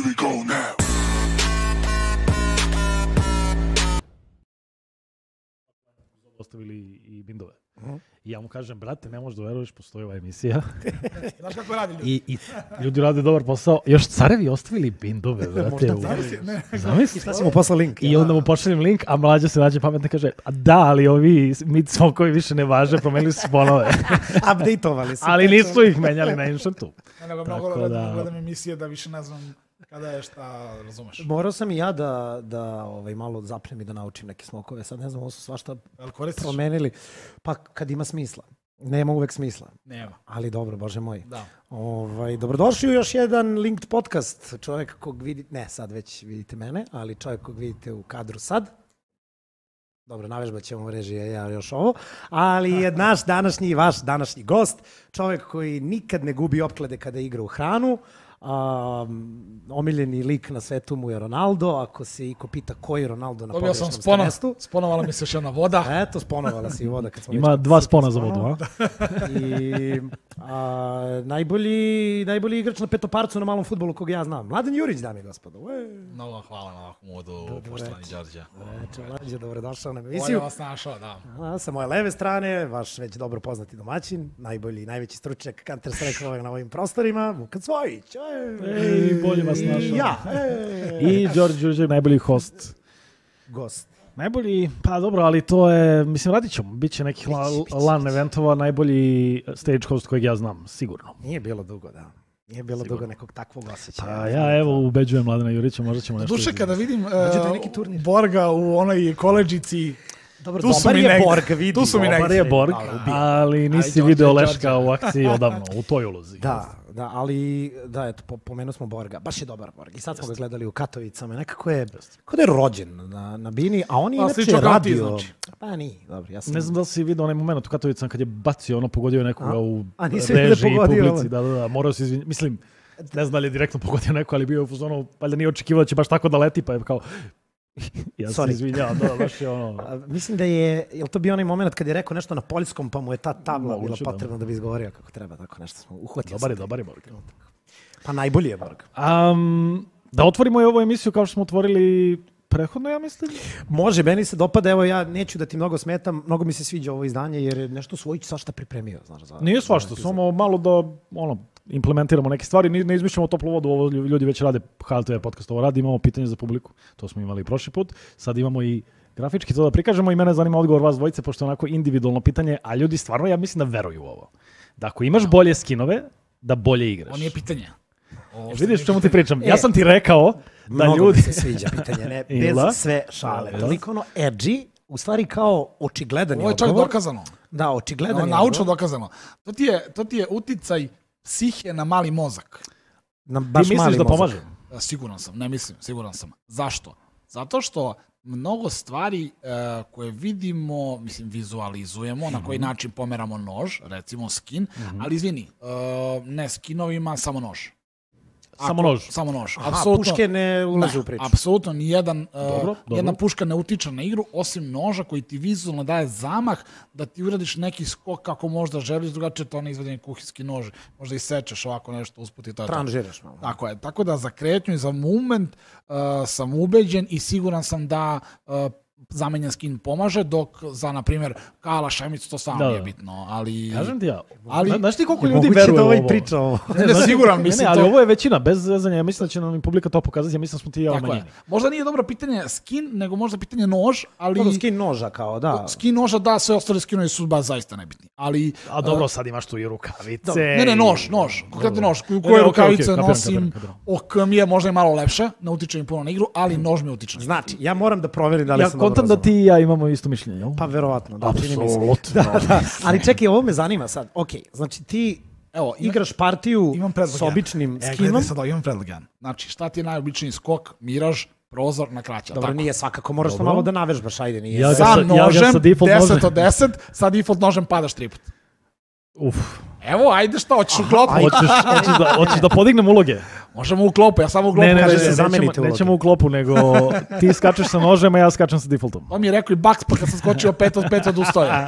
we go now. Ostavili i bindove. I ja mu kažem, brate, ne možeš da veruješ, postoji ova emisija. Znaš kako radi ljudi? I ljudi rade dobar posao. Još carevi ostavili bindove, brate. Zamisli. I šta si mu poslao link? I onda mu pošaljem link, a mlađa se nađe pametno kaže, a da, ali ovi mid-smokovi više ne važe, promenili su sponove. Updateovali su. Ali nisu ih menjali na Inšentu. Nego mnogo gledam emisije da više ne znam kada je šta, razumeš. Morao sam i ja da malo zapnem i da naučim neke smokove. Sad ne znam, ovo su svašta promenili. Pa kad ima smisla. Nema uvek smisla. Nema. Ali dobro, bože moj. Da. Dobrodošli u još jedan Linked podcast. Čovjek kog vidite, ne sad već vidite mene, ali čovjek kog vidite u kadru sad. Dobro, navežbat ćemo režije, ja još ovo. Ali je naš današnji, vaš današnji gost, čovjek koji nikad ne gubi opklade kada igra u hranu. Omiljeni lik na svetu mu je Ronaldo. Ako se iko pita ko je Ronaldo na pogrešnom mestu. Sponovala mi se još jedna voda. Eto, sponovala se i voda. Kad smo ima dva spona za vodu, a? I najbolji igrač na petoparcu na malom fudbalu kog ja znam. Mladen Jurić, dame i gospodo. Mnogo hvala na ovakvom uvodu, poštovani Đorđe. Mlađe, dobrodošao na emisiju. Bolje vas našao, da. Sa moje leve strane, vaš već dobro poznati domaćin, najbolji i najveći stručnjak Counter Strike na ovim prostorima, Vukan Cvojić. Bolje vas našao. Ja. I Đorđe Đurđev, najbolji host. Gost. Najbolji, pa dobro, ali to je, mislim, radit ćemo. Biće nekih LAN eventova, najbolji stage host kojeg ja znam, sigurno. Nije bilo dugo, da. Nije bilo dugo nekog takvog osjećaja. Pa ja evo ubeđujem Mladena Jurića, možda ćemo nešto... Duše, kada vidim Borga u onoj koleđici... Dobro, dobar je Borg, vidi. Tu su mi negdje. Dobar je Borg, ali nisi video Leška u akciji odavno, u toj ulozi. Da, ali da, eto, pomenuo smo Borga. Baš je dobar Borg. I sad smo ga gledali u Katovicama. Nekako je, kao da je rođen na Bini, a on je inače radio... Pa nije, dobro, ja sam... Ne znam da li si vidio onaj moment u Katovicama kad je bacio, pogodio nekoga u režiji i publici. Da, morao se izvinjati. Mislim, ne znam da li je direktno pogodio neko, ali bio je u fuzonu, valjda nije očekivao da će baš tako da leti, pa je kao... Ja se izvinjavam, baš je Mislim da je to bio onaj moment kad je rekao nešto na poljskom, pa mu je ta tabla bila potrebna da bi izgovorio kako treba, tako nešto smo uhvatili. Dobar je Borg. Pa najbolji je Borg. Da otvorimo i ovu emisiju kao što smo otvorili prethodno, ja mislim. Može, meni se dopada, evo ja neću da ti mnogo smetam, mnogo mi se sviđa ovo izdanje jer je nešto Svojić svašta pripremio. Nije svašta, samo malo da implementiramo neke stvari, ne izmišljamo toplu vodu, ovo ljudi već rade, HLTV podcast ovo radi, imamo pitanje za publiku, to smo imali prošli put, sad imamo i grafički to da prikažemo i mene zanima odgovor vas dvojice, pošto je onako individualno pitanje, a ljudi stvarno, ja mislim da veruju u ovo. Da ako imaš bolje skinove, da bolje igraš. On nije pitanje. Vidiš čemu ti pričam? Ja sam ti rekao da ljudi... Mnogo mi se sviđa pitanje, ne, bez sve šale. Toliko ono edgy, u stvari kao očigledan je odgovor. Ovo je čak dokazano. Da, očigledan je odgovor. Naučno dokazano. To ti je uticaj psihe na mali mozak. Ti misliš da pomaže? Siguran sam, ne mislim, siguran sam. Zašto? Zato što mnogo stvari koje vidimo, mislim, vizualizujemo, na koji način pomeramo nož, recimo skin, ali izvini, ne skinovima, samo nož. Samo nož. Puške ne ulaze u priču. Apsolutno, nijedna puška ne utiče na igru, osim noža koji ti vizualno daje zamah da ti uradiš neki skok kako možda želiš, drugačije to ne izvedeni kuhinski nož, možda isečeš ovako nešto usput i to je to. Tranžiraš malo. Tako je, tako da za kretnju i za movement sam ubeđen i siguran sam da zamenjen skin pomaže, dok za, na primjer, Kala Šemicu to stvarno nije bitno, ali... Kažem ti ja, znaš ti koliko ljudi veruje u ovo? Moguće da priča ovo. Ne, siguran, mislim to... Ali ovo je većina, bez zezanja, ja mislim da će nam publika to pokazati, ja mislim da smo ti i ja umanjeni. Možda nije dobro pitanje skin, nego možda pitanje nož, ali... Dobro, skin noža kao, da. Skin noža, da, sve ostale skinovi su baš zaista nebitni, ali... A dobro, sad imaš tu i rukavice... Ne, nož, konkretno nož, koje rukavice nosim, ok mi je možda i malo lepše, ne utiče mi puno na igru, ali nož mi utiče. Znači, ja moram da proverim da li sam dobro da ti i ja imamo isto mišljenje, jel? Pa verovatno, da. Apsolutno. Ali čekaj, ovo me zanima sad. Ok, znači ti igraš partiju s običnim skinom. Imam predlog jedan. Znači, šta ti je najobičniji skok, miraž, prozor na kraća. Dobro, nije svakako, moraš to malo da navežbaš, ajde, nije. Sa nožem, 10 od 10, sa default nožem padaš 3 put. Uf. Evo, ajde šta, hoćeš u klopu? Hoćeš da podignem uloge? Možemo u klopu, ja samo u klopu. Nećemo u klopu, nego ti skačeš sa nožem, a ja skačem sa defaultom. To mi je rekao i Baks, pa kad sam skočio 5 od 5 odustoja.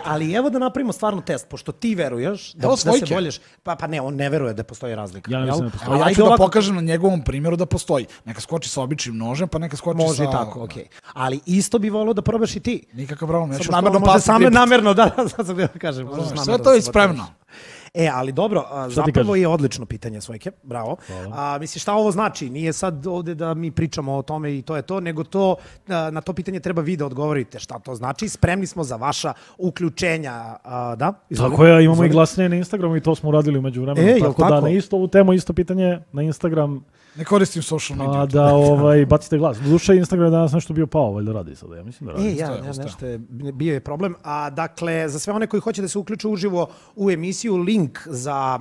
Ali evo da napravimo stvarno test, pošto ti veruješ da se bolješ. Pa ne, on ne veruje da postoji razlika. Ja ne mislim da postoji. Ja ću da pokažem na njegovom primjeru da postoji. Neka skoči sa običnim nožem, pa neka skoči sa... Može tako, okej. Ali isto bi volio da probaš i ti. Nikakav problem. Namerno, da, kažem. Sve to je spremno. Ali dobro, zapravo je odlično pitanje, Svojke, bravo. Misliš, šta ovo znači? Nije sad ovde da mi pričamo o tome i to je to, nego to, na to pitanje treba vi da odgovorite šta to znači. Spremni smo za vaša uključenja, da? Izvoli. Tako je, imamo i glasnije na Instagramu i to smo uradili umeđu vremenu. Tako da na isto ovu temu, isto pitanje na Instagram. Ne koristim social media. Da bacite glas. Duše, Instagram je danas nešto bio pao, valjda radi sada. Ja mislim da radi. Nešto je, bio je problem. Dakle, za sve one koji hoće da se uključe uživo u emisiju, link za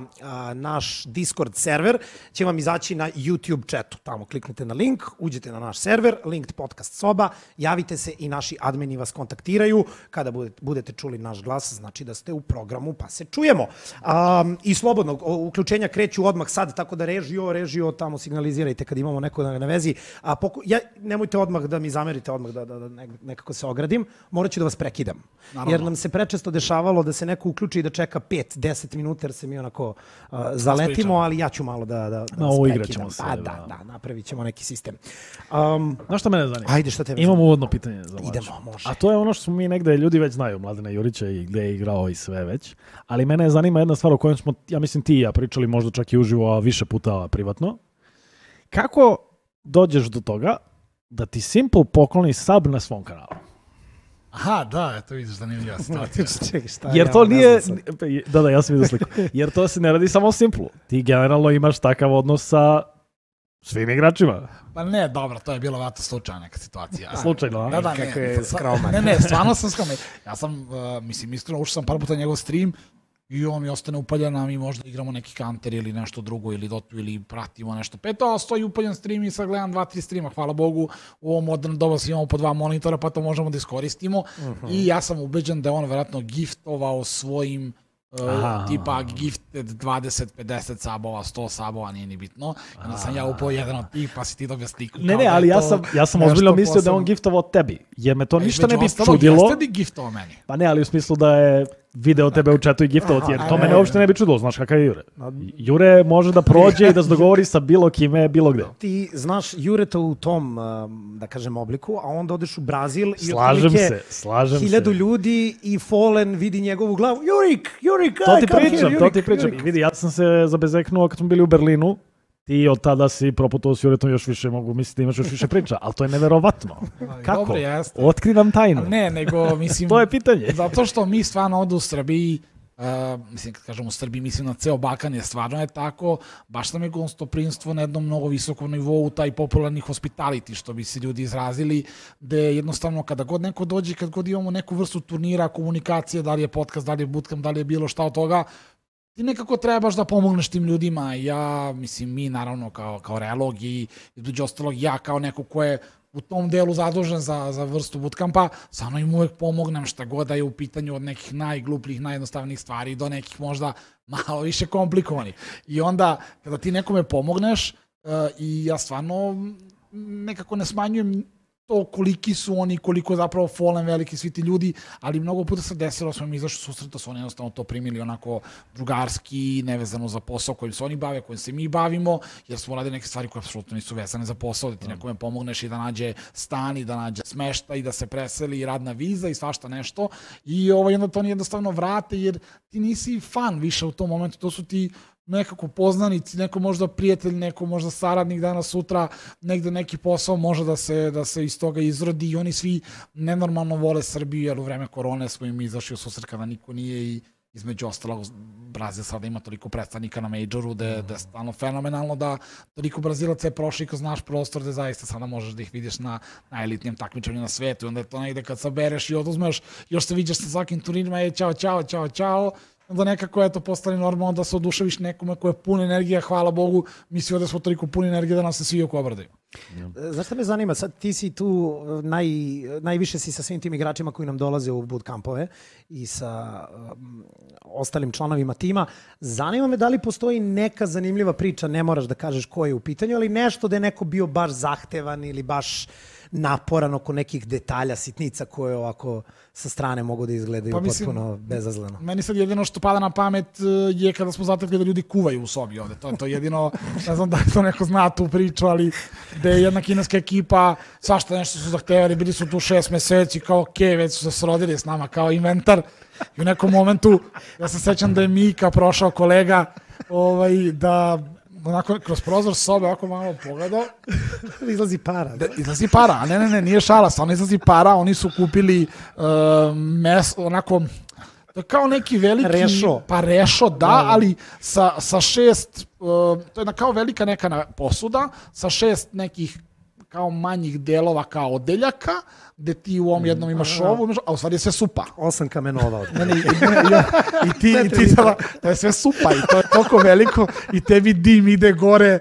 naš Discord server će vam izaći na YouTube chatu. Tamo kliknete na link, uđete na naš server, Linked podcast soba, javite se i naši admini vas kontaktiraju. Kada budete čuli naš glas, znači da ste u programu, pa se čujemo. I slobodno, uključenja kreću odmah sad, tako da režio tamo signalizirajte kad imamo neko na vezi. Nemojte odmah da mi zamerite, odmah da nekako se ogradim. Morat ću da vas prekidam. Naravno. Jer nam se prečesto dešavalo da se neko uključi i da čeka 5-10 minuta jer se mi onako zaletimo, ali ja ću malo da vas prekidam. Da, napravit ćemo neki sistem. Znaš šta mene zanima? Ajde, šta tebe? Imamo uvodno pitanje za Mlađu. Idemo, može. A to je ono što smo mi negde, ljudi već znaju, Mladena Jurića i gde je igrao i sve već. Ali mene zanima jedna stvar o kojoj smo, ja mislim ti i ja pričali možda čak i uživo, a više puta privatno. Kako dođeš do toga da ti Simple pokloni sub na svom kanalu? Aha, da, eto vidiš zanimljiva situacija. Jer to nije... Da, ja sam vidio sliku. Jer to se ne radi samo o Simple-u. Ti generalno imaš takav odnos sa svim igračima. Pa ne, dobro, to je bilo vratno slučajna neka situacija. Slučajno, a? Da, kako je skroman. Ne, stvarno sam skroman. Ja sam, iskreno, ušao sam par puta njegov stream i on mi ostane upaljen, a mi možda igramo neki Counter ili nešto drugo, ili Dotu, ili pratimo nešto. Peto, stoji upaljen stream i sad gledam 2-3 streama, hvala Bogu, u ovom moderno doba imamo po 2 monitora, pa to možemo da iskoristimo. I ja sam ubeđen da je on verovatno giftovao svojim tipa gifted 20, 50 sabova, 100 sabova, nije ni bitno. Onda sam ja upao jedan od tih, pa si ti dobio sliku. Ne, ali ja sam ozbiljno mislio da je on giftovao tebi, jer me to ništa ne bi čudilo. Jeste li giftovao meni? Pa ne, ali u smislu da je video tebe u chatu i giftovao ti, jer to mene uopšte ne bi čudilo, znaš kakav je Jure. Jure može da prođe i da se dogovori sa bilo kime, bilo gde. Ti znaš Jureta u tom, da kažem, obliku, a onda odeš u Brazil i slažem se. 1000 ljudi i Fallen vidi njegovu glavu. Jurik, to ti pričam. I vidi, ja sam se zabezeknuo kad smo bili u Berlinu. Ti od tada si proputao s Juretom još više, mogu misliti da imaš još više priča, ali to je neverovatno. Kako? Dobro, jeste. Otkrivam tajnu. Ne, nego, mislim... To je pitanje. Zato što mi stvarno ovdje u Srbiji, mislim, kad kažem u Srbiji, mislim na ceo Balkan je stvarno je tako, baš nam je gostoprimstvo na jednom mnogo visokom nivou, taj popularni hospitality, što bi se ljudi izrazili, gde jednostavno kada god neko dođe, kad god imamo neku vrstu turnira, komunikacije, da li je podcast, da li je bootcamp, da li je bilo šta od toga, ti nekako trebaš da pomogneš tim ljudima. Ja, mislim, mi naravno kao realog i između ostalog ja kao neko ko je u tom delu zadužen za vrstu bootcampa, samo im uvek pomognem šta god da je u pitanju od nekih najglupljih, najjednostavnijih stvari do nekih možda malo više komplikovanih. I onda kada ti nekome pomogneš i ja stvarno nekako ne smanjujem to koliki su oni, koliko je zapravo Fallen veliki svi ti ljudi, ali mnogo puta se desilo, smo mi izašli susreta, su oni jednostavno to primili onako drugarski, nevezano za posao kojim se oni bave, kojim se mi bavimo, jer smo radili neke stvari koje apsolutno nisu vezane za posao, da ti nekome pomogneš i da nađe stan i da nađe smešta i da se preseli i radna viza i svašta nešto. I onda to oni jednostavno vrate, jer ti nisi fan više u tom momentu, to su ti nekako poznanici, neko možda prijatelj, neko možda saradnik danas sutra, negde neki posao može da se iz toga izrodi i oni svi nenormalno vole Srbiju, jer u vreme korone smo im izašli u susret kada niko nije i između ostalog Brazil sada ima toliko predstavnika na Majoru da je stvarno fenomenalno da toliko Brazilaca je prošli kroz naš prostor da zaista sada možeš da ih vidiš na najelitnijem takmičenju na svetu i onda je to negde kad sabereš i oduzmeš, još se vidiš sa svakim turnirima i čao, onda nekako je to postali normalno da se oduševiš nekome ko je pun energija, hvala Bogu, mi svi ovdje smo toliko puni energije da nam se svi oko obradaju. Znaš šta me zanima? Sad ti si tu, najviše si sa svim tim igračima koji nam dolaze u bootcampove i sa ostalim članovima tima. Zanima me da li postoji neka zanimljiva priča, ne moraš da kažeš ko je u pitanju, ali nešto da je neko bio baš zahtevan ili baš naporan oko nekih detalja, sitnica koje ovako sa strane mogu da izgledaju potpuno bezazleno. Meni sad jedino što pada na pamet je kada smo zatekli da ljudi kuvaju u sobi ovde. To je jedino, ne znam da li to neko zna tu priču, ali da je jedna kineska ekipa, svašta nešto su zahtevali, bili su tu 6 meseci, kao okej, već su se srodili s nama kao inventar. I u nekom momentu, ja se sećam da je Mika prošao kolega, da onako kroz prozor sobe ovako malo pogledao. Izlazi para. Izlazi para, ne, nije šala, stvarno izlazi para, oni su kupili onako, kao neki veliki... Rešo. Pa rešo, da, ali sa 6, to je kao velika neka posuda, sa 6 nekih kao manjih delova kao odeljaka, gde ti u ovom jednom imaš ovu, a u stvari je sve supa. 8 kamenova. I ti to je sve supa i to je toliko veliko i tebi dim ide gore,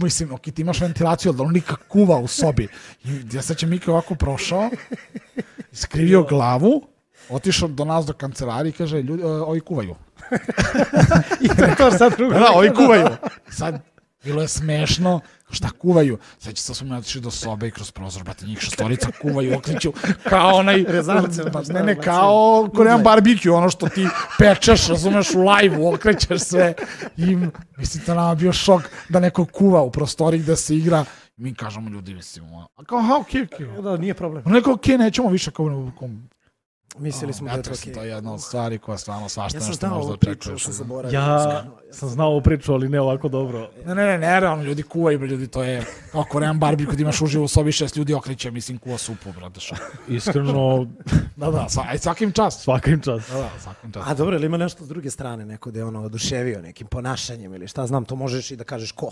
mislim, ok, ti imaš ventilaciju, ali on nikak kuva u sobi. I ja se će Mika ovako prošao, skrivio glavu, otišao do nas do kancelarije i kaže, ljudi, ovi kuvaju. I to sad drugo. Da, ovi kuvaju. Sad, bilo je smešno, šta kuvaju? Seća se da smo otišli do sobe i kroz prozor, brate, njih 6 kuvaju, okliću, kao onaj... Rezance. Ne, kao Korean barbecue, ono što ti pečeš, razumeš, u live-u, okrećeš sve. I mislim, to nama bio šok da neko kuva u prostoriji gde se igra. Mi kažemo ljudi, mislim, a kao, okej. Da, nije problem. Neko, okej, nećemo više kao... Mislili smo da je to okej. To je jedna od stvari koja stvarno svašta nešto možda očekuješ. Ja sam znao ovu priču, ali ne ovako dobro. Ne, realno, ljudi kuvaju, ljudi, to je kao Korean barbecue, kad imaš uživo u sobi 6 ljudi okreće, mislim, kuva supu, brate, što. Iskreno... Da, svakim čast. Svakim čast. Da, svakim čast. A dobro, ili ima nešto s druge strane, neko da je oduševio nekim ponašanjem ili šta znam, to možeš i da kažeš ko.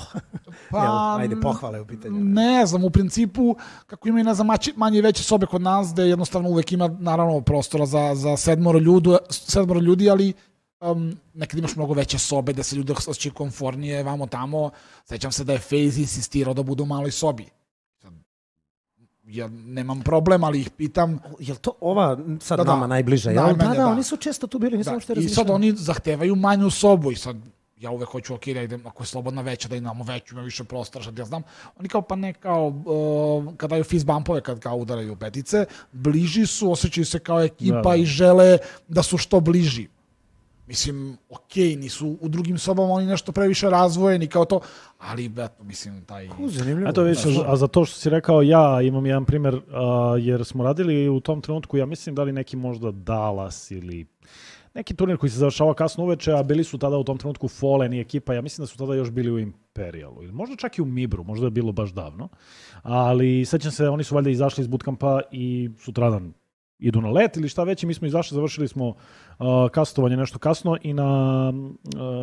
Pa, ajde, pohvale u pitanju. Ne znam, u principu, kako imaju, ne znam, manje i veće sobe kod nas, gde jednostavno uvek ima, naravno, prostora za 7 ljudi, ali nekad imaš mnogo veće sobe da se ljudi osjećaju komfornije, vamo tamo. Sećam se da je FaZe insistirao da budu u maloj sobi. Ja nemam problem, ali ih pitam... Je li to ova sad nama najbliža? Da, oni su često tu bili, nisam što razmišljam. I sad oni zahtevaju manju sobu i sad ja uvek hoću, ok, da idem, ako je slobodna veća, da imamo veću, ima više prostora, što ja znam. Oni kao, pa ne kao, kad daju fist bumpove, kad kao udaraju petice, bliži su, osjećaju se kao ekipa i žele da su što bliži. Mislim, okej, nisu u drugim sobama oni nešto previše razvojeni kao to, ali, eto, mislim, taj... Zanimljivo. Eto, vidiš, a za to što si rekao, ja imam jedan primjer, jer smo radili u tom trenutku, ja mislim da li neki možda Dallas ili neki turnir koji se završava kasno uveče, a bili su tada u tom trenutku Fallen i ekipa, ja mislim da su tada još bili u Imperialu, ili možda čak i u Mibru, možda je bilo baš davno, ali sećam se, oni su valjda izašli iz bootcampa i sutradan idu na let ili šta već i mi smo izašli, završili smo kastovanje nešto kasno i na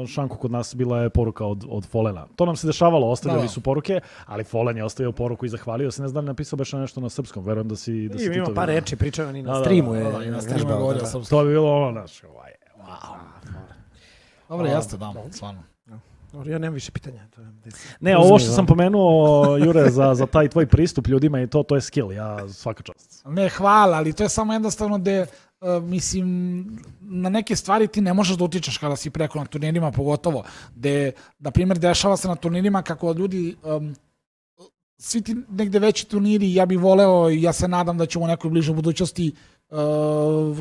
šanku kod nas bila je poruka od Fallena. To nam se dešavalo, ostavljali su poruke, ali Fallen je ostavio poruku i zahvalio se, ne znam da li napisao baš nešto na srpskom, verujem da si to vidio. Ima par reči, pričao ni na streamu. To bi bilo ono naše, Dobro, jeste, da, stvarno. Ja nemam više pitanja. Ne, ovo što sam pomenuo, Jure, za taj tvoj pristup ljudima i to je skill, ja svaka čast. Ne, hvala, ali to je samo jednostavno gde, mislim, na neke stvari ti ne možeš da utičeš kada si preko na turnirima, pogotovo, gde, na primjer, dešava se na turnirima kako ljudi, svi ti negde veći turniri, ja bih voleo i ja se nadam da ćemo u nekoj bližoj budućnosti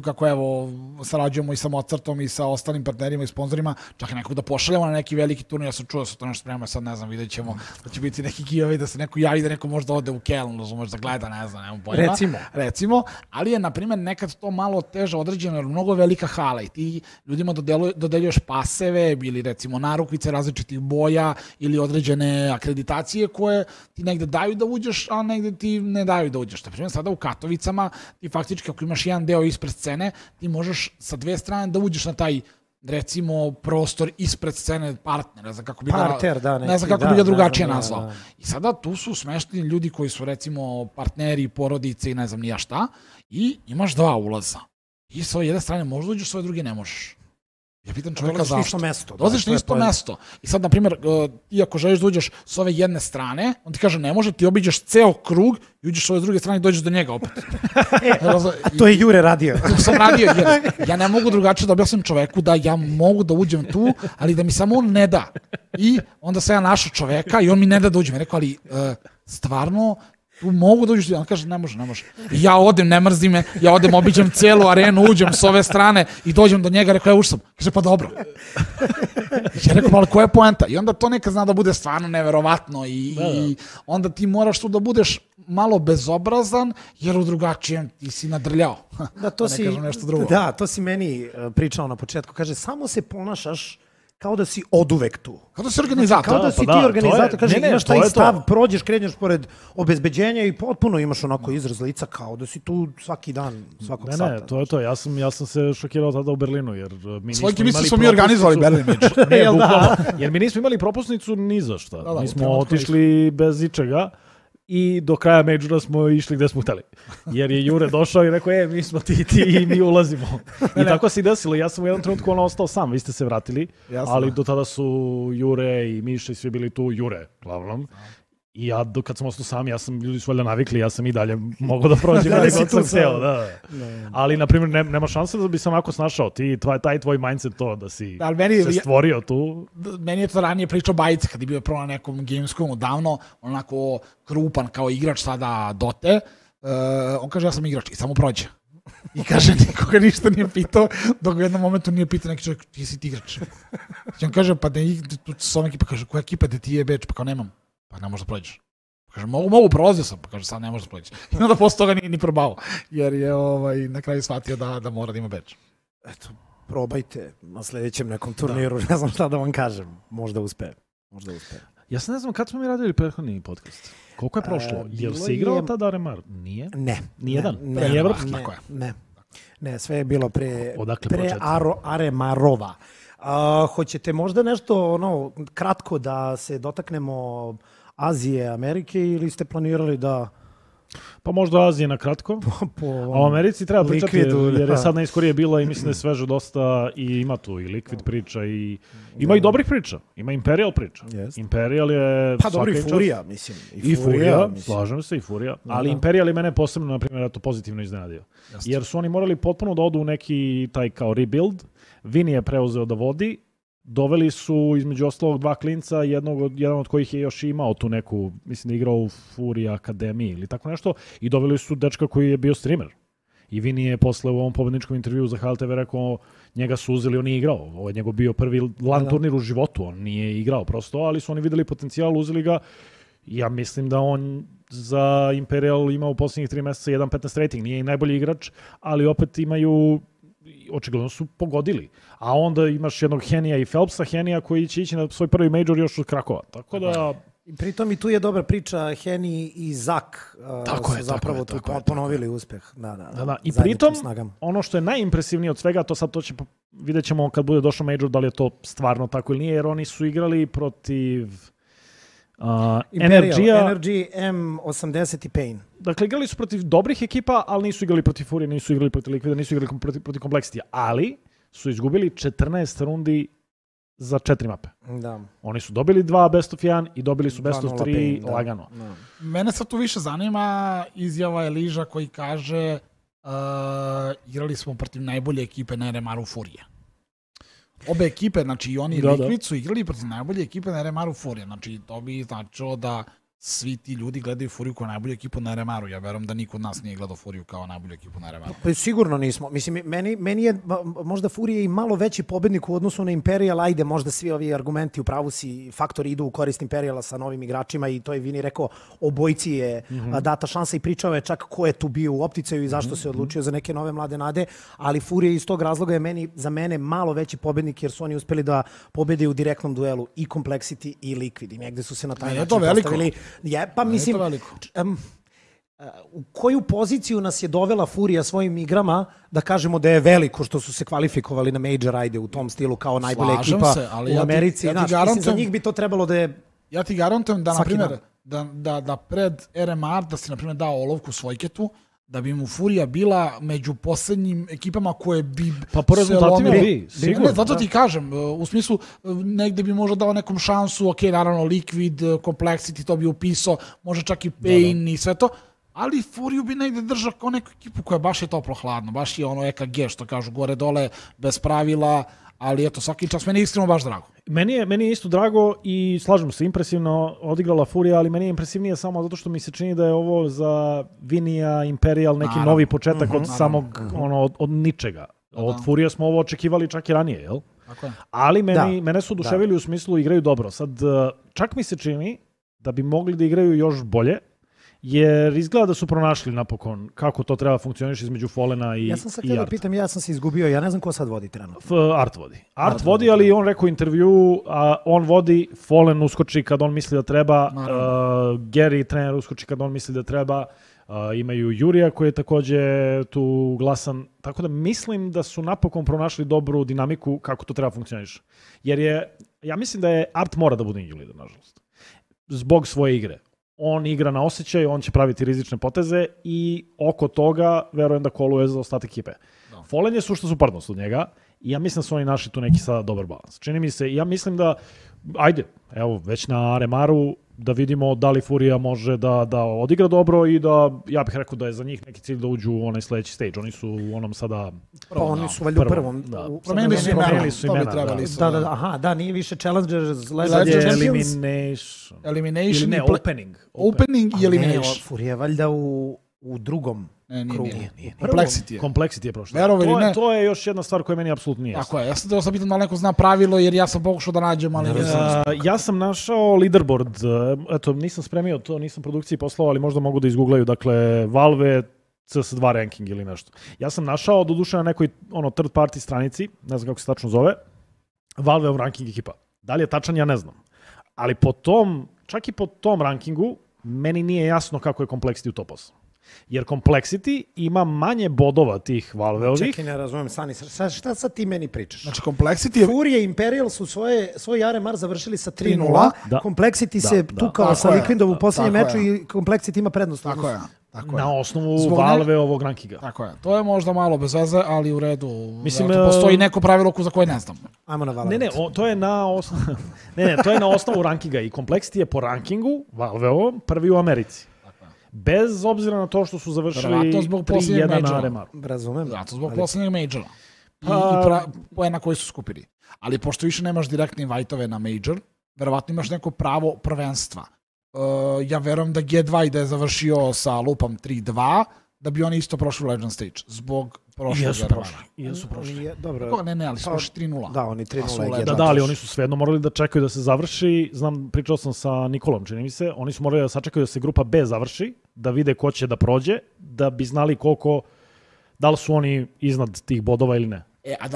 kako evo sarađujemo i sa Mozartom i sa ostalim partnerima i sponzorima, čak i nekog da pošaljamo na neki veliki turnir, ja sam čuo da se to nešto spremamo, sad ne znam, vidjet ćemo da će biti neki giveaway, da se neko javi, da neko možda ode u Keln, razumeš, da gleda, ne znam, nemam pojma. Recimo, ali je, na primjer, nekad to malo teže određeno, jer mnogo velika hala i ti ljudima dodeljuješ paseve ili recimo narukvice različitih boja ili određene akreditacije koje ti negde daju da uđeš, a negde ti ne daju da uđeš. Na primjer, sada u Katovicama ti faktički ako imaš jedan deo ispred scene, ti možeš sa dve strane da uđeš na taj, recimo, prostor ispred scene partnera, ne znam kako bi ga drugačije nazvao. I sada tu su smešteni ljudi koji su, recimo, partneri, porodice i ne znam nija šta, i imaš 2 ulaza. I sa ove jedne strane možeš da uđeš, sa ove druge ne možeš. Ja pitam čovjeka Dolaziš na zašto. isto mesto. Dolaziš na isto mesto. I sad, na primjer, ti ako želiš da uđeš s ove jedne strane, on ti kaže ne može, ti obiđeš ceo krug i uđeš s ove druge strane i dođeš do njega opet. A to je Jure radio. To sam radio, jer ja ne mogu drugačije da objasnim čoveku da ja mogu da uđem tu, ali da mi samo on ne da. I onda sam ja našao čoveka i on mi ne da uđem. Ja rekao, ali stvarno, tu mogu da uđeš, on kaže ne može. I ja odem, ne mrzi me, ja odem, obiđem cijelu arenu, uđem s ove strane i dođem do njega, rekao ja ušao sam. Kaže pa dobro. Ja rekao, ali koja je poenta? I onda to nekad zna da bude stvarno neverovatno i onda ti moraš tu da budeš malo bezobrazan, jer u drugačijem ti si nadrljao. Da, to si, nešto drugo. Da, to si meni pričao na početku. Kaže, samo se ponašaš kao da si oduvek tu. Kao da si organizator. Kao da si ti organizator. Kaže, imaš taj stav, prođeš, krenješ pored obezbeđenja i potpuno imaš onako izraz lica kao da si tu svaki dan, svakog sata. Ne, to je to. Ja sam se šokirao tada u Berlinu, jer mi nismo imali propusnicu. Mi organizovali Berlin Image. Ne, bukvalno. Jer mi nismo imali propusnicu ni za šta. Mi smo otišli bez ičega. I do kraja Majora smo išli gde smo hteli. Jer je Jure došao i rekao, mi smo ti i mi ulazimo. I tako se i desilo. Ja sam u jednom trenutku ostao sam, vi ste se vratili, ali do tada su Jure i Miša i svi bili tu, Jure, glavnom. I ja, kad sam ostao sam, ljudi su valjda navikli, ja sam i dalje mogao da prođem. Ali, na primjer, nema šanse da bi sam ako snašao. Taj tvoj mindset to da si se stvorio tu. Meni je to ranije pričao Bajica, kad je bio prvo na nekom Gamescomu davno, onako krupan kao igrač sada Dote. On kaže, ja sam igrač i samo prođe. I kaže, nikoga ništa nije pitao, dok u jednom momentu nije pitao neki čovjek, ti si ti igrač. I on kaže, pa tu s ovom ekipa, kaže, koja ekipa da ti je beč, pa kao nemam. Pa ne možeš da prođeš. Kaže, mogu, prolazio sam. Pa kaže, sad ne možeš da prođeš. I onda posle toga nije ni probao. Jer je na kraju shvatio da mora da ima beč. Eto, probajte na sljedećem nekom turniru. Ne znam šta da vam kažem. Možda uspe. Ja se ne znam kad smo mi radili prethodni podcast. Koliko je prošlo? Jel se igrao tada Aremar? Nije? Ne. Nijedan? Ne, sve je bilo pre Aremarova. Hoćete možda nešto kratko da se dotaknemo Azije, Amerike ili ste planirali da... Pa možda Azije na kratko, a u Americi treba pričati jer je sad najskorije bila i mislim da je sveže dosta i ima tu i Liquid priča i ima i dobrih priča, ima Imperial priča. Imperial je... Pa dobro i Furija, mislim. I Furija, slažem se, i Furija, ali Imperial je mene posebno, na primjer, pozitivno iznenadio. Jer su oni morali potpuno da odu u neki taj kao rebuild, Vini je preuzeo da vodi, doveli su između ostalog dva klinca, jedan od kojih je još imao tu neku, mislim da je igrao u Furia Akademiji ili tako nešto, i doveli su dečka koji je bio streamer. I Vini je posle u ovom pobedničkom intervjuu za HLTV rekao, njega su uzeli, on nije igrao. Ovo je njegov bio prvi LAN turnir u životu, on nije igrao prosto, ali su oni videli potencijal, uzeli ga. Ja mislim da on za Imperial ima u posljednjih 3 mjeseca 1.15 rating, nije i najbolji igrač, ali opet imaju... Očigledno su pogodili. A onda imaš jednog Henija i Phelpsa, Henija koji će ići na svoj prvi major još od Krakova. Tako da... Pritom i tu je dobra priča, Heni i Zak su zapravo tu ponovili uspeh. Da. I pritom, ono što je najimpresivnije od svega, vidjet ćemo kad bude došao major da li je to stvarno tako ili nije, jer oni su igrali protiv... Energy, M80 i Pain. Dakle, igrali su protiv dobrih ekipa, ali nisu igrali protiv Furije, nisu igrali protiv Liquida, nisu igrali protiv Complexity, ali su izgubili 14 rundi za 4 mape. Da. Oni su dobili 2 best of 1 i dobili su best of 3 lagano. Da. Mene sad tu više zanima izjava Eliža koji kaže igrali smo protiv najbolje ekipe na RMR-u Furije. Obe ekipe, znači i oni i Liquid su igrali protiv najbolje ekipe na RMR-u Furije. Znači, to bi značilo da svi ti ljudi gledaju Furiju kao najbolju ekipu na RMR-u. Ja verujem da niko od nas nije gledao Furiju kao najbolju ekipu na RMR-u. Pa sigurno nismo. Mislim, meni je možda Furija i malo veći pobednik u odnosu na Imperial. Ajde, možda svi ovi argumenti u pravu si, faktori idu u korist Imperiala sa novim igračima i to je Vini rekao, obojici je data šansa i pričao je čak ko je tu bio u opticaju i zašto se odlučio za neke nove mlade nade, ali Furija iz tog razloga je za mene malo veći pobednik jer su oni uspeli da pobede u direktnom duelu i Complexity i Liquid i negde su se na taj način postavili. Pa mislim, u koju poziciju nas je dovela Furija svojim igrama da kažemo da je veliko što su se kvalifikovali na Major, ajde u tom stilu kao najbolja ekipa u Americi. Mislim, za njih bi to trebalo da je... Ja ti garantujem da, na primjer, da pred RMR, da si, na primjer, dao olovku Svojketu, da bi mu Furija bila među poslednjim ekipama koje bi Pa po rezultatima lomile. bi, sigurno. Ne, zato ti kažem, u smislu, negde bi možda dao nekom šansu, ok, naravno, Liquid, Complexity, to bi upisao, može čak i Pain i sve to, ali Furiju bi negde držao kao neku ekipu koja baš je toplo-hladno, baš je ono EKG, što kažu, gore-dole, bez pravila, ali eto, svaki čas meni je iskreno baš drago. Meni je isto drago i slažem se, impresivno odigrala Furija, ali meni je impresivnije samo zato što mi se čini da je ovo za Vinija, Imperial, neki novi početak od samog, od ničega. Od Furije smo ovo očekivali čak i ranije, jel? Tako je. Ali mene su oduševili u smislu igraju dobro. Sad, čak mi se čini da bi mogli da igraju još bolje, jer izgleda da su pronašli napokon kako to treba funkcioniš između Fallena i Ja sam sad htio da pitam, ja sam se izgubio, ja ne znam ko sad vodi trenutno. Art vodi. Art vodi, ali on rekao u intervju, on vodi, Fallen uskoči kad on misli da treba, Gary, trener, uskoči kad on misli da treba, imaju Jurija koji je takođe tu glasan, tako da mislim da su napokon pronašli dobru dinamiku kako to treba funkcioniš. Jer ja mislim da je Art mora da bude indie leader, nažalost. Zbog svoje igre. On igra na osjećaj, on će praviti rizične poteze i oko toga verujem da koluje za ostatak ekipe. Fallen je sušta suprotnost od njega i ja mislim da su oni našli tu neki sada dobar balans. Čini mi se, ja mislim da, ajde, evo, već na Aremaru da vidimo da li Furija može da odigra dobro i da, ja bih rekao da je za njih neki cilj da uđu u onaj sledeći stage. Oni su u onom sada... Pa oni su valjda u prvom. Promenili su imena. Da, nije više Challengers, Legends, Elimination ne, Opening. Opening i Elimination. Furija je valjda u drugom krugu. Nije. Complexity je prošlo. To je još jedna stvar koja meni apsolutno nije jasna. Tako je, ja sam teo sam pitan da li neko zna pravilo, jer ja sam pokušao da nađem, ali ne znam. Ja sam našao leaderboard, eto, nisam spremio to, nisam produkciji poslao, ali možda mogu da izgooglaju, dakle, Valve CS2 ranking ili nešto. Ja sam našao, doduše na nekoj third party stranici, ne znam kako se tačno zove, Valve ranking ekipa. Da li je tačan, ja ne znam. Ali čak i po tom rankingu, meni nije jasno kako je Complexity u top 8. Jer Complexity ima manje bodova tih Valve-ovih. Čekaj, ne razumem, Sani, šta sad ti meni pričaš? Znači, Complexity je... Furija i Imperial su svoj Aremar završili sa 3-0. Complexity se tukao sa Liquidom u posljednjem meču i Complexity ima prednost. Tako je. Na osnovu Valve-ovog rankinga. Tako je. To je možda malo bez veze, ali u redu. Mislim, postoji neko pravilo za koje ne znam. Ajmo na Valve. To je na osnovu rankinga i Complexity je po rankingu Valve-ovom prvi u Americi. Bez obzira na to što su završili 3-1 na Aremaru. Razumem. Zato zbog posljednjeg majora. I poena koji su skupili. Ali pošto više nemaš direktne invite-ove na major, verovatno imaš neko pravo prvenstva. Ja verujem da G2 i da je završio sa lupom 3-2, da bi oni isto prošli u Legend Stage. Zbog prošlog Aremara. Jesu prošli. Dobro. Ne, ali su prošli 3-0. Da, oni 3-0. Da, ali oni su svejedno morali da čekaju da se završi. Znam, pričao sam sa Nikolom, čini mi se. Oni su morali da sačekaju da se grupa B završi, da vide ko će da prođe, da bi znali da li su oni iznad tih bodova ili ne.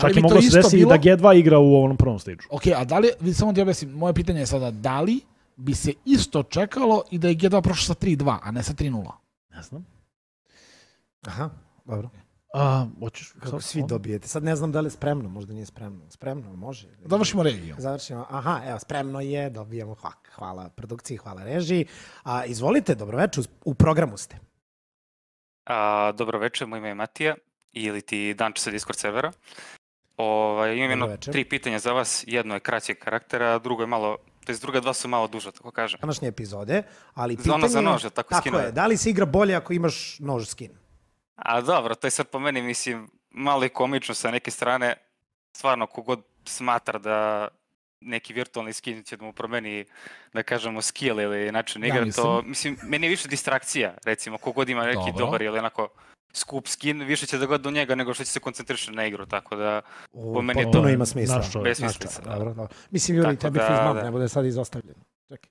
Čak i moglo se desiti da G2 igra u ovom prvom stage-u. Ok, a da li, samo ti objasnim, moje pitanje je sada, da li bi se isto čekalo i da je G2 prošao sa 3-2, a ne sa 3-0? Ne znam. Aha, dobro. Kako svi dobijete. Sad ne znam da li je spremno, možda nije spremno. Spremno, može. Završimo regiju. Aha, evo, spremno je, dobijamo, hvala produkciji, hvala režiji. Izvolite, dobroveče, u programu ste. Dobroveče, moje ime je Matija, ili ti Danče sa Discord servera. Imam jedno 3 pitanja za vas, jedno je kraćeg karaktera, drugo je malo, druga 2 su malo duža, tako kažem. Današnje epizode, ali pitanje... Ono za nož, tako skinove. Tako je, da li se igra bolje ako imaš nož skin? Dobro, to je sad po meni, mislim, malo i komično sa neke strane. Stvarno, kogod smatra da neki virtualni skin će da mu promeni, da kažemo, skill ili način igra, to, mislim, meni je više distrakcija, recimo, kogod ima neki dobar ili onako skup skin, više će da gleda do njega nego što će se koncentrišati na igru, tako da po meni je to... Puno ima smisla. Besmislica. Dobro. Mislim, Juri, tebi fizmam ne bude sad izostavljeno. Čekaj.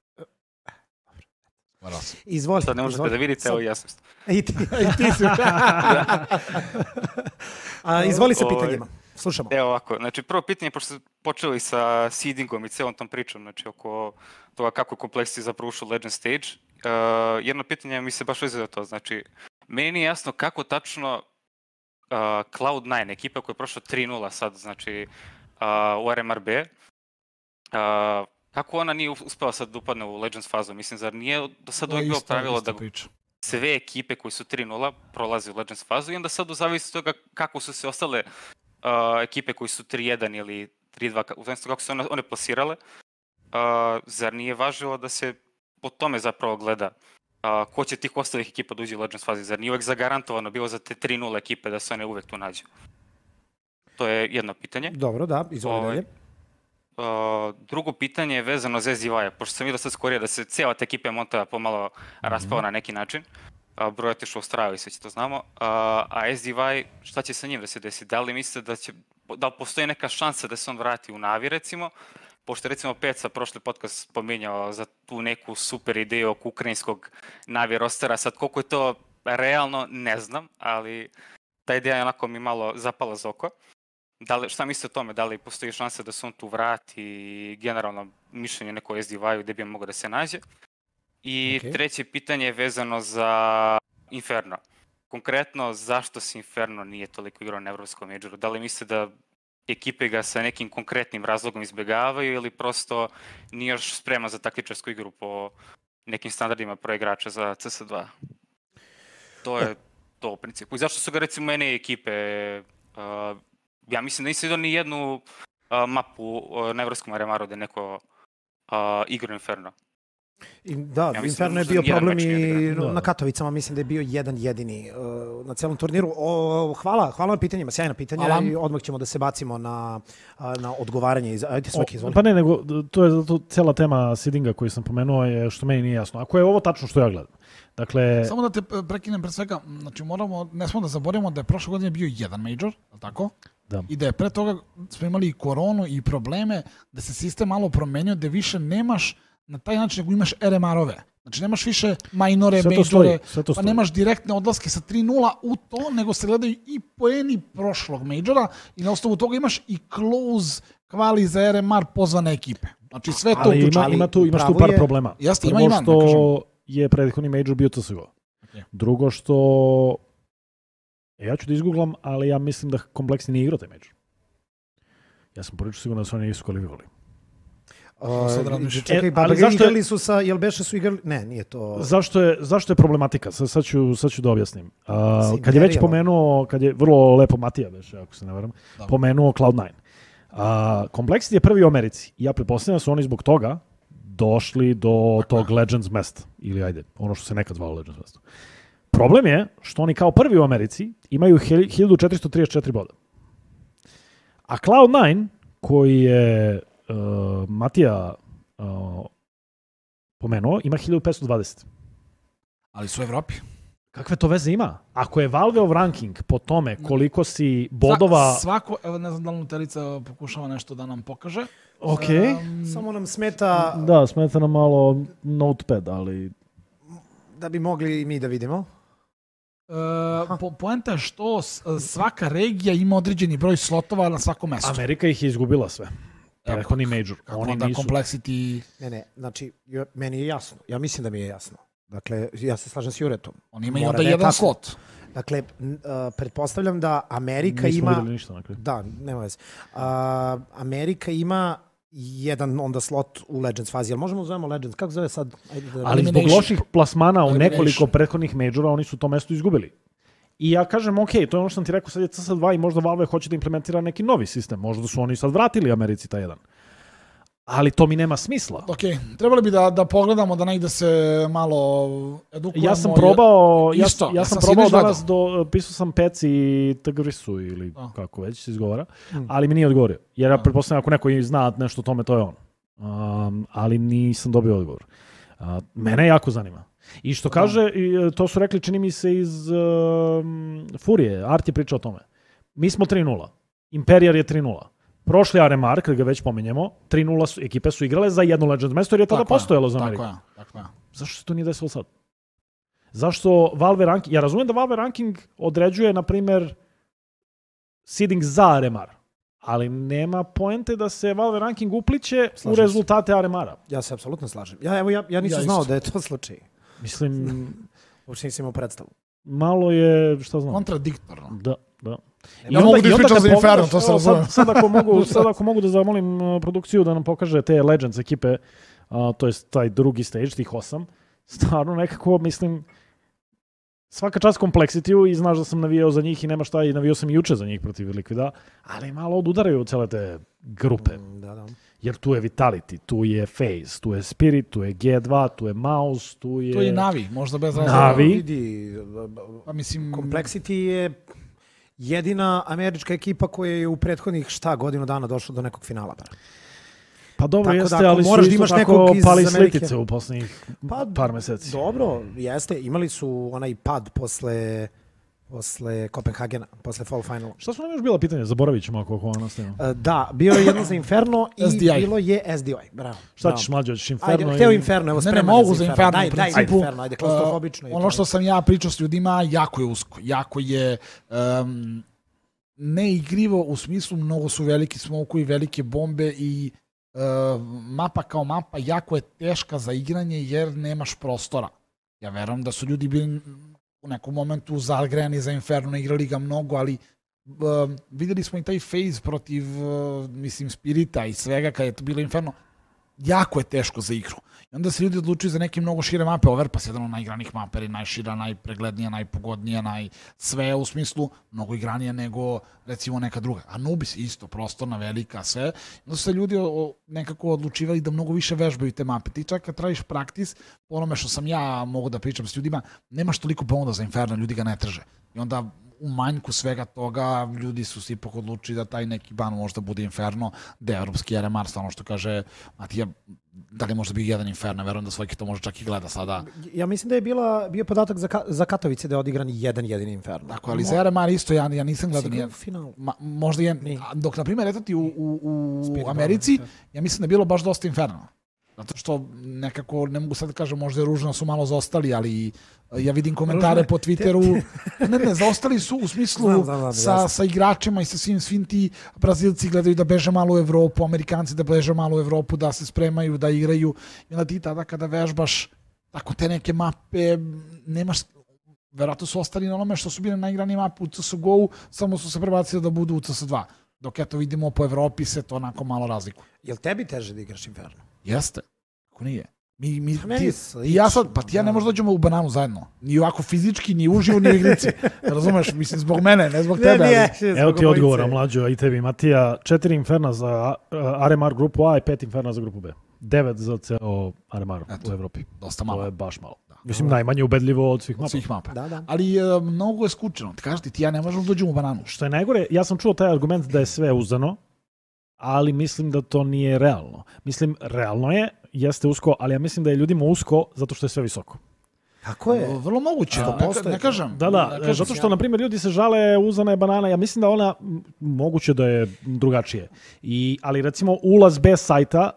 Izvolite. Sad ne možete da vidite, evo ja sam. I ti si. Izvoli sa pitanjima. Slušamo. Evo ovako, znači prvo pitanje, pošto ste počeli sa seedingom i celom tom pričom, znači oko toga kako je Complexity zapravo ušao Legend Stage, jedno pitanje mi se baš veze za to, znači meni nije jasno kako tačno Cloud9, ekipa koja je prošla 3-0 sad, znači u RMRB, kako ona nije uspela sad da upadne u Legends fazu? Mislim, zar nije do sad uvijek bilo pravilo da sve ekipe koji su 3-0 prolaze u Legends fazu i onda sad u zavisnosti od toga kako su se ostale ekipe koji su 3-1 ili 3-2, u zavisnosti kako su one plasirale, zar nije važilo da se po tome zapravo gleda ko će tih ostalih ekipa da uđe u Legends fazi, zar nije uvek zagarantovano bilo za te 3-0 ekipe da se one uvek tu nađu? To je jedno pitanje. Dobro, da, izvoli dalje. Drugo pitanje je vezano za SDY-a, pošto sam vidio sad skorije da se cijela ta ekipa Montova pomalo raspala na neki način. Broj otišao u Australiju, sve će to znamo. A SDY, šta će sa njim da se desi? Da li mislite da postoji neka šansa da se on vrati u Navi, recimo? Pošto recimo Peca prošli podcast spominjao za tu neku super ideju oko ukrajinskog Navi rostera, sad koliko je to realno, ne znam, ali ta ideja je onako mi malo zapala za oko. Šta mislite o tome, da li postoji šansa da se on tu vrati i generalno mišljenje neko SDY-u gde bi on mogao da se nađe? I treće pitanje je vezano za Inferno. Konkretno, zašto se Inferno nije toliko igrao na Evropskom majoru? Da li mislite da ekipe ga sa nekim konkretnim razlogom izbjegavaju ili prosto nije još spreman za taktičarsku igru po nekim standardima pro igrača za CS2? To je to u principu. I zašto su ga recimo NA ekipe, ja mislim da nisam vidio ni jednu mapu na Evropskom aremaru da je neko igrao Inferno. Da, ja Inferno je bio problem i na Katovicama, mislim da je bio jedan jedini na celom turniru. Hvala na pitanjima, sjajna pitanja i odmah ćemo da se bacimo na odgovaranje. Ajde, svaki izvoli. Pa ne, nego to je zato cela tema seedinga koju sam pomenuo je što meni nije jasno. Ako je ovo tačno što ja gledam. Dakle, samo da te prekinem pred svega, znači ne smemo da zaboravimo da je prošle godine bio jedan major, tako? Da. I da je pre toga smo imali i koronu i probleme, da se sistem malo promenio, da više nemaš na taj način nego imaš RMR-ove. Znači nemaš više minore, majore, pa nemaš direktne odlaske sa 3-0 u to, nego se gledaju i poeni prošlog majora i na osnovu toga imaš i close kvali za RMR pozvane ekipe. Znači sve to uključuje. Ali imaš tu par problema. Jeste, prvo što je prethodni major bio CSGO. Okay. Drugo što ja ću da izgooglam, ali ja mislim da Kompleksni nije igrao taj major. Ja sam prilično sigurno da su oni nisu kvalifikovali. Čekaj, pa igrali su sa, jel beše su igrali? Ne, nije to. Zašto je problematika? Sad ću da objasnim. Kad je već pomenuo, kad je vrlo lepo Matija beše, ako se ne varam, pomenuo Cloud9. Complexity je prvi u Americi. Ja pretpostavljam da su oni zbog toga došli do tog Legends mesta. Ili ajde, ono što se nekad zvalo Legends mesto. Problem je što oni kao prvi u Americi imaju 1434 boda. A Cloud9, koji je Matija pomenuo, ima 1520. Ali su u Evropi. Kakve to veze ima? Ako je Valveov ranking po tome koliko si bodova... Svako, evo ne znam da li Nuterica pokušava nešto da nam pokaže. Ok. Samo nam smeta... Da, smeta nam malo notepad, ali... Da bi mogli i mi da vidimo. Poenta je što svaka regija ima određeni broj slotova na svakom mestu. Amerika ih je izgubila sve. Prethodni major. Oni nisu... Complexity... Ne, znači, meni je jasno. Ja mislim da mi je jasno. Dakle, ja se slažem s Juretom. Oni imaju onda jedan slot. Dakle, pretpostavljam da Amerika ima... Nismo vidjeli ništa. Dakle. Da, nema veze. Amerika ima jedan onda slot u Legends fazi. Jel možemo zovemo Legends? Kako zove sad? Ali zbog loših plasmana u nekoliko prethodnih majora oni su to mesto izgubili. I ja kažem, ok, to je ono što sam ti rekao, sad je CS2 i možda Valve hoće da implementira neki novi sistem. Možda su oni sad vratili Americi taj jedan. Ali to mi nema smisla. Ok, trebali bi da pogledamo, da negde se malo edukujemo. Ja sam probao, ja sam probao danas, pisao sam Peci i Tgrisu ili kako već se izgovara, ali mi nije odgovorio. Jer ja pretpostavljam ako neko zna nešto o tome, to je on. Ali nisam dobio odgovor. Mene jako zanima. I što kaže, to su rekli, čini mi se iz Furije, Art je pričao o tome. Mi smo 3-0, Imperial je 3-0. Prošli RMR, kada ga već pominjemo, 3-0 ekipe su igrale za jedno Legends mesto jer je tada postojalo za Ameriku. Tako je. Zašto se to nije desilo sad? Zašto Valve ranking... Ja razumijem da Valve ranking određuje, na primjer, seeding za RMR, ali nema poente da se Valve ranking upliće u rezultate RMR-a. Ja se apsolutno slažem. Ja nisam znao da je to slučaj. Mislim... Uopšte nisam imao predstavu. Malo je, šta znam... Kontradiktorno. Da. Ja mogu da ispričam za Inferno, to se razumem. Sad ako mogu da zamolim produkciju da nam pokaže te Legends ekipe, to je taj drugi stage, tih 8, stvarno nekako, mislim, svaka čast Complexity-u i znaš da sam navijao za njih i nema šta i navijao sam i juče za njih protiv Liquida, ali malo odudaraju od cele te grupe. Da. Jer tu je Vitality, tu je FaZe, tu je Spirit, tu je G2, tu je Mouse, tu je... To je Navi, možda bez razloga. Navi. Vidi, Pa mislim... Complexity je jedina američka ekipa koja je u prethodnih godinu dana došla do nekog finala. Pa dobro, Tako jeste, da, ako ali su moraš da isto imaš tako nekog iz pali Amerike. slitice u poslednjih par meseci. Dobro, jeste. Imali su onaj pad posle Kopenhagena, posle Fall Finala. Šta su nam još bila pitanja? Zaboravit ćemo ako ovo nastavimo. Da, bio je jedno za Inferno i SDI. bilo je SDI. Bravo. Šta ćeš mlađe, hoćeš Inferno? Ajde, hteo Inferno, evo Ne, spreman mogu je za Inferno, Daj u principu. Inferno, ajde, klaustrofobično. Ono što sam ja pričao s ljudima, jako je usko. Jako je neigrivo u smislu, mnogo su veliki smokovi, velike bombe i mapa kao mapa jako je teška za igranje jer nemaš prostora. Ja verujem da su ljudi bili u nekom momentu zagrejani za Inferno, igrali ga mnogo, ali videli smo i taj FaZe protiv Spirita i svega kad je to bilo Inferno. Jako je teško za igru. I onda se ljudi odlučuju za neke mnogo šire mape. Overpass je jedan od najigranih mapa, je najšira, najpreglednija, najpogodnija, sve u smislu mnogo igranija nego recimo neka druga. Anubis isto, prostorna, velika, sve. Onda su se ljudi nekako odlučivali da mnogo više vežbaju te mape. Ti čak kad tražiš praktis, po onome što sam ja mogu da pričam s ljudima, nemaš toliko ponuda za Inferno, ljudi ga ne traže. I onda u manjku svega toga ljudi su se ipak odlučili da taj neki ban možda bude Inferno, da je evropski RMR, stvarno što kaže Matija, da li možda bio jedan Inferno, verujem da Svojki to može čak i gleda sada. Ja mislim da je bio podatak za Katovice da je odigran jedan jedini Inferno. Tako, ali za RMR isto ja nisam gledao nijedan. Možda je, dok na primjer, eto ti u Americi, ja mislim da je bilo baš dosta Inferno. Zato što nekako, ne mogu sad da kažem, možda je ružno su malo zaostali, ali ja vidim komentare po Twitteru. Ne, zaostali su u smislu sa igračima i sa svim ti Brazilci gledaju da beže malo u Evropu, Amerikanci da beže malo u Evropu, da se spremaju, da igraju. I onda ti tada kada vežbaš tako te neke mape, nemaš... Verovatno su ostali na onome što su bile naigrani mape u CSGO-u, samo su se prebacili da budu u CS2. Dok eto vidimo po Evropi se to onako malo razlikuje. Jel tebi teže da igraš Inferno? Jeste. Kako nije? Ja ne možda dođemo u bananu zajedno. Ni ovako fizički, ni uživo, ni u igrici. Razumeš? Mislim, zbog mene, ne zbog tebe. Evo ti odgovora, mlađo, i tebi, Matija. 4 Inferna za RMR grupu A i 5 Inferna za grupu B. 9 za ceo RMR u Evropi. Dosta malo. To je baš malo. Mislim, najmanje ubedljivo od svih mapa. Da. Ali mnogo je skučeno. Ti kažeš ti ja ne možemo dođemo u bananu. Što je najgore, ja sam čuo taj argument da je sve uzdano, ali mislim da to nije realno. Mislim, realno jeste usko, ali ja mislim da je ljudima usko zato što je sve visoko. Tako je. Vrlo moguće, ne kažem. Da, zato što, na primjer, ljudi se žale uzdana je banana, ja mislim da ona, moguće da je drugačije. Ali, recimo, ulaz bez sajta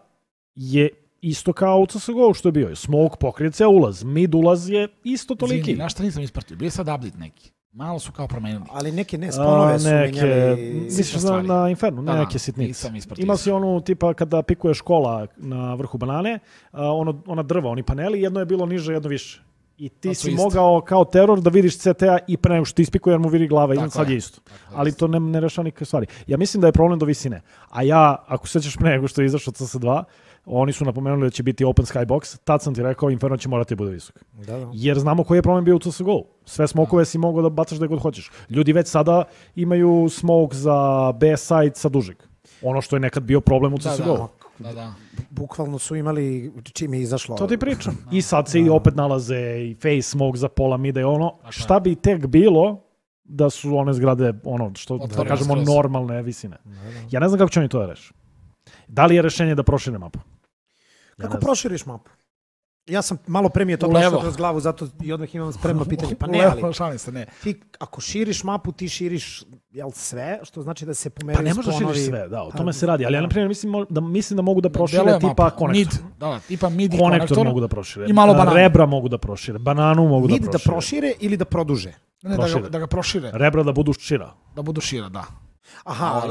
je isto kao u CSGO što je bio. Smoke pokrije ceo ulaz, mid ulaz je isto toliki. Izvini, na šta nisam ispratio, bio je sad update neki. Malo su kao promenili. Ali neke sponove su menjali. Misliš na Infernu, neke sitnice. Ima si onu tipa kada pikuje škola na vrhu banane, ona drva, oni paneli, jedno je bilo niže, jedno više. I ti si mogao kao teror da vidiš CTA i pre nego što ti ispikuje jer mu vidi glava i sad je isto. Ali to ne rešava nikakve stvari. Ja mislim da je problem do visine. A ja, ako sećaš pre nego što je izašao CS2, oni su napomenuli da će biti open skybox, tad sam ti rekao Inferno će morati bude visok. Da. Jer znamo koji je problem bio u CSGO. Sve smokove si mogao da bacaš da god hoćeš. Ljudi već sada imaju smoke za B side sa dužeg. Ono što je nekad bio problem u CSGO. Da. Bukvalno su imali čim je izašlo. To ti pričam. I sad se i opet nalaze i face smoke za pola mida i ono. Šta bi tek bilo da su one zgrade, što da kažemo, normalne visine. Ja ne znam kako će oni to da reši. Da li je rešenje da prošire mapu? Kako proširiš mapu? Ja sam malo premije to prošlo kroz glavu, zato i odmah imam spremno pitanje. Pa ne, ali ti ako širiš mapu, ti širiš sve, što znači da se pomeraju sponovi. Pa ne možeš širiš sve, da, o tome se radi. Ali ja, na primjer, mislim da mogu da prošire tipa konektor. Tipa mid i konektor. Konektor mogu da prošire. I malo bananu. Rebra mogu da prošire. Bananu mogu da prošire. Mid da prošire ili da produže? Ne, da ga prošire. Rebra da budu šira. Da budu šira, da. Aha,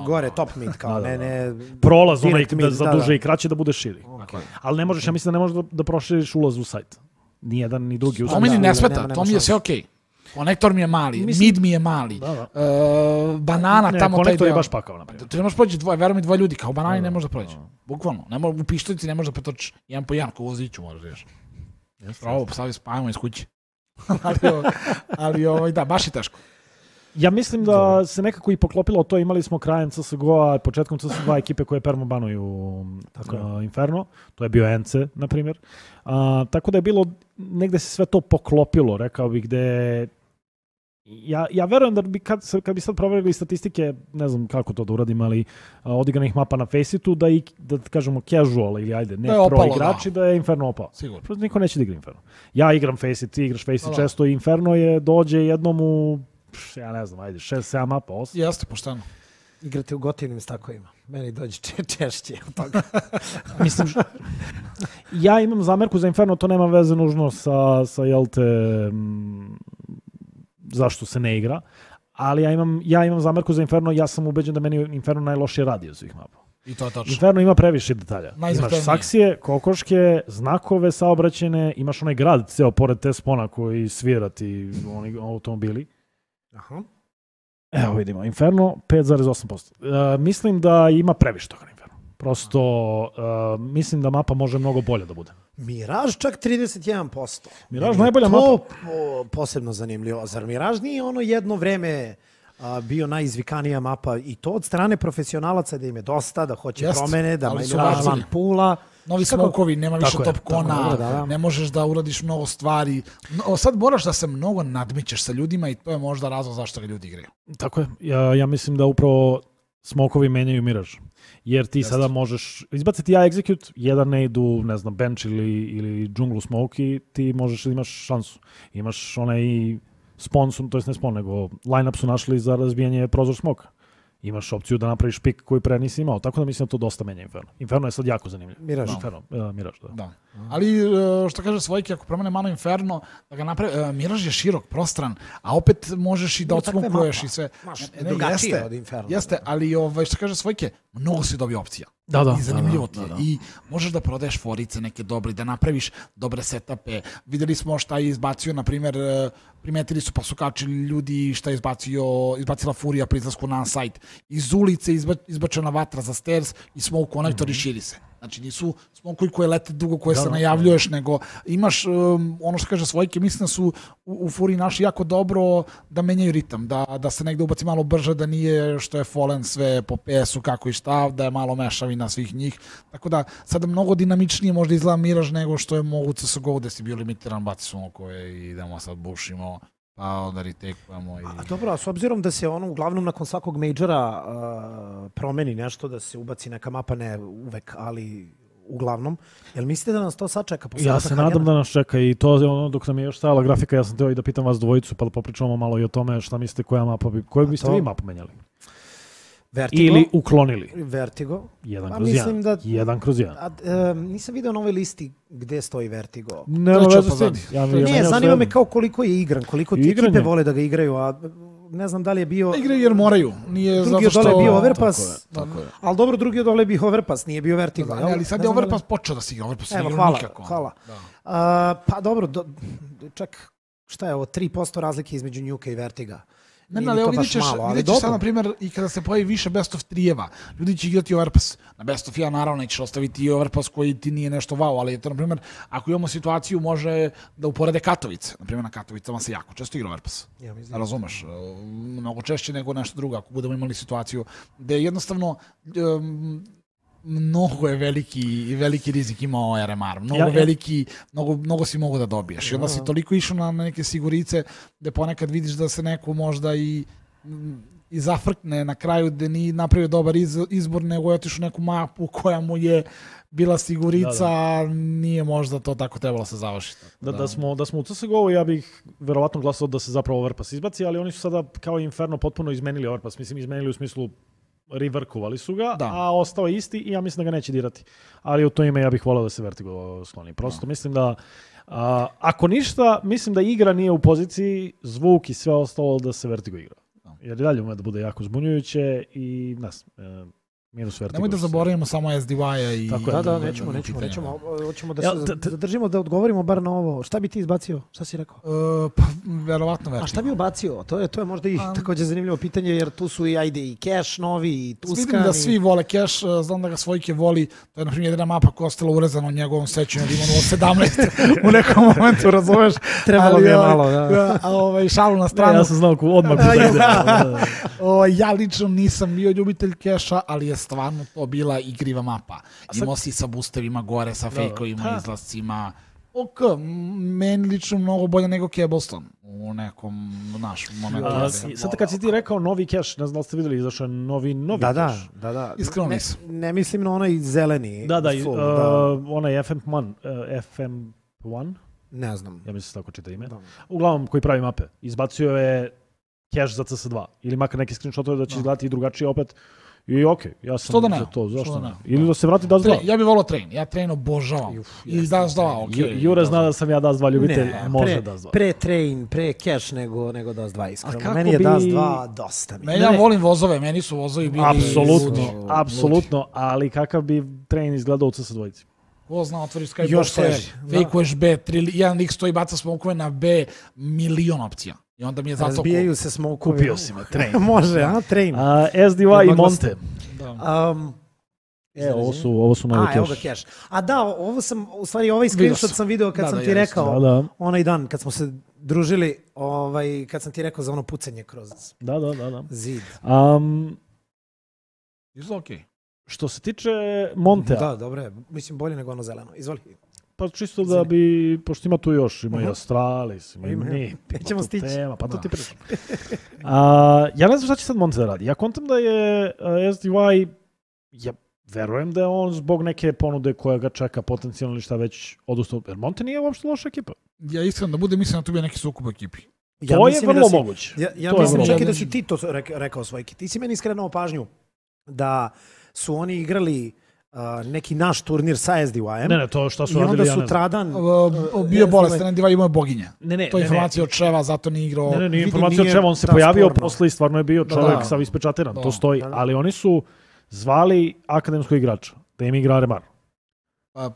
gore, top mid, kao ne... Prolaz onaj za duže i kraće da bude širi. Ali ne možeš, ja mislim da ne možeš da proširiš ulaz u sajt. Ni jedan, ni drugi. To mi ne smeta, to mi je sve okej. Konektor mi je mali, mid mi je mali, banana tamo... Konektor je baš pakao, naprijed. Tu ne možeš proći verujem mi dvoje ljudi, kao banani ne može da proći. Bukvalno, u pištolici ne može da pretočiš jedan po jedan, kao u voziću možeš reći. Pravo, spavimo iz kuće. ali da, baš je teško. Ja mislim da se nekako i poklopilo to, imali smo krajem CSGO-a, početkom CSGO-a ekipe koje permabanuju Inferno, to je bio NC, na primjer. Tako da je bilo, negde se sve to poklopilo, rekao bih, gde ja verujem da bi kad bi sad proverili statistike, ne znam kako to da uradim, ali odigranih mapa na Faceitu, da kažemo casual ili ajde, ne pro igrači, da je Inferno opao. Sigurno. Prosto niko neće da igra Inferno. Ja igram Faceit, ti igraš Faceit često i Inferno dođe jednom u ja ne znam, ajde, 6-7 mapa, 8. Jeste, pošteno. Igrate u gotivnim stakovima. Meni dođe češće od toga. Mislim, ja imam zamerku za Inferno, to nema veze nužno sa jel te, zašto se ne igra, ali ja imam zamerku za Inferno, ja sam ubeđen da meni Inferno najlošije radi od svih mapa. I to je točno. Inferno ima previše detalja. Imaš saksije, kokoške, znakove saobraćene, imaš onaj grad ceo pored te spona koji svira ti oni automobili. Aha. Evo vidimo, Inferno 5,8%. Mislim da ima previše toga na Inferno. Prosto mislim da mapa može mnogo bolje da bude. Mirage čak 31%. Mirage najbolja mapa. To posebno zanimljivo. Zar Mirage nije ono jedno vreme bio najizvikanija mapa i to od strane profesionalaca da im je dosta, da hoće promene, da Mirage van pula. Novi smokovi, nema više top kona, ne možeš da uradiš mnogo stvari. Sad moraš da se mnogo nadmićeš sa ljudima i to je možda razlog zašto ga ljudi igraju. Tako je. Ja mislim da upravo smokovi menjaju Mirage. Jer ti sada možeš izbaciti execute, jedan ne idu, ne znam, bench ili džunglu smoke i ti možeš da imaš šansu. Imaš onaj spawn, to jest ne spawn, nego line-up su našli za razbijanje prozor smoka. Imaš opciju da napraviš pik koji pre nisi imao. Tako da mislim da to dosta menja Inferno. Inferno je sad jako zanimljiv. Mirage. Mirage, da. Ali što kaže Svojki, ako promene malo Inferno, da ga napravi, Mirage je širok, prostran, a opet možeš i da odsmokuješ i sve. Drugačije od Inferno. Jeste, ali što kaže Svojke, mnogo si dobio opcija. Da. I zanimljivo ti je. I možeš da prodaješ forice neke dobre, da napraviš dobre setape. Videli smo šta je izbacio, na primjer, primetili su pa su kačili ljudi šta je izbacila Furija pri izlasku na sajt. Iz ulice izbačena vatra za stairs i smoke konektor i širi se. Znači nisu smokovi koje lete dugo, koje se najavljuješ, nego imaš ono što kaže Svojke, mislim da su u Furiji naši jako dobro da menjaju ritam, da se negde ubaci malo brže, da nije što je Fallen sve po PS-u kako i šta, da je malo mešavina svih njih. Tako da sada mnogo dinamičnije možda izgleda Mirage nego što je mogu CSGO gde si bio limitiran, baci smokove i idemo sad bušimo. Pa onda retakujemo. Dobro, a s obzirom da se ono uglavnom nakon svakog majora promeni nešto, da se ubaci neka mapa, ne uvek, ali uglavnom, jel mislite da nas to sad čeka? Ja se nadam da nas čeka i to je ono dok nam je još stajala grafika, ja sam teo i da pitam vas dvojicu pa da popričamo malo i o tome šta mislite koja mapa koju biste vi mapu menjali? Vertigo. Ili uklonili. Vertigo. 1/1. Nisam vidio na ovoj listi gde stoji Vertigo. Ne, zanima me kao koliko je igran, koliko ti ekipe vole da ga igraju, a ne znam da li je bio... Igraju jer moraju. Drugi odole je bio Overpass. Ali dobro, drugi odole je bio Overpass, nije bio Vertigo. Ali sad je Overpass počeo da se igra. Overpass ne igra nikako. Hvala. Pa dobro, čak šta je ovo, 3% razlike između Nuka i Vertiga. Ne, ali vidit ćeš sad, na primjer, i kada se pojavi više best of 3-eva, ljudi će igrati Overpass. Na best of 1 naravno nećeš ostaviti i Overpass koji ti nije nešto wow, ali je to, na primjer, ako imamo situaciju, može da uporede Katovice. Na primjer, na Katovicama se jako često igra Overpass. Razumeš? Mnogo češće nego nešto drugo, ako budemo imali situaciju gde jednostavno mnogo je veliki rizik imao RMR, mnogo si mogu da dobiješ. I onda si toliko išao na neke sigurice gde ponekad vidiš da se neko možda i zafrkne na kraju gde nije napravio dobar izbor, nego je otišao neku mapu koja mu je bila sigurica, nije možda to tako trebalo se završiti. Da smo u CSGO-u, ja bih verovatno glasao da se zapravo Overpass izbaci, ali oni su sada kao Inferno potpuno izmenili Overpass. Mislim, izmenili u smislu reworkovali su ga, a ostao je isti i ja mislim da ga neće dirati. Ali u to ime ja bih volao da se Vertigo skloni. Prosto mislim da, ako ništa, mislim da igra nije u poziciji, zvuk i sve ostalo da se Vertigo igra. Jer i dalje ume da bude jako zbunjujuće i Minus Vertigo. Nemoj da zaboravimo samo SDY-a i... Da, nećemo. Hoćemo da se zadržimo da odgovorimo bar na ovo. Šta bi ti izbacio? Šta si rekao? Pa, verovatno Vertigo. A šta bi ubacio? To je možda i također zanimljivo pitanje, jer tu su i Cash novi, i Tuscan. Vidim da svi vole Cash, znam da ga Svojke voli. To je, na primjer, jedna mapa koja je ostala urezana u njegovom sećanju, da ima 17 u nekom momentu, razumeš? Trebalo mi je malo, šalu na stranu. Ja sam znao odmah Ja lično nisam bio ljubitelj Cash-a, ali je stvarno to bila igriva mapa. Imao si sa boostevima gore, sa fejkovima, izlascima. Meni lično mnogo bolje nego Cobblestone u nekom momentu. Sad kad si ti rekao novi Cash, ne znam da ste vidjeli, izašao je novi Cash. Da. Iskreno nisam. Ne mislim na onaj zeleni. Onaj FM1. Ne znam. Ja mislim tako čita ime. Uglavnom koji pravi mape. Izbacio je Cash za CS2. Ili makar neki screenshotove da će izgledati i drugačije opet. I okej, ja sam za to, zašto ne? Ili da se vrati Dust 2. Ja bih volao Train, ja Train obožavam. I Dust 2, okej. Jure zna da sam ja Dust 2 ljubitelj, može Dust 2. Pre Train, pre Cash nego Dust 2, iskreno. Meni je Dust 2 dosta. Ja volim vozove, meni su vozovi bili... Apsolutno, ali kakav bi Train izgledao u CS2? Ko zna, otvoriš Skyboxe, fejkuješ B, jedan lik stoji, baca smokove na B, milion opcija. I onda mi je zato... Razbijaju se smokovi. Kupio si me, Train. Može, Train. SDY i Monte. Ovo su novi Cash. Evo ga Cash. Ovo sam, u stvari ovaj screenshot sam video kad sam ti rekao, onaj dan kad smo se družili, kad sam ti rekao za ono pucanje kroz zid. Izlo okej. Što se tiče Montea. Da, dobro je. Mislim, bolje nego ono zeleno. Izvoli. Pa čisto da bi, pošto ima tu još, ima i Astralis, ima i mi. Ćemo stići. Pa to ti pričam. Ja ne znam šta će sad Monte da radi. Ja kontam da je SDY, ja verujem da je on zbog neke ponude koja ga čeka potencijalno ili šta već odustao. Jer Monte nije uopšte loša ekipa. Ja iskreno da bude, mislim da tu bi neki sukob ekipi. To je vrlo moguće. Ja mislim čak i da si ti to rekao Svojki. Ti si meni skrenuo pažnju da su oni igrali neki naš turnir sa SDY-em. Ne, to što su radili, ja ne znam. I onda sutradan... Bio bolestan, SDY imao boginje. To je informacija od Čeva, zato nije igrao... Ne, informacija od Čeva, on se pojavio posle i stvarno je bio čovjek sav ispečatiran. To stoji, ali oni su zvali akademskog igrača, da im igra Remar.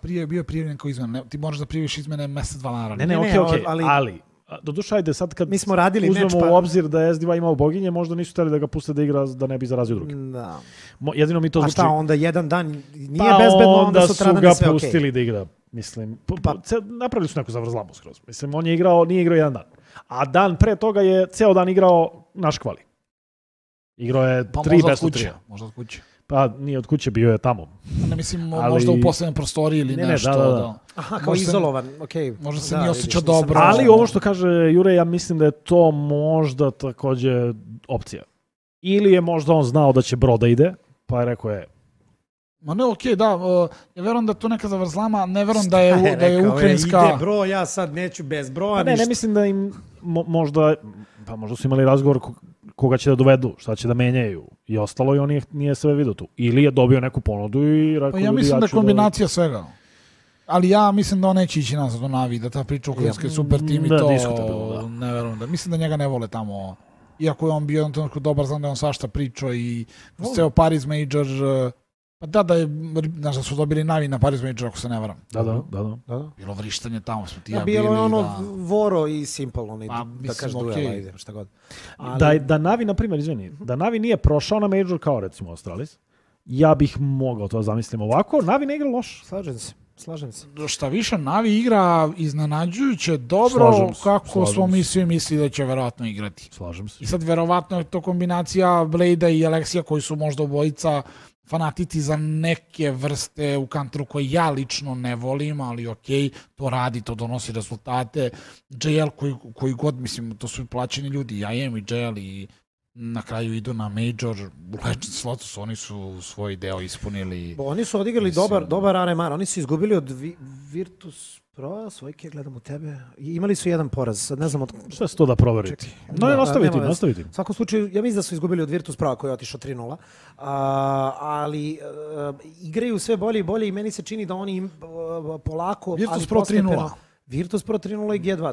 Prije je bio prijavljen kao izmena. Ti možeš da prijaviš izmene mjesec, 2 dana. Ne, okej, ali... Doduše, ajde, sad kad uzmemo u obzir da je SDY imao boginje, možda nisu htjeli da ga puste da igra, da ne bi zarazio drugi. Da. Jedino mi to zvuči... A šta, onda jedan dan nije bezbedno, onda sutradan je sve okej. Onda su ga pustili da igra, mislim. Napravili su neku zavrzlamu skroz. Mislim, on je igrao, nije igrao jedan dan. A dan pre toga je ceo dan igrao naš kvali. Igrao je 3 best of 3. Možda od kuće. Pa nije od kuće, bio je tamo. Ne mislim, možda u poslednjem prostoriji ili nešto. Da. Aha, kao izolovan, okej. Možda se nije osjećao dobro. Ali ovo što kaže Jure, ja mislim da je to možda također opcija. Ili je možda on znao da će Broda ide, pa je rekao Ma ne, okej, da. Ja verujem da je to neka zavrzlama, ne verujem da je ukrajinska... Ide bro, ja sad neću bez broja, ništa. Ne mislim da im možda su imali razgovor koga će da dovedu, šta će da menjaju i ostalo i on nije sve vidio tu. Ili je dobio neku ponudu i rekao... Pa ja mislim da je kombinacija svega. Ali ja mislim da on neće ići nazad u Navi, da ta priča ukrajinska je super tim i to... Ne verujem da. Mislim da njega ne vole tamo. Iako je on bio jednom trenutku dobar, znam da je on svašta pričao i ceo Paris Major... Pa da je, znaš da su dobili Navi na Paris Major, ako se ne varam. Da. Bilo vrištanje tamo, smo ti ja bili. Bilo je ono Voro i Simple, da kažeš duela, šta god. Da Navi, na primjer, izvini, da Navi nije prošao na Major kao recimo Astralis, ja bih mogao to zamislim ovako, Navi ne igra loš. Slažem se. Šta više, Navi igra iznenađujuće dobro, kako smo mi svi mislili da će verovatno igrati. Slažem se. I sad verovatno je to kombinacija Blade-a i Alexija koji su možda obojica fanatici za neke vrste u Counteru koje ja lično ne volim, ali okej, to radi, to donosi rezultate. JL koji god, mislim, to su plaćeni ljudi, ja jem i JL i na kraju idu na Major, u Legends Lotus, oni su svoj deo ispunili. Oni su odigrali dobar RMR, oni su izgubili od Virtus Pro, Svojke, gledam u tebe, imali su jedan poraz, sad ne znam od... Sve se to da proveriti. Nastaviti. U svakom slučaju, ja mislim da su izgubili od Virtus Pro koji je otišao 3-0, ali igraju sve bolje i bolje i meni se čini da oni polako... Virtus Pro 3-0. Virtus Pro 3-0 i G2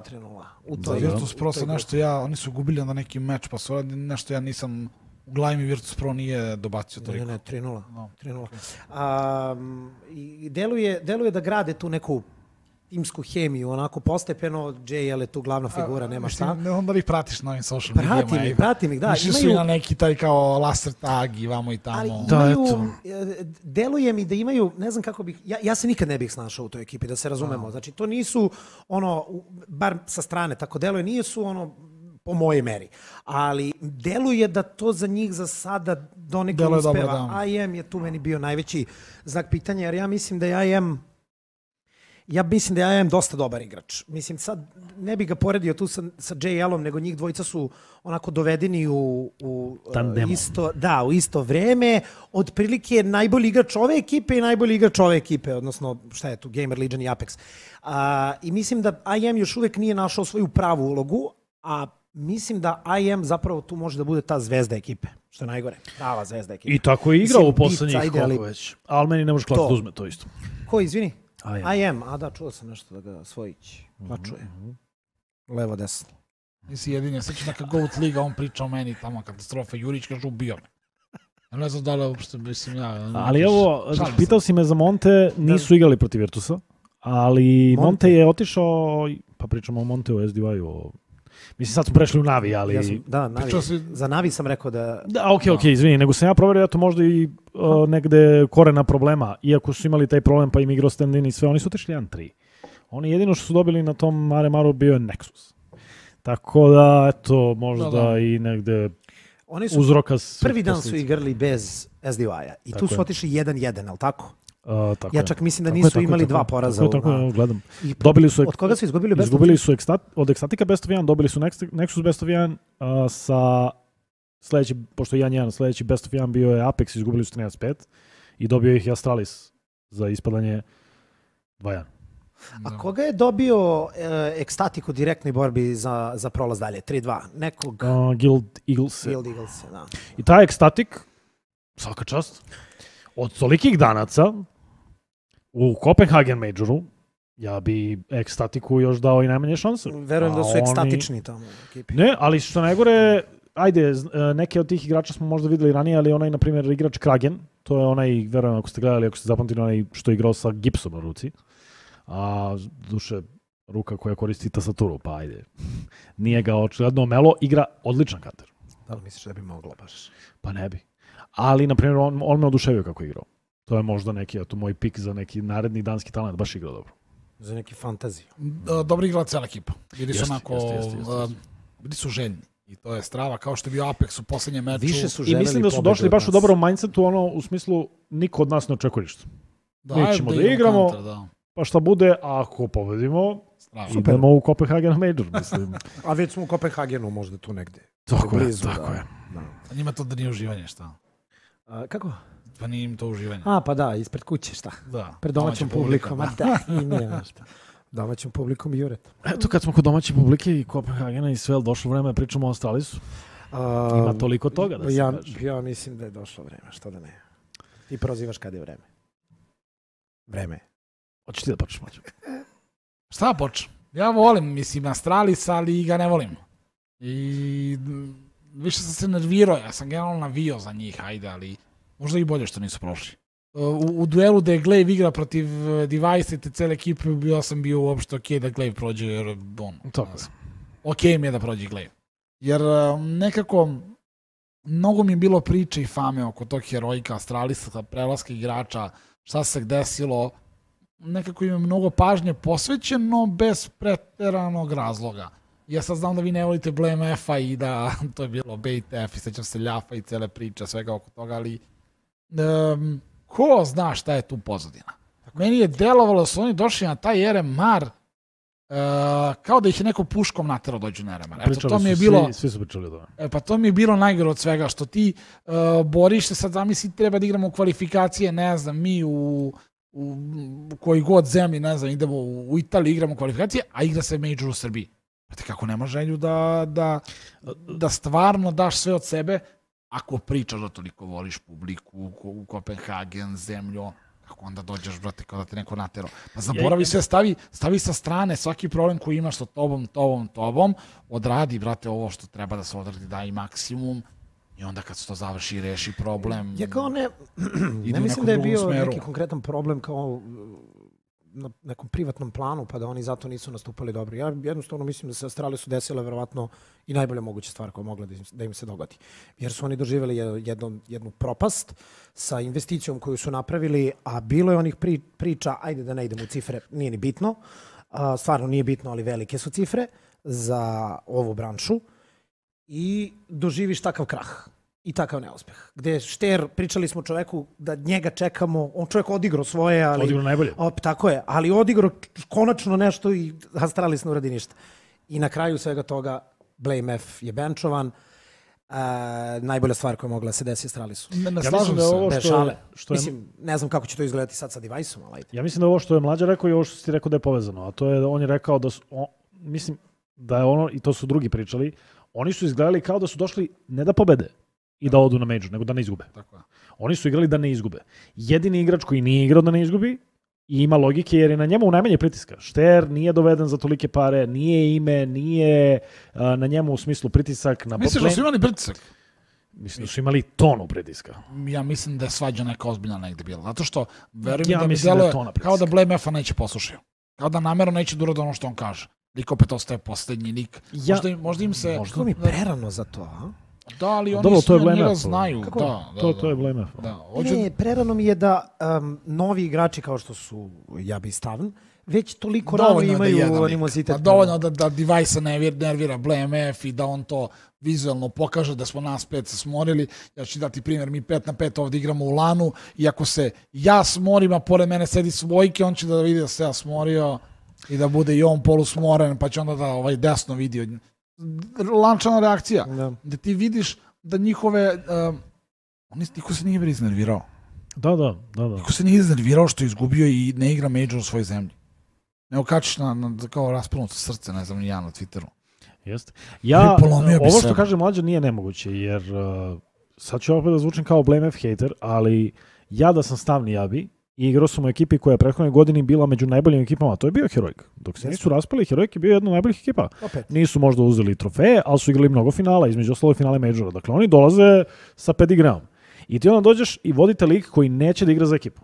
3-0. Virtus Pro sa nešto oni su gubili na neki meč, pa su nešto ja nisam U glavi mi Virtus Pro nije dobacio toliko. Ne, 3-0. No. 3-0. I deluje da grade tu neku timsku hemiju, onako postepeno, JL je tu glavna figura, nema šta. Ne onda ih pratiš na ovim social medijama. Pratim ih, da. Više su i na neki taj kao laser tag i vamo i tamo. Ali deluje mi da imaju, ne znam kako bih, ja se nikad ne bih snašao u toj ekipi, da se razumemo. Znači, to nisu, bar sa strane tako deluje, nisu po moje meri. Ali deluje da to za njih za sada donekle uspeva. IM je tu meni bio najveći znak pitanja, jer ja mislim da je IM dosta dobar igrač. Mislim, sad ne bih ga poredio tu sa JL-om, nego njih dvojica su onako dovedeni u isto vreme. Otprilike najbolji igrač ove ekipe i najbolji igrač ove ekipe, odnosno šta je tu, Gamer, Legion i Apex. I mislim da IM još uvek nije našao svoju pravu ulogu, a mislim da IM zapravo tu može da bude ta zvezda ekipe, što je najgore. Prava zvezda ekipe. I tako je igrao u poslednjih koliko već. Ali meni ne može klati da uzme to isto. Ko, izvini? IM, čuo sam nešto da ga Svojić plačuje. Levo, desno. Nisi jedinja, sveći neka GOAT liga, on priča o meni tamo, katastrofa, Jurić kaže ubio me. Ne znam da li uopšte, mislim ja... Ali evo, pitao si me za Monte, nisu igrali protiv Virtusa, ali Monte je otišao, pa pričamo o Monte u SDY-u, mislim, sad smo prešli u Navi, ali... Navi. Za Navi sam rekao da... Ok, izvini, nego sam ja proverio, to možda i negde korena problema. Iako su imali taj problem, pa im igrao stand-in i sve, oni su otišli 1-3. Oni jedino što su dobili na tom Maremaru bio je Nexus. Tako da, eto, možda i negde uzroka... Prvi dan su igrali bez SDY-a i tu su otišli 1-1, ali tako? Ja čak mislim da nisu imali dva poraza. Tako, gledam. Od koga su izgubili Best of 1? Izgubili su od Ecstatica Best of 1, dobili su Nexus Best of 1, sa sledeći, pošto je 1-1, sledeći Best of 1 bio je Apex, izgubili su 13-5 i dobio ih i Astralis za ispadanje 2-1. A koga je dobio Ecstatic u direktnoj borbi za prolaz dalje? 3-2? Nekog? Guild Eagles. Da. I taj Ecstatic, svaka čast, od tolikih danaca u Copenhagen Majoru, ja bi Ecstaticu još dao i najmanje šanse. Verujem da su ekstatični tamo u ekipi. Ne, ali što najgore, ajde, neke od tih igrača smo možda videli ranije, ali onaj, na primjer, igrač Kragen, to je onaj, verujem, ako ste gledali, ako ste zapamtili, onaj što je igrao sa gipsom na ruci, a duše ruka koja koristi tastaturu, pa ajde, nije ga očigledno omelo, igra odličan kater. Da li misliš da bi moglo baš? Pa ne bi. Ali, na primjer, on me oduševio kako je igrao. To je možda neki, to moj pik za neki naredni danski talent, baš igrao dobro. Za neki fantaziju. Dobro igrala cijela ekipa. Bili su onako, bili su željni. I to je strava, kao što je bio Apex u poslednjem meču. I mislim da su došli baš u dobrom mindsetu, u smislu, niko od nas ne očekuje ništa. Mi ćemo da igramo, pa šta bude, ako pobedimo, idemo u Copenhagen Major, mislim. A već smo u Copenhagenu, možda tu negde. Tako je. A njima to da nije uživanje, šta? Kako? Pa nije im to uživanje. Pa da, ispred kuće, šta? Da. Pred domaćom publikom. Da, i nije nešto. Domaćom publikom i Juret. Eto, kad smo kod domaće publike i Kopenhagena i sve, došlo vreme, pričamo o Astralisu. Ima toliko toga da se kaže. Ja mislim da je došlo vreme, što da ne. Ti prozivaš kada je vreme. Vreme. Hoćeš ti da počneš, Mađo? Šta počnem? Ja volim, mislim, Astralis, ali ga ne volim. I više sam se nervirao, ja sam generalno navio za njih, ajde, ali možda i bolje što nisu prošli. U duelu da je Glaive igra protiv Device i te cele ekipe, ja sam bio uopšte okej da Glaive prođe, jer okej mi je da prođe Glaive. Jer nekako mnogo mi je bilo priče i fame oko tog heroika Astralisa, prelaska igrača, šta se desilo, nekako im je mnogo pažnje posvećeno bez preteranog razloga. Ja sad znam da vi ne volite Blame F-a i da to je bilo Bait F i sećam se Ljafa i cele priče, svega oko toga, ali ko zna šta je tu pozadina. Meni je delovalo da su oni došli na taj RMR kao da ih je neko puškom naterao dođu na RMR. Svi su pričali o tome. Pa to mi je bilo najgore od svega, što ti boriš se, sad zamisli treba da igramo u kvalifikacije, ne znam, mi u koji god zemlji, ne znam, idemo u Italiji, igramo kvalifikacije, a igra se Major u Srbiji. Znate kako nema želju da stvarno daš sve od sebe ako pričaš da toliko voliš publiku, u Kopenhagen, zemlju, kako onda dođeš, brate, kao da te neko naterao. Pa zaboravi sve, stavi sa strane svaki problem koji imaš sa tobom, odradi, brate, ovo što treba da se odradi, daj maksimum I onda kad se to završi i reši problem, Ja kao ne ide u mislim nekom da je drugom bio smeru. neki konkretan problem kao na nekom privatnom planu, pa da oni zato nisu nastupali dobro. Ja jednostavno mislim da se Australiji su desila verovatno i najbolja moguća stvar koja je mogla da im se dogodi. Jer su oni doživjeli jednu propast sa investicijom koju su napravili, a bilo je onih priča, ajde da ne idemo u cifre, nije ni bitno, stvarno nije bitno, ali velike su cifre za ovu branšu i doživiš takav krah i takav neuspeh. Gde Šter, pričali smo čoveku da njega čekamo, on čovjek odigrao svoje, ali... Odigrao najbolje. Tako je, ali odigrao konačno nešto i Astralis ne uradi ništa. I na kraju svega toga Blame F je benčovan. Najbolja stvar koja je mogla se desiti Astralisu. Ne slažem se. Bez šale. Mislim, ne znam kako će to izgledati sad sa device-om, ali ajde. Ja mislim da ovo što je Mlađa rekao i ovo što si ti rekao da je povezano, a to je da on je rekao da su, mislim da je ono, i to su drugi pričali, oni su izgledali kao da su došli ne da pobede i da odu na major, nego da ne izgube. Tako je. Oni su igrali da ne izgube. Jedini igrač koji nije igrao da ne izgubi i ima logike jer je na njemu najmanje pritiska. Šter nije doveden za tolike pare, nije ime, nije na njemu u smislu pritisak. Misliš da su imali pritisak? Mislim da su imali tonu pritiska. Ja mislim da je svađa neka ozbiljna negde bila. Zato što, verujem Ja da mi mislim da je deluje tona pritiska. kao da Blame F-a neće poslušaju. Kao da namjerno neće da urade ono što on kaže. Lik opet ostaje posljednji lik. Možda im se... Možda mi prerano za to, a? Da, ali oni Dobro, to je svi Blame njega F. znaju. To je Blame F. Ne, prerano mi je da novi igrači kao što su Jabi i Stavn već toliko rano imaju animozitet. Pa dovoljno da Device-a nervira Blame F i da on to vizualno pokaže da smo nas 5 se smorili. Ja ću dati primjer, mi 5-5 ovdje igramo u lanu i ako se ja smorim, a pored mene sedi svojke, on će da vidi da se ja smorio i da bude i on polusmoren, pa će onda da desno vidi. Lančana reakcija, da ti vidiš da njihove... niko se nije iznervirao. Da. Niko se nije iznervirao što je izgubio i ne igra major u svojoj zemlji. Ne okačiš kao rasprnuto srce, ne znam, ni ja na Twitteru. Jeste. Ovo što kaže Mlađa nije nemoguće, jer sad ću opet da zvučim kao Blame F hater, ali ja da sam Stavni Jabi i igrao sam u ekipi koja je prethodne godini bila među najboljim ekipama, to je bio Heroic. Dok se nisu raspali, Heroic je bio jedna od najboljih ekipa. Nisu možda uzeli trofeje, ali su igrali mnogo finala, između ostalo finale majora. Dakle, oni dolaze sa pedigreom. I ti onda dođeš i vodite lik koji neće da igra za ekipu.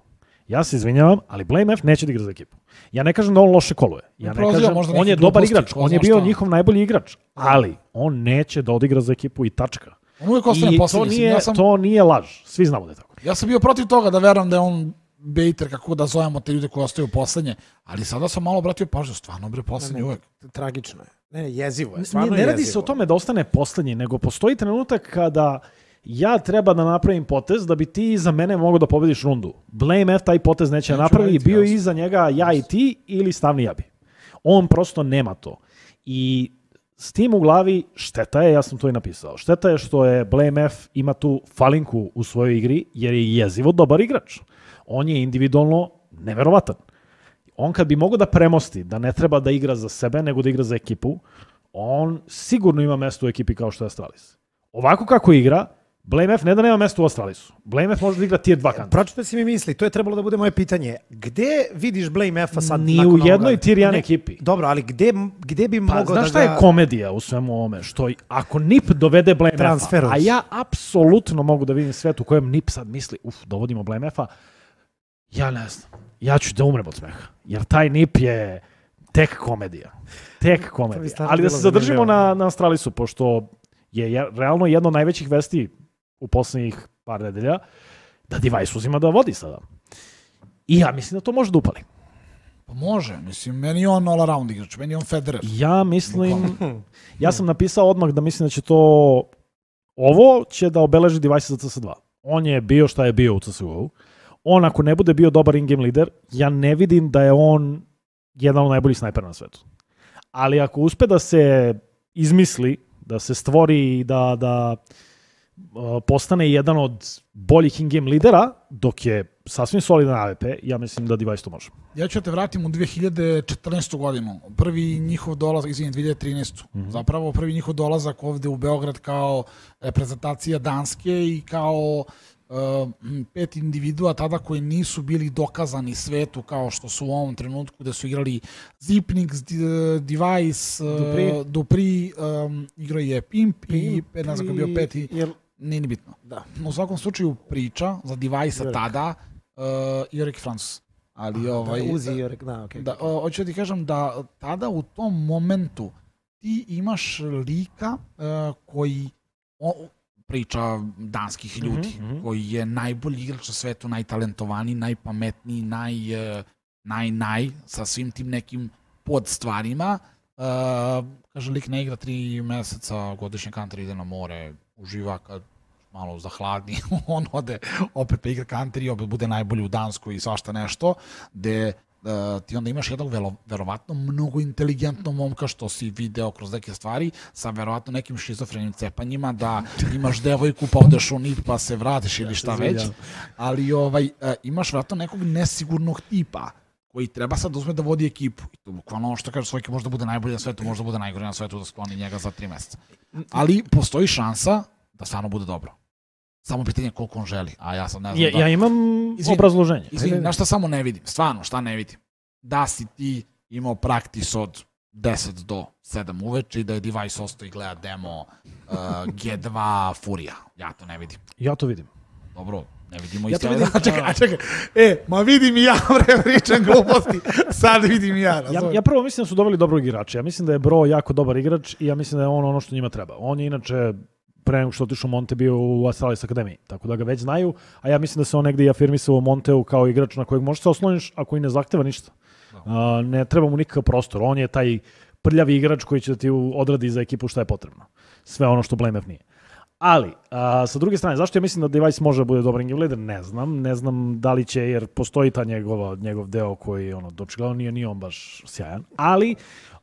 Ja se izvinjavam, ali Blame F neće da igra za ekipu. Ja ne kažem da on loše koluje. Ja ne kažem, on je dobar igrač, on je bio njihov najbolji igrač, ali on neće da odigra za ekipu i tačka. On uvijek ostane posljednji. To nije laž, svi znamo da je tako. Ja sam bio protiv toga da verujem da je on baiter, kako da zovemo te ljude koji ostaju poslednje, ali sada sam malo obratio pažnju, stvarno bre poslednji uvek. Tragično je. Ne, jezivo je. Ne radi se o tome da ostane poslednji, nego postoji trenutak kada ja treba da napravim potez da bi ti za mene mogao da pobediš rundu. Blame F taj potez neće napravi, bio je iza njega ja i ti ili Stavni Jabi. On prosto nema to. I s tim u glavi šteta je, ja sam to i napisao, šteta je što je Blame F ima tu falinku u svojoj igri jer je jezivo dobar igrač. On je individualno neverovatan. On kad bi mogao da premosti, da ne treba da igra za sebe, nego da igra za ekipu, on sigurno ima mesto u ekipi kao što je Astralis. Ovako kako igra, Blame F ne da nema mjesto u Astralisu. Blame F može da igra tier 2 kanta. Pročito si mi misli, to je trebalo da bude moje pitanje. Gde vidiš Blame F-a sad? Ni u jednoj tier 1 ekipi. Dobro, ali gde bi mogao da ga... Znaš šta je komedija u svemu ovome? Što ako NIP dovede Blame F-a, a ja apsolutno mogu da vidim svet u kojem NIP sad misli, dovodimo Blame F-a, ja ne znam. Ja ću da umrem od smeha. Jer taj NIP je tek komedija. Ali da se zadržimo na Astralisu, pošto je realno jedno od najvećih vesti u posljednjih par nedelja, da Device uzima da vodi sada. I ja mislim da to može da upali. Pa može, mislim, meni je on all around igrač, meni je on Federer. Ja mislim, ja sam napisao odmah da mislim da će to, ovo će da obeleži Device za CS2. On je bio šta je bio u CSGO. On ako ne bude bio dobar in-game lider, ja ne vidim da je on jedan od najboljih snajpera na svetu. Ali ako uspe da se izmisli, da se stvori i da postane jedan od boljih in-game lidera, dok je sasvim solidan AWP, ja mislim da Device to može. Ja ću te vratim u 2014. godinu. Prvi njihov dolazak, 2013. Zapravo prvi njihov dolazak ovde u Beograd kao reprezentacija Danske i kao 5 individua tada koji nisu bili dokazani svetu kao što su u ovom trenutku gde su igrali Zipnix, Device, Dupri, igrao je Pimp i ne znam kako bio peti. Nije ni bitno. Da. U svakom slučaju priča za Device-a tada Jurek Francus. Ali Uzi i Jurek, da, okej. Da, hoću da ti kažem da tada u tom momentu ti imaš lika koji priča danskih ljudi, koji je najbolji igrač na svetu, najtalentovaniji, najpametniji, naj, sa svim tim nekim podstvarima. Kaže, lik ne igra 3 meseca, godišnje country, ide na more, uživa kad malo zahladni, on ode opet pa igra country, opet bude najbolji u Danskoj i svašta nešto, gde ti onda imaš jednog verovatno mnogo inteligentnog momka što si video kroz neke stvari sa verovatno nekim šizofrenim cepanjima, da imaš devojku pa odeš u NIP pa se vratiš ili šta već, ali imaš verovatno nekog nesigurnog tipa koji treba sad uzme da vodi ekipu. I to bukvalno ono što kaže Svojke, možda bude najbolji na svetu, možda bude najgori na svetu, da skloni njega za 3 meseca. Ali postoji šansa da stvarno bude dobro. Samo pitanje koliko on želi, a ja sad ne znam Ja imam obrazloženje. Izvini, na šta samo ne vidim, stvarno, šta ne vidim? Da si ti imao praktis od 10 do 7 uveče i da je Device ostao i gleda demo G2 Furija. Ja to ne vidim. Ja to vidim. Dobro, ne vidimo Ja isto. to vidim. Čekaj. Ma vidim i ja, pričam gluposti. Sad vidim i ja. Ja prvo mislim da su doveli dobrog igrača. Ja mislim da je Bro jako dobar igrač i ja mislim da je on ono što njima treba. On je inače pre nego što otišao Monte bio u Astralis Akademiji, tako da ga već znaju, a ja mislim da se on negdje i afirmisao u Monteu kao igrač na kojeg možeš se osloniš ako i ne zahteva ništa. Ne treba mu nikakav prostor. On je taj prljavi igrač koji će da ti odradi za ekipu šta je potrebno. Sve ono što BlameF nije. Ali, sa druge strane, zašto ja mislim da Device može da bude dobar game leader? Ne znam da li će, jer postoji ta njegov deo koji, dočigledno nije on baš sjajan. Ali,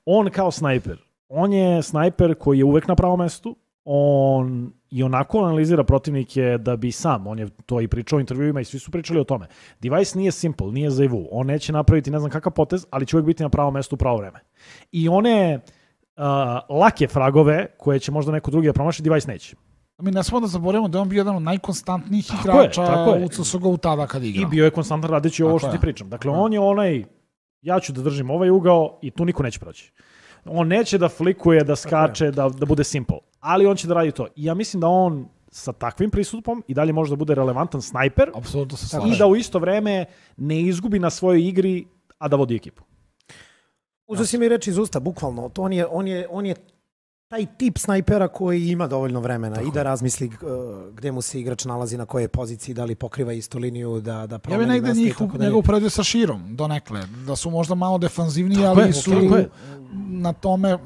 on kao snajper, on je snajper koji je uvek na pravom mestu, on i onako analizira protivnike da bi sam, on je to i pričao u intervjuima i svi su pričali o tome. Device nije simple, nije za Evu, on neće napraviti ne znam kakav potez, ali će uvek biti na pravom mestu u pravo vreme. I one lake fragove koje će možda neko drugi da promaši, Device neće. Mi ne smemo da zaboravimo da je on bio jedan od najkonstantnijih igrača u CSGO tada kad igrao. I bio je konstantan radeći ovo što ti pričam. Dakle, on je onaj, ja ću da držim ovaj ugao i tu niko neće proći. On neće da flikuje, da skače, da bude simple. Ali on će da radi to. I ja mislim da on sa takvim pristupom i dalje može da bude relevantan snajper. Apsolutno se slažem. I da u isto vreme ne izgubi na svojoj igri, a da vodi ekipu. Uzeo si mi reći iz usta, bukvalno. On je taj tip snajpera koji ima dovoljno vremena i da razmisli gde mu se igrač nalazi, na kojoj poziciji, da li pokriva istu liniju, da promeni mesta. Ja bih negde njega uporedio sa Širom, donekle. Da su možda malo defanzivniji, ali su na tome,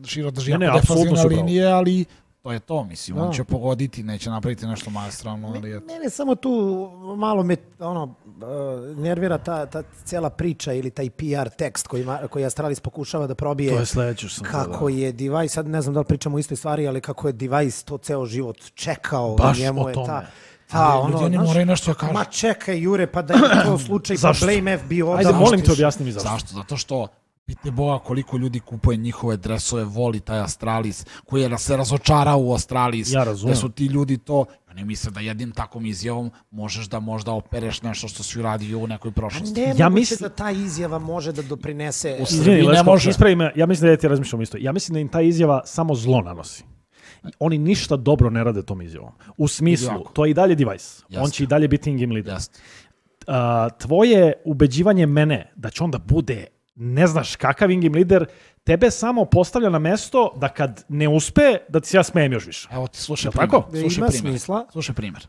Širo drži jako defanzivne linije, ali to je to, mislim. On će pogoditi, neće napraviti nešto maestralno. Mene samo tu malo me nervira ta cijela priča ili taj PR tekst koji Astralis pokušava da probije. To je sledeće što sam kako je Device, sad ne znam da li pričamo o istoj stvari, ali kako je Device to ceo život čekao. Baš njemu o tome. Ljudi moraju nešto kažu. Ma čekaj, Jure, pa da je to slučaj, pa BlameF bio odavno. Ajde, molim te objasni mi zašto. Zašto? Zato što pite Boga koliko ljudi kupuje njihove dresove, voli taj Astralis, koji je se razočarao u Astralis. Ja razumem. Da su ti ljudi to, ne misle da jednim takvom izjavom možeš da možda opereš nešto što si uradio u nekoj prošlosti. Ja mislim da ta izjava može da doprinese... Izvini, Leško, ispravi me, ja mislim da ja ti razmišljam isto. Ja mislim da im ta izjava samo zlo nanosi. Oni ništa dobro ne rade tom izjavom. U smislu, to je i dalje Device. On će i dalje biti in-game leader. Tvoje ubeđivanje mene da će onda bude ne znaš kakav in-game lider, tebe samo postavlja na mesto da kad ne uspe, da ti se ja smijem još više. Evo ti slušaj primjer.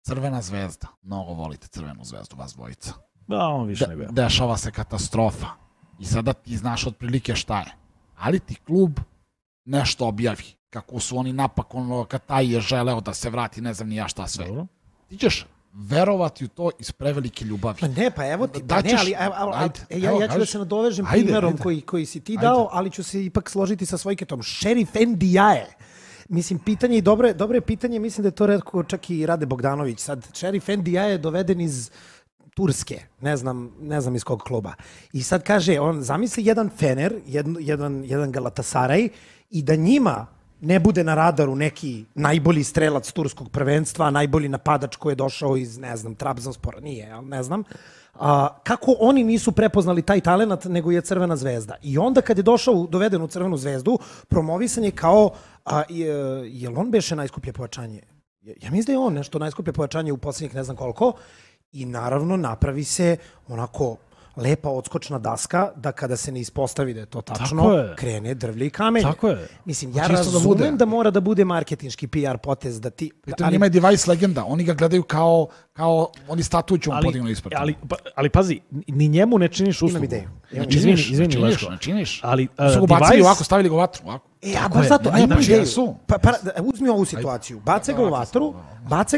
Crvena zvezda. Mnogo volite Crvenu zvezdu, vas dvojica. Da, on više nego ja. Dešava se katastrofa. I sada ti znaš otprilike šta je. Ali ti klub nešto objavi. Kako su oni napak, kad taj je želeo da se vrati, ne znam ni ja šta sve. Dobro. Ti ćeš verovati u to iz prevelike ljubavi. Pa ne, pa evo ti, ja ću da se nadovežem primjerom koji si ti dao, ali ću se ipak složiti sa Svojketom. Šerif Ndiaye. Mislim, pitanje i dobro je pitanje, mislim da je to rekao čak i Rade Bogdanović. Sad, Šerif Ndiaye je doveden iz Turske, ne znam iz kog kluba. I sad kaže, on zamisli jedan Fener, jedan Galatasaray i da njima ne bude na radaru neki najbolji strelac turskog prvenstva, najbolji napadač koji je došao iz, ne znam, Trabzonspora, nije, ne znam. Kako oni nisu prepoznali taj talent nego je Crvena zvezda. I onda kad je došao, doveden u Crvenu zvezdu, promovisan je kao, je li on beše najskuplje pojačanje? Ja mislim da je on nešto najskuplje pojačanje u poslednjih ne znam koliko i naravno napravi se onako lepa odskočna daska da kada se ne ispostavi da je to tačno, krene drvlje i kamenje. Tako je. Mislim, ja razumem da mora da bude marketinški PR potez da ti... Pritom njima je device legenda, oni ga gledaju kao oni statuću on podignu ispred. Ali pazi, ni njemu ne činiš uslugu. Imam ideju. Izvini, Leško. Ne činiš. Ali su ga bacili ovako, stavili ga u vatru. A baš zato, imam ideju. Uzmi ovu situaciju, bace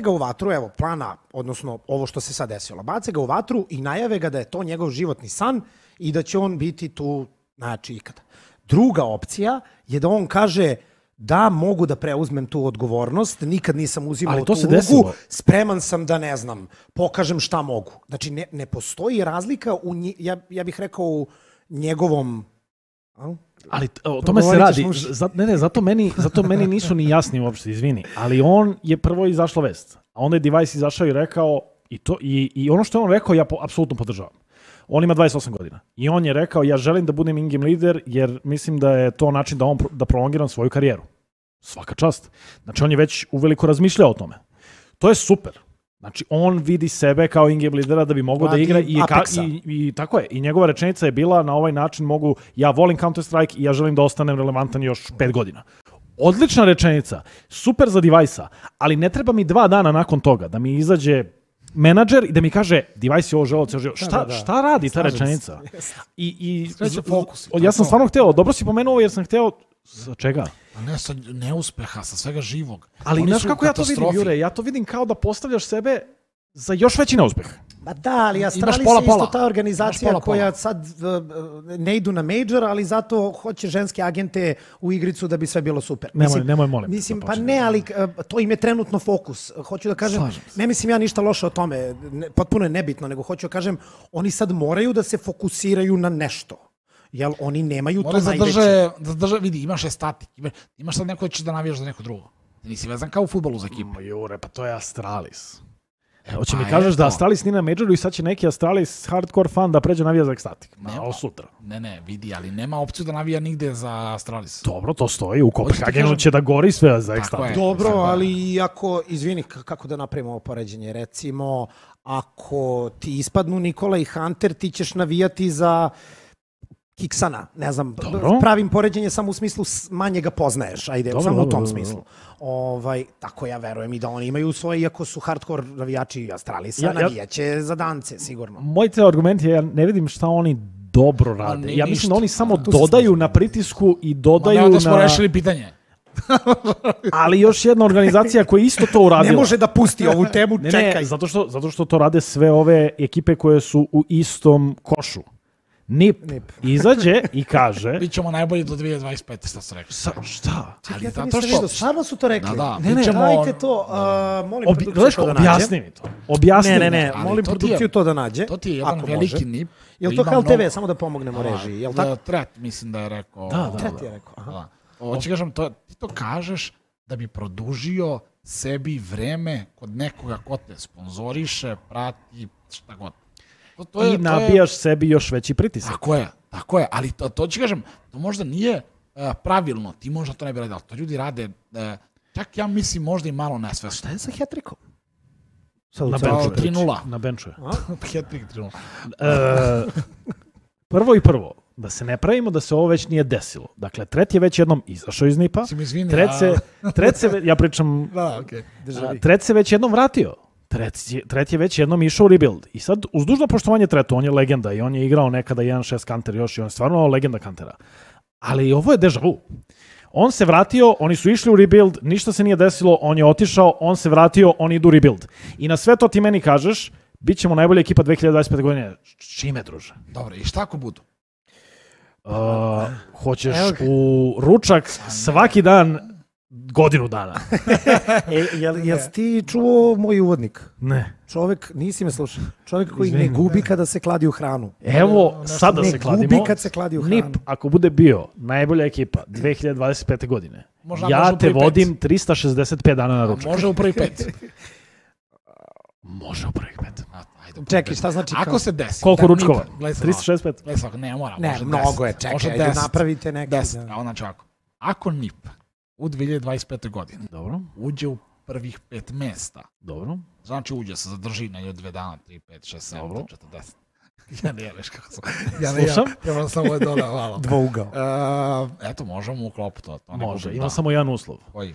ga u vatru, evo, plana, odnosno ovo što se sad desilo, bace ga u vatru i najave ga da je to njegov životni san i da će on biti tu, znači, ikada. Druga opcija je da on kaže da mogu da preuzmem tu odgovornost, nikad nisam uzimao tu ulogu, spreman sam da, ne znam, pokažem šta mogu. Znači, ne postoji razlika, ja bih rekao, u njegovom... Ali o tome se radi. Zato meni nisu ni jasni uopšte, izvini. Ali on je prvo izašla vest. A onda je Device izašao i rekao, i ono što je on rekao, ja apsolutno podržavam. On ima 28 godina. I on je rekao, ja želim da budem in-game lider, jer mislim da je to način da prolongiram svoju karijeru. Svaka čast. Znači, on je već uveliko razmišljao o tome. To je super. Znači, on vidi sebe kao in-game lidera da bi mogao da igra i tako je. I njegova rečenica je bila na ovaj način ja volim Counter-Strike i ja želim da ostanem relevantan još 5 godina. Odlična rečenica, super za Device-a, ali ne treba mi 2 dana nakon toga da mi izađe menadžer i da mi kaže Device je ovo želeo, šta radi ta rečenica? Ja sam stvarno hteo, dobro si pomenuo jer sam hteo čega? Ne sa neuspeha, sa svega živog. Ali znaš kako ja to vidim, Jure? Ja to vidim kao da postavljaš sebe za još veći neuspeh. Ma da, ali Astralis je isto ta organizacija koja sad ne idu na major, ali zato hoće ženske agente u igricu da bi sve bilo super. Nemoj, molim. Mislim, pa ne, ali to im je trenutno fokus. Hoću da kažem, ne mislim ja ništa loše o tome, potpuno je nebitno, nego hoću da kažem, oni sad moraju da se fokusiraju na nešto. Jel oni nemaju to najveće. Vidi, imaš statik, imaš sad neko da ćeš da navijaš za neko drugo. Nisi vezan kao u fudbalu za ekipu. Jure, pa to je Astralis. Hoće mi kažeš da Astralis nije na majoru i sad će neki Astralis hardcore fan da pređe navija za Ekstatik. Ovo sutra. Ne, vidi, ali nema opciju da navija nigde za Astralis. Dobro, to stoji. U Kopenhagenu će da gori sve za Ekstatik. Dobro, ali ako, izvini, kako da napravimo ovo poređenje, recimo, ako ti ispadnu Nikola i Hunter, ti ćeš navijati za Kiksana, ne znam, pravim poređenje samo u smislu manje ga poznaješ, ajde, samo u tom smislu. Tako ja verujem i da oni imaju svoje, iako su hardcore navijači Astralisa, navijaće za Dance, sigurno. Moj te argument je, ja ne vidim šta oni dobro rade. Ja mislim da oni samo dodaju na pritisku i dodaju da smo rešili pitanje. Ali još jedna organizacija koja isto to uradila. Ne može da pusti ovu temu, čekaj. Zato što to rade sve ove ekipe koje su u istom košu. NIP izađe i kaže... Mi ćemo najbolji do 2025. Šta su rekli? Šta? Ali ja to nisam vidio, stvarno su to rekli. Ne, dajte to, molim produkciju to da nađe. Objasni mi to. Objasni. Ne, molim produkciju to da nađe. To ti je jedan veliki NIP. Je li to HLTV, samo da pomognemo režiji? Je li tako? Tret, mislim da je rekao. Tret je rekao. Hoće kažem, ti to kažeš da bi produžio sebi vreme kod nekoga ko te sponzoriše, prati, šta god. I nabijaš sebi još veći pritisak. Tako je, ali to ću kažem, to možda nije pravilno, ti možda to ne bi radio, ali to ljudi rade, čak ja mislim možda i malo nesvesno. Šta je sa hat-trickom? Na benču. 3-0. Na benču je. Hat-trick 3-0. Prvo, da se ne pravimo da se ovo već nije desilo. Dakle, Tret je već jednom izašao iz NIP-a. Ja pričam, Tret se već jednom vratio. Tret je već jednom išao u rebuild. I sad, uz dužno poštovanje Tretu, on je legenda i on je igrao nekada 1.6 Counter još i on je stvarno legenda Countera. Ali ovo je deja vu. On se vratio, oni su išli u rebuild, ništa se nije desilo, on je otišao, on se vratio, oni idu u rebuild. I na sve to ti meni kažeš, bit ćemo najbolja ekipa 2025. godine. Čime, druže? Dobro, i šta ako budu? Hoćeš u ručak svaki dan godinu dana. Jel ti čuo moj uvodnik? Ne. Čovek, nisi me slušao, čovek koji ne gubi kada se kladi u hranu. Evo, sada se kladimo. Ne gubi kad se kladi u hranu. NIP, ako bude bio najbolja ekipa 2025. godine, ja te vodim 365 dana na ručak. Može u prvi 5. Može u prvi 5. Čekaj, šta znači? Ako se desi. Koliko ručkova? 365? Ne, mora. Ne, mnogo je, čekaj, ajde napravite neki. Znači ovako. Ako NIP u 2025. godini dobro, uđe u prvih 5 mesta. Dobro. Znači uđe se, zadrži na 2 dana, 3, 5, 6, 7, Dobro. 40. Ja ne jeliš kako sam. Slušam. Ja samo je dodao, malo. Dvougao. Eto, možemo u klopu to. Može, ima samo jedan uslov. Koji?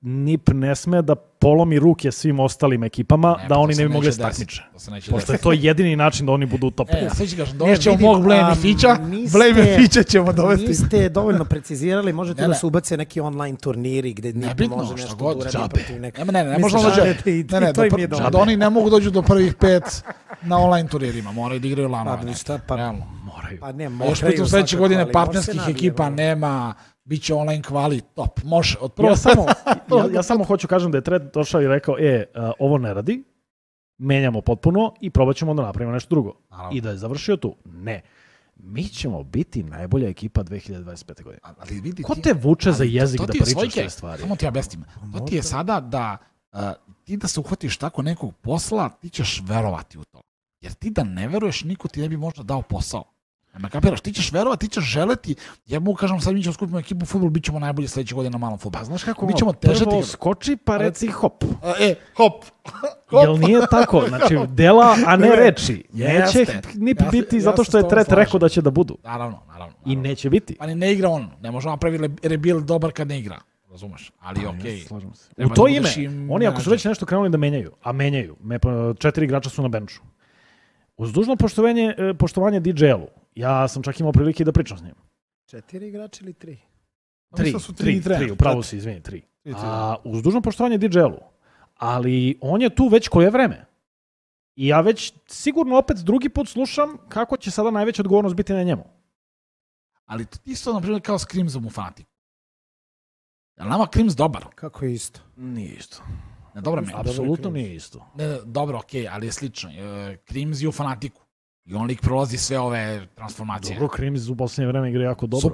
NIP ne sme da polomi ruke svim ostalim ekipama, da oni ne bi mogli takmiče. Pošto je to jedini način da oni budu u top 5. Sve ću kažem, dovešćemo mog Blame Fića, Blame Fića ćemo dovesti. Niste dovoljno precizirali, možete da se ubace neki online turniri gde NIP može nešto da uradi protiv nekog. Ne možemo dođe. Da oni ne mogu dođu do prvih 5 na online turnirima, moraju da igraju lanove. Realno. Moraju. Pa ne, još pritom sledeće godine partnerskih ekipa nema, bit će online kvali, top, može. Ja samo hoću kažem da je Tred došao i rekao, ovo ne radi, menjamo potpuno i probat ćemo da napravimo nešto drugo. I da je završio tu. Ne. Mi ćemo biti najbolja ekipa 2025. godine. Ko te vuče za jezik da pričaš te stvari? Samo ti objasnim. To ti je sada da ti da se uhvatiš tako nekog posla, ti ćeš verovati u to. Jer ti da ne veruješ, niko ti ne bi možda dao posao. Me kapiraš, ti ćeš verovati, ti ćeš želeti. Ja mogu kažem, sad mi ćemo skupiti ekipu u fudbal, bit ćemo najbolji sledeće godine na malom fudbalu. Pa znaš kako, prvo skoči pa reci hop. Hop. Jel nije tako? Znači, dela, a ne reči. Neće ni biti zato što je Tret rekao da će da budu. Naravno. I neće biti. Pa ne igra on. Ne možemo napraviti rebuild dobar kad ne igra. Razumeš? Ali okej. U to ime, oni ako su već nešto krenuli da menjaju, a menjaju, 4 igrača su na benču. Uz dužno poštovanje DJ-u, ja sam čak imao prilike da pričam s njim. 4 igrača ili 3? 3, upravo si, izvini, 3. Uz dužno poštovanje DJ-u, ali on je tu već koje vreme. I ja već sigurno opet drugi put slušam kako će sada najveća odgovornost biti na njemu. Ali to isto, na primjer, kao s Crimsom u Fanatiku. Je li nama Crims dobar? Kako je isto? Nije isto. Ne, dobro mi. Apsolutno nije isto. Ne, dobro, okej, ali je slično. Crims je u Fanatiku. I on lik prolazi sve ove transformacije. Dobro, Crims u posljednje vreme igra jako dobro.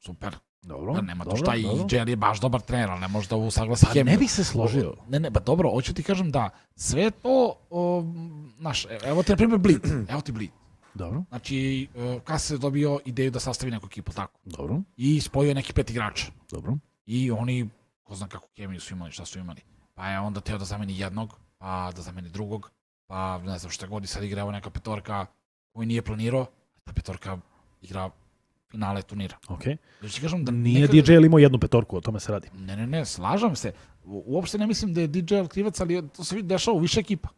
Super. Dobro. Nema to šta, i JL je baš dobar trener, ali ne može da usaglasi hemiju. Ne bih se složio. Ne, dobro, hoću ti kažem da sve to, evo ti na primjer Bleed. Evo ti Bleed. Dobro. Znači, Kas je dobio ideju da sastavi neku ekipu, tako. Dobro. I spojio neki 5 igrača. Dobro. I oni, ko zna kako kemiju su imali, šta su imali. Pa je onda teo da zameni jednog, pa da zameni drugog, pa ne znam šta god i sad igra evo neka petorka koju nije planirao, ta petorka igra finale turnira. Okej. Kažem da nije DJ imao jednu petorku, o tome se radi. Ne, slažem se. Uopšte ne mislim da je DJ krivac, ali to se dešava u više ekipa.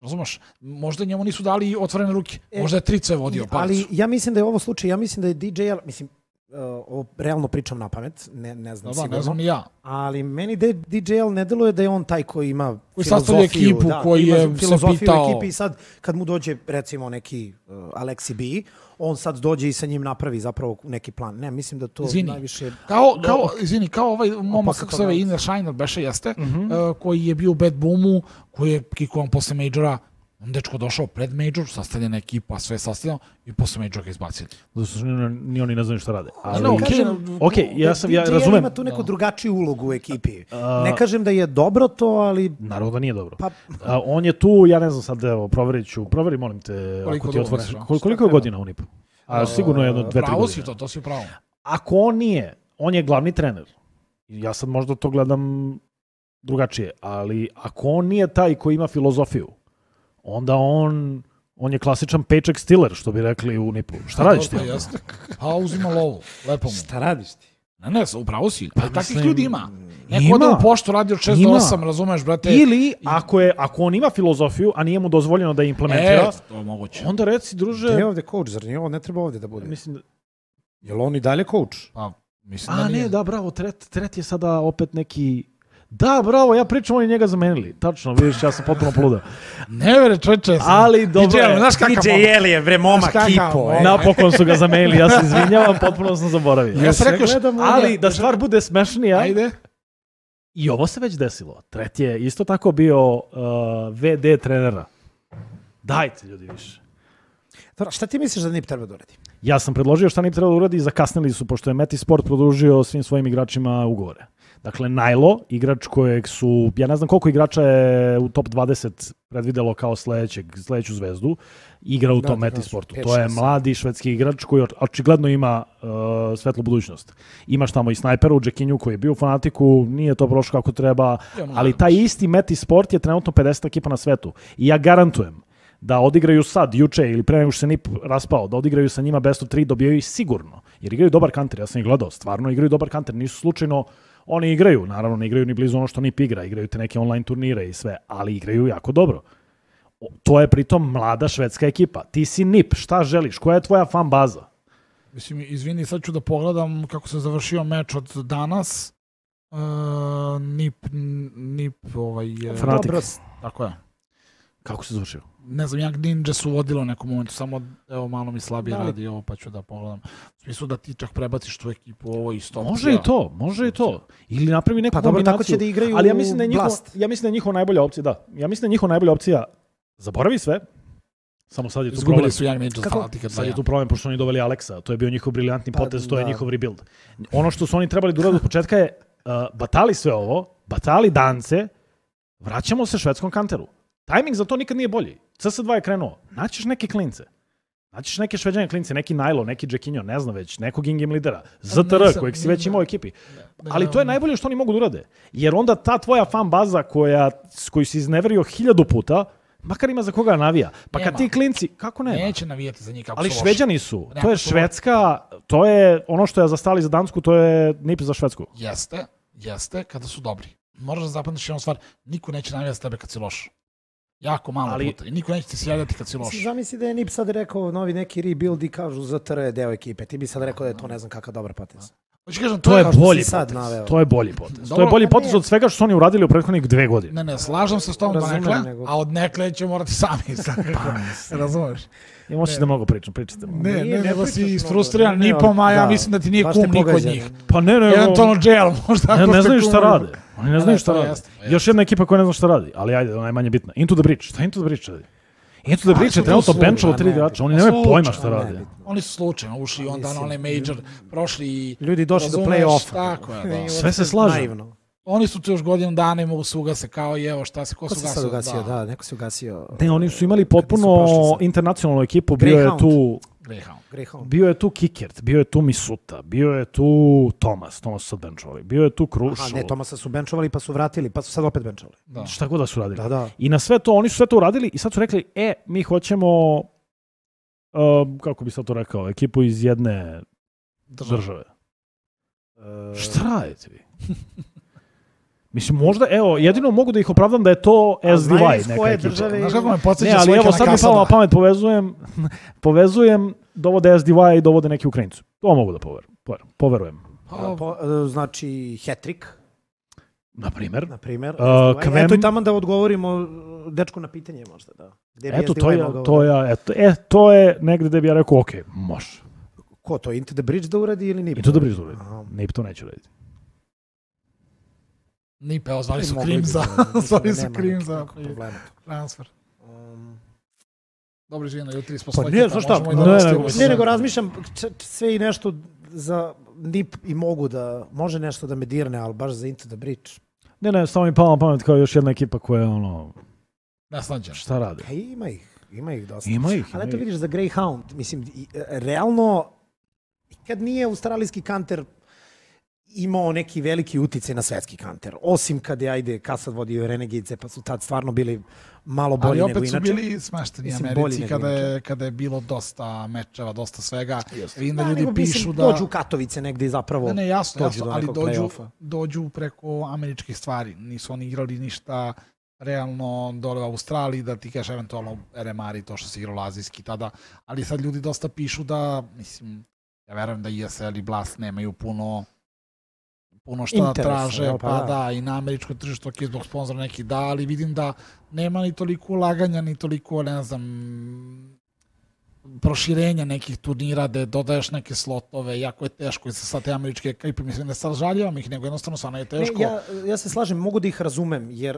Razumeš? Možda njemu nisu dali otvorene ruke. Možda je Trice vodio parcu. Ali ja mislim da je ovo slučaj, ja mislim da je DJ, mislim, ovo realno pričam na pamet, ne znam sigurno. Ne znam ni ja. Ali meni DJL ne deluje da je on taj koji ima filozofiju. Ekipu, koji je filozofiju se pitao. U ekipi i sad kad mu dođe recimo neki Alexi B, on sad dođe i sa njim napravi zapravo neki plan. Ne, mislim da to najviše... Kao ovaj momak, kako se zove, Iner Shiner beše jeste, koji je bio u Bad Boomu, koji je kikovan posle Majora. On dečko došao pred Major, sastavljena ekipa, sve sastavljeno i posle Majora ga izbacili. Ni oni ne znaju šta rade. Ja razumem. Ima tu neku drugačiju ulogu u ekipi. Ne kažem da je dobro to, ali... Naravno da nije dobro. On je tu, ja ne znam sad, evo, proveri, molim te, ako ti otvoriš. Koliko je godina u NIP-u? Sigurno je 2-3 godine. Pravo si to si pravo. Ako on nije, on je glavni trener. Ja sad možda to gledam drugačije, ali ako on nije taj koji ima filozofiju, onda on je klasičan paycheck stealer, što bi rekli u NIP-u. Šta radiš ti? A uzima lovu, lepo mu. Šta radiš ti? Ne, upravo si. Pa takvih ljudi ima. Neko da u poštu radi od 6 do 8, razumeš, brate. Ili, ako on ima filozofiju, a nije mu dozvoljeno da je implementira, to je moguće. Onda reci, druže... Gde je ovde coach, zar nije ovo ne treba ovde da bude? Mislim da... Je li on i dalje coach? Pa, mislim da nije. Ne, da, bravo, Tret je sada opet neki... Da, bravo, ja pričam, oni njega zamenili. Tačno, vidiš, ja sam potpuno poludao. Ne vere, čoveče. Ali dobro je. DJ Jeli je, bre, momak kipo. Napokon su ga zamenili, ja se izvinjavam, potpuno sam zaboravio. Ali da stvar bude smešnija. Ajde. I ovo se već desilo. Tret je isto tako bio VD trenera. Dajte, ljudi, više. Dobro, šta ti misliš da NIP treba da uradi? Ja sam predložio šta NIP treba da uradi i zakasnili su, pošto je Meti Sport produžio svim svojim igračima ugovore. Dakle, Nailo, igrač kojeg su, ja ne znam koliko igrača je u top 20 predvidelo kao sledeću zvezdu, igra u tom Metisportu. To je mladi švedski igrač koji očigledno ima svetlu budućnost. Imaš tamo i snajpera u Džekinju koji je bio u Fanatiku, nije to prošlo kako treba, ali taj isti Metisport je trenutno 50 ekipa na svetu. I ja garantujem da odigraju sad, juče ili pre nego što se NIP raspao, da odigraju sa njima best of 3, dobijaju ih sigurno. Jer igraju dobar kanter, ja sam ih gledao, stvarno igraju dobar kanter, nisu slučajno, oni igraju, naravno ne igraju ni blizu ono što NIP igra, igraju te neke online turnire i sve, ali igraju jako dobro. To je pritom mlada švedska ekipa. Ti si NIP, šta želiš, koja je tvoja fan baza? Mislim, izvini, sad ću da pogledam kako se završio meč od danas. NIP Fanatik. Tako je. Kako se završio? Ne znam, Young Ninja su vodilo u nekom momentu, samo evo malo mi slabije radi ovo, pa ću da pogledam. U smislu da ti čak prebaciš tu ekipu, ovo isto. Može i to. Ili napravi neku kombinaciju. Tako će da igraju ali ja mislim da je njihova najbolja opcija, Ja mislim da je njihova najbolja opcija zaboravi sve. Samo sad je tu izgubili su Young Ninja Fanatika. Sad je tu problem, pošto oni doveli Aleksa. To je bio njihov briljantni potez, to je njihov rebuild. Ono što su oni trebali da urade od početka je batali sve ovo, batali Dance, vraćamo se švedskom kanteru. Tajming za to nikad nije bolji. CS2 je krenuo. Naćeš neke klince. Naćeš neke šveđane klince, neki Nailo, neki Džekinjo, ne znam već, nekog in-game lidera, ZTR, kojeg si već imao u ekipi. Ali to je najbolje što oni mogu da urade. Jer onda ta tvoja fan baza koju si izneverio 1000 puta, makar ima za koga navija. Pa kad ti klinci, kako nema? Neće navijati za njih kako ali Šveđani su. To je Švedska, to je ono što je zastali za Dansku, to je NIP za Švedsku. Jeste, kada su dobri. Moraš da zapamtiš jednu stvar, niko neće navijati za tebe kad si loš. Jako malo puta. I niko neće ti se javljati kad si loš. Zamisli da je NIP sad rekao novi neki rebuild i kažu ZTR je deo ekipe. Ti bi sad rekao da je to ne znam kakav dobar potez. To je bolji potez. To je bolji potez. To je bolji potez od svega što su oni uradili u prethodnih 2 godine. Ne, slažem se s tom donekle, a od nekle će morati sami. Razumeš? I možeš da mnogo pričate. Ne, nego si isfrustriran NIP-om, a ja mislim da ti nije kum niko od njih. Pa ne, eventualno jail, možda. Ne znaju šta rade. Oni ne znaju šta rade. Još jedna ekipa koja ne zna šta radi, ali ajde, ona je manje bitna. Into the Breach. Šta Into the Breach radi? Into the Breach je trenutno benchalo 3 igrača. Oni nemaju pojma šta rade. Oni su slučajno ušli onda na onaj major, prošli i... Ljudi došli do play-offa. Tako je, sve se slaže. Oni su tu još godinu dana i mogu se ugase kao i evo šta se, ko se ugasio? Da, neko se ugasio. Ne, oni su imali potpuno internacionalnu ekipu, bio je tu... Bio je tu Kikert, bio je tu Misuta, bio je tu Tomas su sad benchovali, bio je tu Krušo. Ne, Tomasa su benchovali pa su vratili, pa su sad opet benchovali. Šta god da su radili. Da. I na sve to, oni su sve to uradili i sad su rekli, mi hoćemo, kako bi sad to rekao, ekipu iz jedne države. Šta radite vi? Mislim, možda, evo, jedino mogu da ih opravdam da je to SDY neka ekipa. Znaš kako me podsjeća ali evo, sad mi palo na pamet, povezujem, dovode SDY i dovode neki Ukrajincu. To mogu da poverujem. Znači, hat-trick. Naprimer. Eto i tamo da odgovorimo dečku na pitanje možda, da. Eto, to je negde gde bi ja rekao, ok, može. Ko to, Into the Breach da uradi ili NIP? Into the Breach da uradi. NIP to neće uraditi. NIP, evo, zvali su Krim za transfer. Dobro, živjeno, jutri smo svoj ekipa, Ne, nego razmišljam sve i nešto za NIP i može nešto da me dirne, ali baš za Into the Breach. Ne, samo mi palo na pamet kao još jedna ekipa koja je ono... Naslađena. Šta rade? Ima ih dosta. Ali eto vidiš za Greyhound, mislim, realno, kad nije australijski kanter imao neki veliki uticaj na svetski kanter. Osim kad je, Kasad vodio Renegade, pa su tad stvarno bili malo bolji nego inače. Ali opet su bili smešteni Americi kada je bilo dosta mečeva, dosta svega. Vidim da ljudi pišu da... Dođu u Katovice negde i zapravo jasno, ali dođu preko američkih stvari. Nisu oni igrali ništa realno dole u Australiji, da ti kažeš eventualno RMR i to što se igralo azijski tada. Ali sad ljudi dosta pišu da, mislim, ja verujem da ESL i Blast nemaju puno šta traže, pa da, i na američko tržište, ok, zbog sponzora neki da, ali vidim da nema ni toliko ulaganja, ni toliko, ne znam, proširenja nekih turnira, da dodaješ neke slotove, jako je teško i sad te američke ekipe, mislim, ne sad žaljavam ih, nego jednostavno stvarno je teško. Ja se slažem, mogu da ih razumem, jer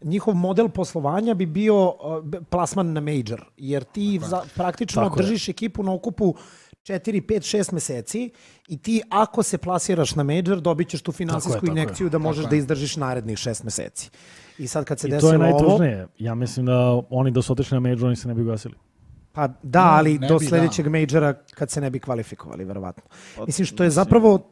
njihov model poslovanja bi bio plasman na major, jer ti praktično držiš ekipu na okupu 4, 5, 6 meseci i ti ako se plasiraš na major, dobit ćeš tu finansijsku injekciju da možeš da izdržiš narednih 6 meseci. I sad kad se desilo ovo... I to je najtužnije. Ja mislim da oni da su otišli na major, oni se ne bi ugasili. Pa da, ali do sljedećeg majora kad se ne bi kvalifikovali, verovatno. Mislim, što je zapravo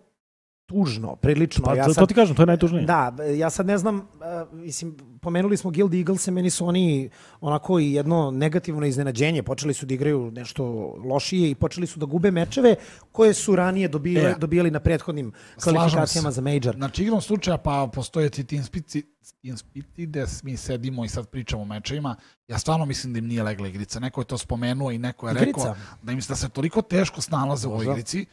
tužno, prilično. Pa to ti kažem, to je najtužnije. Da, ja sad ne znam, mislim, pomenuli smo Guild Eaglese, meni su oni onako i jedno negativno iznenađenje. Počeli su da igraju nešto lošije i počeli su da gube mečeve koje su ranije dobijali na prethodnim kvalifikacijama za major. Znači, igrom slučaja pa postoje ti inspiti gde mi sedimo i sad pričamo o mečevima. Ja stvarno mislim da im nije legla igrica. Neko je to spomenuo i neko je rekao da im da se toliko teško snalaze u ovoj igrici.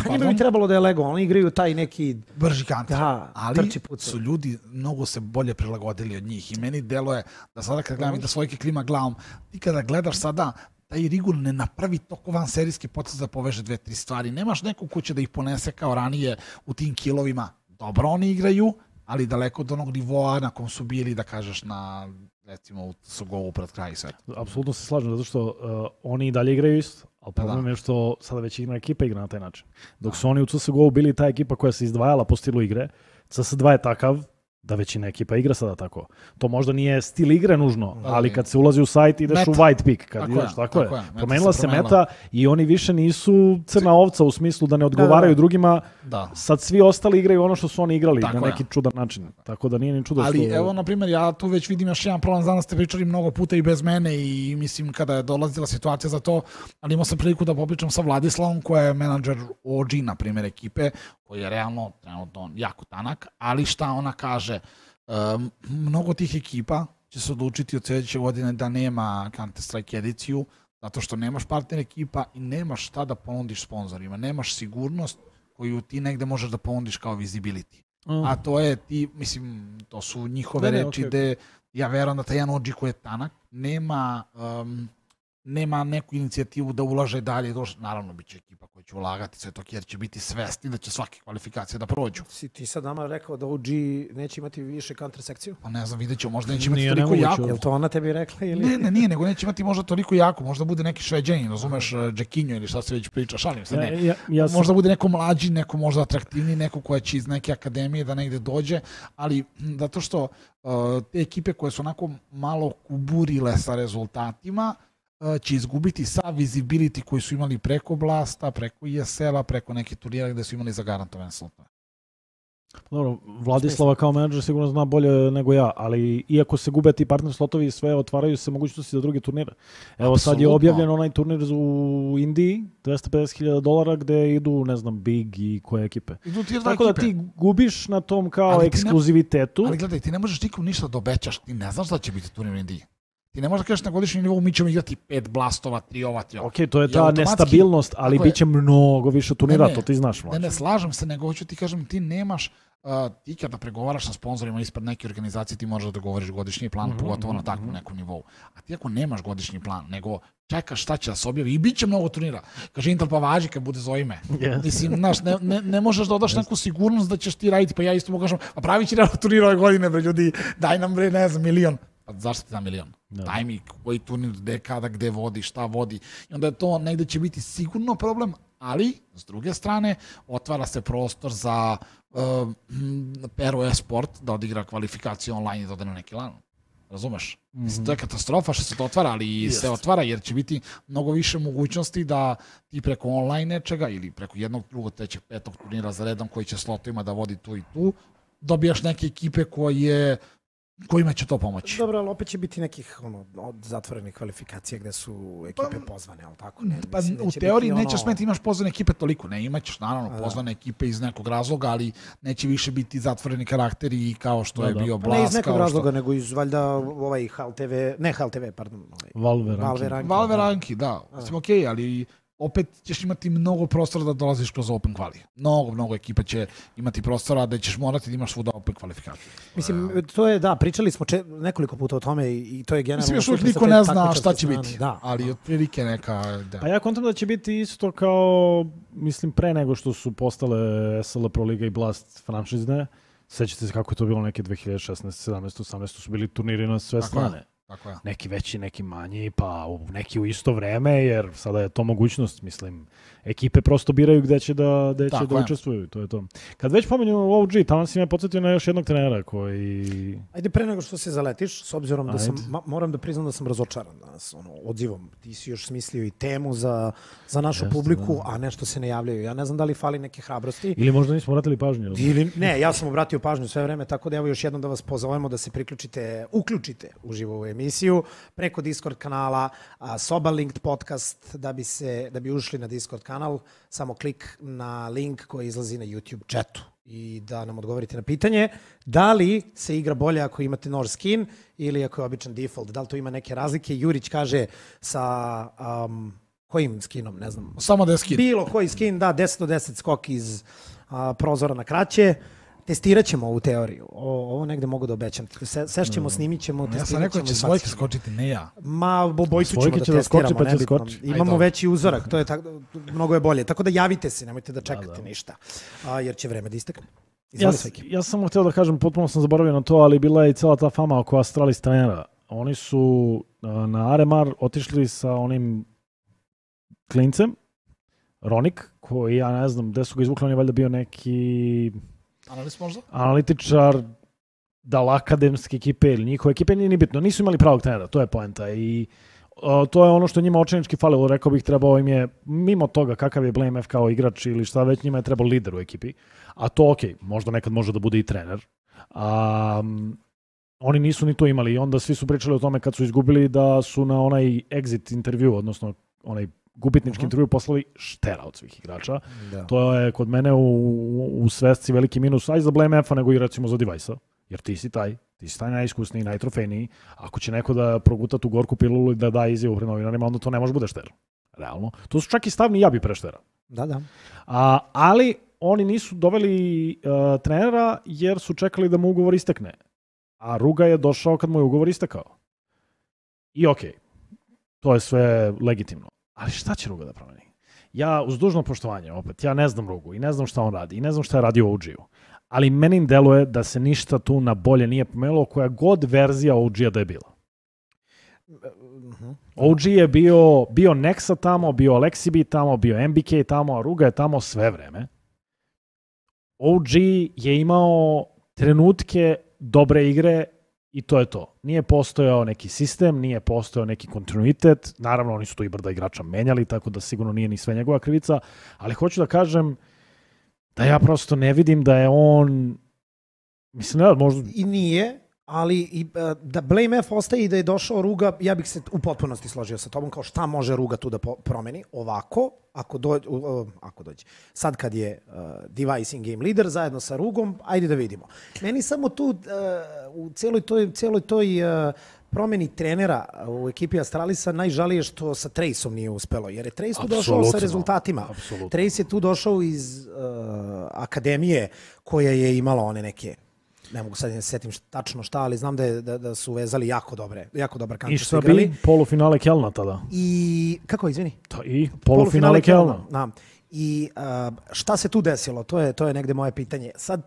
Pa njima bi trebalo da je lego, oni igraju taj neki... brži kanter, ali su ljudi mnogo se bolje prilagodili od njih i meni deluje da sada kad gledam i da svojke klima glavom, ti kada gledaš sada, taj Rigun ne napravi toko van serijski potez da poveže 2-3 stvari, nemaš nekog ko će da ih ponese kao ranije u tim kilovima, dobro oni igraju, ali daleko od onog nivoa na kom su bili, da kažeš, na recimo u CSGO-u pred kraj i sve. Apsolutno se slažem, zato što oni i dalje igraju isto, ali problem je što sada već jedna ekipa igra na taj način. Dok su oni u CSGO-u bili ta ekipa koja se izdvajala po stilu igre, CS2 je takav da većina ekipa igra sada tako. To možda nije stil igre nužno, ali kad se ulazi u sajt ideš u white pick. Kad ideš, tako je. Promenila se meta i oni više nisu crna ovca u smislu da ne odgovaraju drugima. Sad svi ostali igraju ono što su oni igrali na neki čudan način. Tako da nije ni čudo što... Ali evo, na primjer, ja tu već vidim još jedan problem. Danas ste pričali mnogo puta i bez mene i mislim kada je dolazila situacija za to, ali imao sam priliku da popričam sa Vladislavom koja je menadžer OG, na primjer, ekipe, koji je realno trenutno jako tanak, ali šta ona kaže, mnogo tih ekipa će se odlučiti od sljedeće godine da nema Counter-Strike ediciju, zato što nemaš partner ekipa i nemaš šta da ponudiš sponzorima, nemaš sigurnost koju ti negde možeš da ponudiš kao visibility. A to je ti, mislim, to su njihove reči gde ja verujem da taj jedan OG koji je tanak nema neku inicijativu da ulaže dalje. Naravno, bit će ekipa koja će ulagati sve to, jer će biti svesni da će svake kvalifikacije da prođu. Si ti sad nama rekao da OG neće imati više counter sekciju? Pa ne znam, vidjet ćemo, možda neće imati toliko jako. Je li to ona tebi rekla? Ili? Ne, nije, nego neće imati možda toliko jako. Možda bude neki Šveđanin, razumeš, Džekinjo ili šta se već priča, šalim se, ne. Možda bude neko mlađi, neko možda atraktivniji, neko koja će iz neke akademije da negde dođe, ali zato što te ekipe koje su onako malo kuburile sa rezultatima, će izgubiti sav visibility koji su imali preko Blasta, preko ESL-a, preko neke turnira gde su imali zagarantovane slotove. Dobro, Vladislava kao menadžer sigurno zna bolje nego ja, ali iako se gube ti partner slotovi, sve otvaraju se mogućnosti za druge turnire. Evo sad je objavljen onaj turnir u Indiji, $250,000 gde idu, ne znam, Big i koje ekipe. Tako da ti gubiš na tom kao ekskluzivitetu. Ali gledaj, ti ne možeš nikom ništa da obećaš, ti ne znaš da će biti turnir u Indiji. Ti ne možeš da kažeš na godišnjem nivou mi ćemo igrati 5 blastova, 3 ova, 3 ova. Ok, to je ta nestabilnost, ali bit će mnogo više turnira, to ti znaš. Ne, slažem se, nego hoću ti kažem, ti nemaš, ti kada pregovaraš sa sponzorima ispred neke organizacije, ti možeš da govoriš godišnji plan, pogotovo na takvom nekom nivou. A ti ako nemaš godišnji plan, nego čekaš šta će da se objavi i bit će mnogo turnira. Kaže Intel, pa važi kad bude zove ime. Mislim, znaš, ne možeš da odaš neku sigurnost da ćeš ti raditi, pa ja isto mogu kažem, a pravit će turnira ove godine, bre ljudi, daj nam, bre, ne znam, 1.000.000. Pa zašto ti da 1.000.000? Daj mi koji turnir, kada, gde vodi, šta vodi. I onda je to negde će biti sigurno problem, ali s druge strane otvara se prostor za Pero Esport da odigra kvalifikaciju online i da ode na neki LAN. Razumeš? To je katastrofa što se to otvara, ali se otvara jer će biti mnogo više mogućnosti da ti preko online nečega ili preko jednog, drugog, trećeg, petog turnira za redom koji će slotovima da vodi tu i tu, dobijaš neke ekipe kojima će to pomoći. Dobro, ali opet će biti nekih zatvorenih kvalifikacija gde su ekipe pozvane, ali tako? Pa u teoriji nećeš smeti imaš pozvane ekipe toliko, ne, imaćeš naravno pozvane ekipe iz nekog razloga, ali neće više biti zatvoreni karakteri kao što je bio Blast. Ne iz nekog razloga, nego iz valjda ovaj HLTV, pardon. Valve ranki, da. Mislim, okej, ali opet ćeš imati mnogo prostora da dolaziš kroz open kvali. Mnogo ekipa će imati prostora da ćeš morati da imaš svuda open kvalifikaciju. Mislim, to je, da, pričali smo nekoliko puta o tome i to je generalno... Mislim, još uvijek niko ne zna šta će biti, ali otprilike neka... Pa ja kontam da će biti isto kao, mislim, pre nego što su postale SL Pro Liga i Blast franšizne. Sećate se kako je to bilo neke 2016, 17, 18 su bili turniri na sve strane. Tako je. Neki veći, neki manji, pa neki u isto vreme, jer sada je to mogućnost, mislim. Ekipe prosto biraju gde će da učestvuju, to je to. Kad već pomenju OG, tamo si me podsjetio na još jednog trenera koji... Ajde, pre nego što se zaletiš, s obzirom da moram da priznam da sam razočaran danas, odzivom. Ti si još smislio i temu za našu publiku, a nešto se ne javljaju. Ja ne znam da li fali neke hrabrosti. Ili možda nismo obratili pažnju. Ne, ja sam obratio pažnju sve vreme, tako da evo još jednom da vas pozovemo da se uključite uživo u emisiju preko Discord kanala Soba Linked Podcast. Da bi ušli na Discord kanal, samo klik na link koji izlazi na YouTube chatu i da nam odgovorite na pitanje da li se igra bolje ako imate nož skin ili ako je običan default. Da li to ima neke razlike? Jurić kaže sa kojim skinom, ne znam. Samo da je skin. Bilo koji skin, da, 10 do 10 skok iz prozora na kraće. Testirat ćemo ovu teoriju. Ovo negde mogu da obećam. Sešćemo, snimit ćemo, testirat ćemo. Ja sam rekao će svojke skočiti, ne ja. Ma, obojicu ćemo da testiramo, nebitno. Imamo veći uzorak, to je mnogo je bolje. Tako da javite se, nemojte da čekate ništa, jer će vreme da istekne. Ja sam htio da kažem, potpuno sam zaboravio na to, ali bila je i cela ta fama oko Astralis trenera. Oni su na Aremar otišli sa onim klincem, Ronik, koji ja ne znam gde su ga izvukli, on je valjda bio neki... analitičar, da li akademske ekipe ili njihove ekipe, nije ni bitno. Nisu imali pravog trenera, to je poenta. I to je ono što njima očajnički falilo. Rekao bih, trebao im je, mimo toga kakav je Blame F kao igrač ili šta već, njima je trebao lider u ekipi. A to možda nekad može da bude i trener. Oni nisu ni to imali i onda svi su pričali o tome kad su izgubili da su na onaj exit intervju, odnosno onaj gubitnički intervju poslali štera od svih igrača. Da. To je kod mene u svesci veliki minus, aj za Blame F-a, nego i recimo za Device-a. Jer ti si taj najiskusniji, najtrofejniji. Ako će neko da proguta tu gorku pilulu i da da izjavu pred novinarima, onda to ne može bude šter. Realno. To su čak i stavni ja bi pre štera. Da. Ali oni nisu doveli trenera jer su čekali da mu ugovor istekne. A Ruga je došao kad mu je ugovor istekao. I okej, to je sve legitimno. Ali šta će Ruga da promeni? Ja, uz dužno poštovanje, opet, ja ne znam Rugu i ne znam šta on radi i ne znam šta je radio OG-u. Ali meni deluje da se ništa tu na bolje nije pomenilo koja god verzija OG-a da je bila. OG je bio Nexa tamo, bio Alexibi tamo, bio MBK tamo, a Ruga je tamo sve vreme. OG je imao trenutke dobre igre i to je to. Nije postojao neki sistem, nije postojao neki kontinuitet. Naravno, oni su tu i brda igrača menjali, tako da sigurno nije ni sve njegova krivica. Ali hoću da kažem da ja prosto ne vidim da je on... Mislim, ne, možda... I nije, ali da Blame F ostaje i da je došao Ruga, ja bih se u potpunosti složio sa tobom, kao šta može Ruga tu da promeni. Ovako, ako dođe. Sad kad je Device in-game leader zajedno sa Rugom, ajde da vidimo. Meni samo tu u cijeloj toj promeni trenera u ekipi Astralisa najžalije što sa Traceom nije uspelo, jer je Trace tu došao sa rezultatima. Absolutno. Trace je tu došao iz akademije koja je imala one neke, ne mogu sad ne setim tačno šta, ali znam da su vezali jako dobar kancer. I šta bi polufinale Kelna tada? I, kako, izvini? I polufinale Kelna. Da. I šta se tu desilo? To je negde moje pitanje. Sad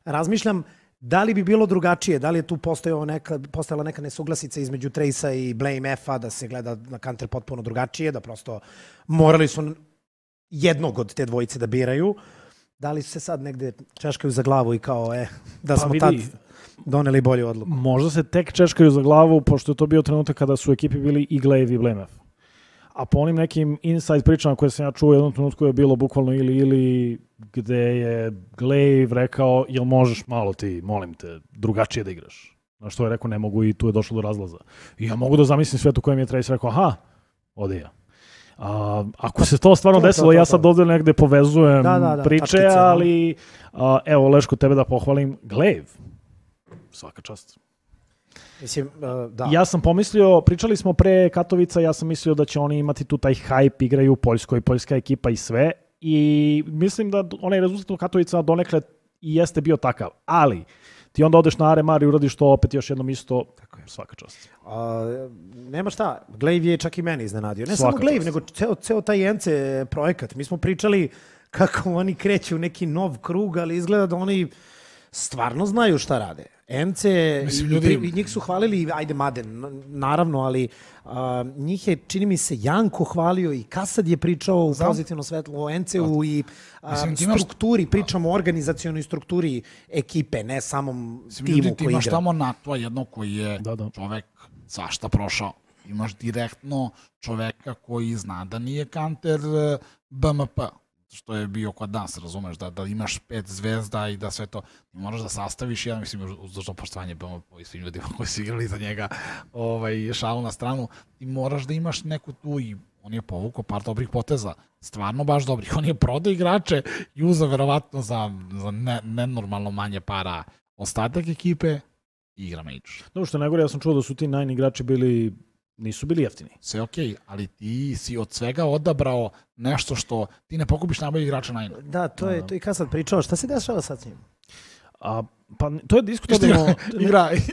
razmišljam da li bi bilo drugačije, da li je tu postojala neka nesuglasica između Trace-a i Blame F-a, da se gleda na kanter potpuno drugačije, da prosto morali su jednog od te dvojice da biraju. Da li su se sad negde češkaju za glavu i kao, da smo tad doneli bolju odluku? Možda se tek češkaju za glavu, pošto je to bio trenutak kada su u ekipi bili i Glaive i Blame F. A po onim nekim inside pričama koje sam ja čuo u jednom trenutku je bilo bukvalno ili gde je Glaive rekao, jel možeš malo ti, molim te, drugačije da igraš? Na što je rekao, ne mogu i tu je došlo do razlaza. I ja mogu da zamislim svet u kojem je Trace rekao, aha, ode ja. Ako se to stvarno desilo, ja sad ovdje negde povezujem priče, tačkice, ali evo Leško, tebe da pohvalim, Glaive, svaka čast. Mislim, da. Ja sam pomislio, pričali smo pre Katovica, ja sam mislio da će oni imati tu taj hype, igraju u Poljskoj, poljska ekipa i sve, i mislim da onaj rezultat u Katovica donekle i jeste bio takav, ali ti onda odeš na Aremar i uradiš to opet još jednom isto, svaka čast. Nema šta, Glaive je čak i meni iznenadio. Ne samo Glaive, nego ceo taj NC projekat. Mi smo pričali kako oni kreću u neki nov krug, ali izgleda da oni stvarno znaju šta rade. NC, i njih su hvalili, ajde Maden, naravno, ali njih je, čini mi se, Janko hvalio i Kasad je pričao u pozitivno svetlo o NC-u i strukturi, pričamo o organizacionoj strukturi ekipe, ne samom timu koji igra. Imaš tamo NATO jedno koji je čovek svašta prošao. Imaš direktno čoveka koji zna da nije kanter BMP, što je bio kod nas, razumeš, da imaš 5 zvezda i da sve to, moraš da sastaviš, ja mislim, uz dužno poštovanje BMP i svim ljudima koji su igrali za njega šalu na stranu, ti moraš da imaš neku tu i on je povukao par dobrih poteza, stvarno baš dobrih, on je prodao igrače i uzeo verovatno za nenormalno manje para ostatak ekipe i igra Mage. Dobro, što je najgore, ja sam čuo da su ti Nine igrači nisu bili jeftini. Sve okej, ali ti si od svega odabrao nešto što ti ne pokupiš najbolji igrača Nine. Da, to je i kad sad pričao. Šta se dešava sad s njim? Pa to je diskutabilno.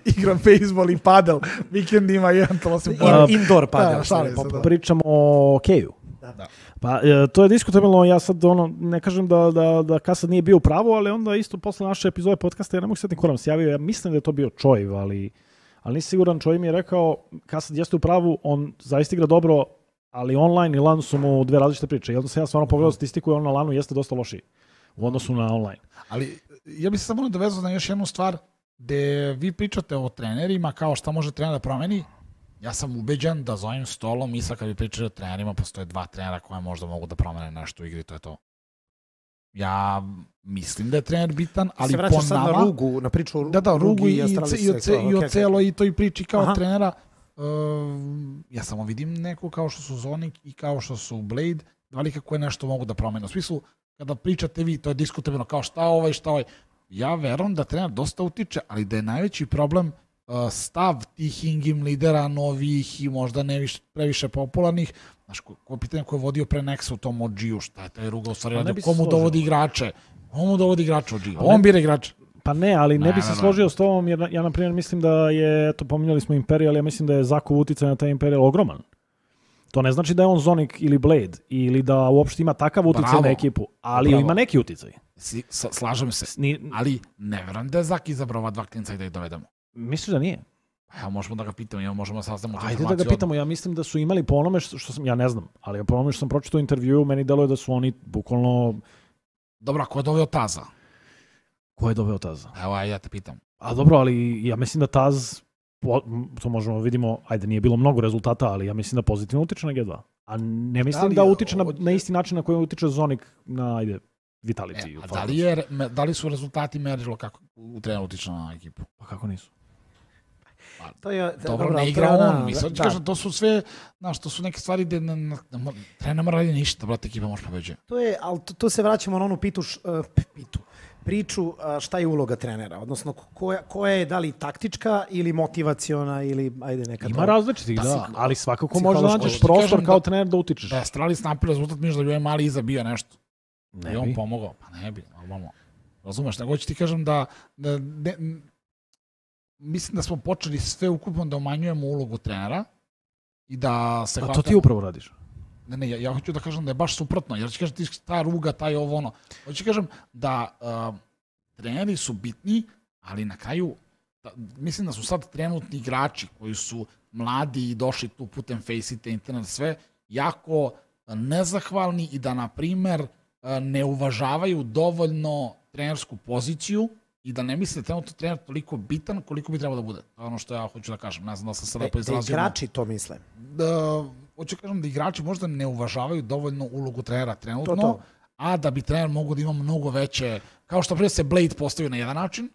Igra bejsbol i padel. Vikend ima jedan, to se indoor padel. Pričamo o Keju. Da. Pa to je diskutabilno, ja sad ne kažem da Kasad nije bio u pravu, ali onda isto posle naše epizode podcasta, ja ne mogu setiti ko nam se javio, ja mislim da je to bio Čojiv, ali nisam siguran, Čojiv mi je rekao, Kasad jeste u pravu, on zaista igra dobro, ali online i LAN su mu dve različite priče. I onda sam ja stvarno pogledao statistiku i on na LANu jeste dosta lošiji u odnosu na online. Ali ja bih se samo nadovezao na još jednu stvar, gde vi pričate o trenerima kao šta može trener da promeni. Ja sam ubeđen da za ovim stolom i sad kad vi pričate o trenerima postoje 2 trenera koja možda mogu da promene nešto u igri, to je to. Ja mislim da je trener bitan, ali po nama... Se vraćaš sad na Rugu, na priču o Rugu i o celoj toj priči kao trenera. Ja samo vidim neko kao što su Zonik i kao što su Blade, dva lika koje nešto mogu da promene. U smislu, kada pričate vi, to je diskutabilno kao šta ovaj. Ja verujem da trener dosta utiče, ali da je najveći problem stav tih in-game lidera, novih i možda ne previše popularnih. Znaš, ko pitanje ko je vodio pre Nexa u tom OG-u, šta je taj Ruga u stvari radio, komu dovodi igrače? Komu dovodi igrače OG? On bira igrače. Pa ne, ali ne bi se složio s tobom, jer ja na primjer mislim da je, to pominjali smo Imperial, ja mislim da je Zakov uticaj na taj Imperial ogroman. To ne znači da je on Zonik ili Blade, ili da uopšte ima takav uticaj na ekipu, ali ima neki uticaj. Slažem se, ali ne verujem da je Zak izabrao ova 2 klinca i da ih dovedemo. Misliš da nije? Ja, možemo da ga pitamo, možemo da sastavimo tu informaciju. Ajde da ga pitamo, ja mislim da su imali po onome što sam, ja ne znam, ali po onome što sam pročitao u intervju, meni deluje da su oni bukvalno... Dobro, a ko je doveo Taza? Ko je doveo Taza? Evo, ja te pitam. A dobro, ali ja mislim da Taz, to možemo vidimo, ajde nije bilo mnogo rezultata, ali ja mislim da pozitivno utiče na G2. A ne mislim da utiče na isti način na koji utiče Zonik na, ajde, Vitality. Da li su rezultati merilo kako u trener utiče na ekipu? Pa kako nisu? Dobro, ne igra on. Mislim, kažem, to su sve, znaš, to su neke stvari gde trener ne mora raditi ništa, brate, ekipa može pobeđe. Ali to se vraćamo na onu priču šta je uloga trenera, odnosno koja je da li taktička ili motivaciona ili ajde neka... Ima različitih, da, ali svakako možeš da nađeš prostor kao trener da utičeš. Da je Astralis napravio rezultat, miš da bi ovaj mali iza bio nešto. Da je on pomogao, pa ne bi, normalno. Razumeš, nego ću ti kažem da mislim da smo počeli sve ukupno da umanjujemo ulogu trenera i da se... A to ti upravo radiš? Ne, ja hoću da kažem da je baš suprotno, jer ću kažem ti ta Ruga, taj ovo ono. Hoću kažem da treneri su bitni, ali na kraju mislim da su sad trenutni igrači koji su mladi i došli tu putem Faceit, internet, sve, jako nezahvalni i da, na primer, ne uvažavaju dovoljno trenersku poziciju i da ne misle trenutno trener toliko bitan koliko bi trebao da bude. To je ono što ja hoću da kažem. Ne znam da sam se lepo izrazio. Igrači to misle? Hoću da kažem da igrači možda ne uvažavaju dovoljno ulogu trenera trenutno, a da bi trener mogo da ima mnogo veće... Kao što prije se Blade postavio na jedan način,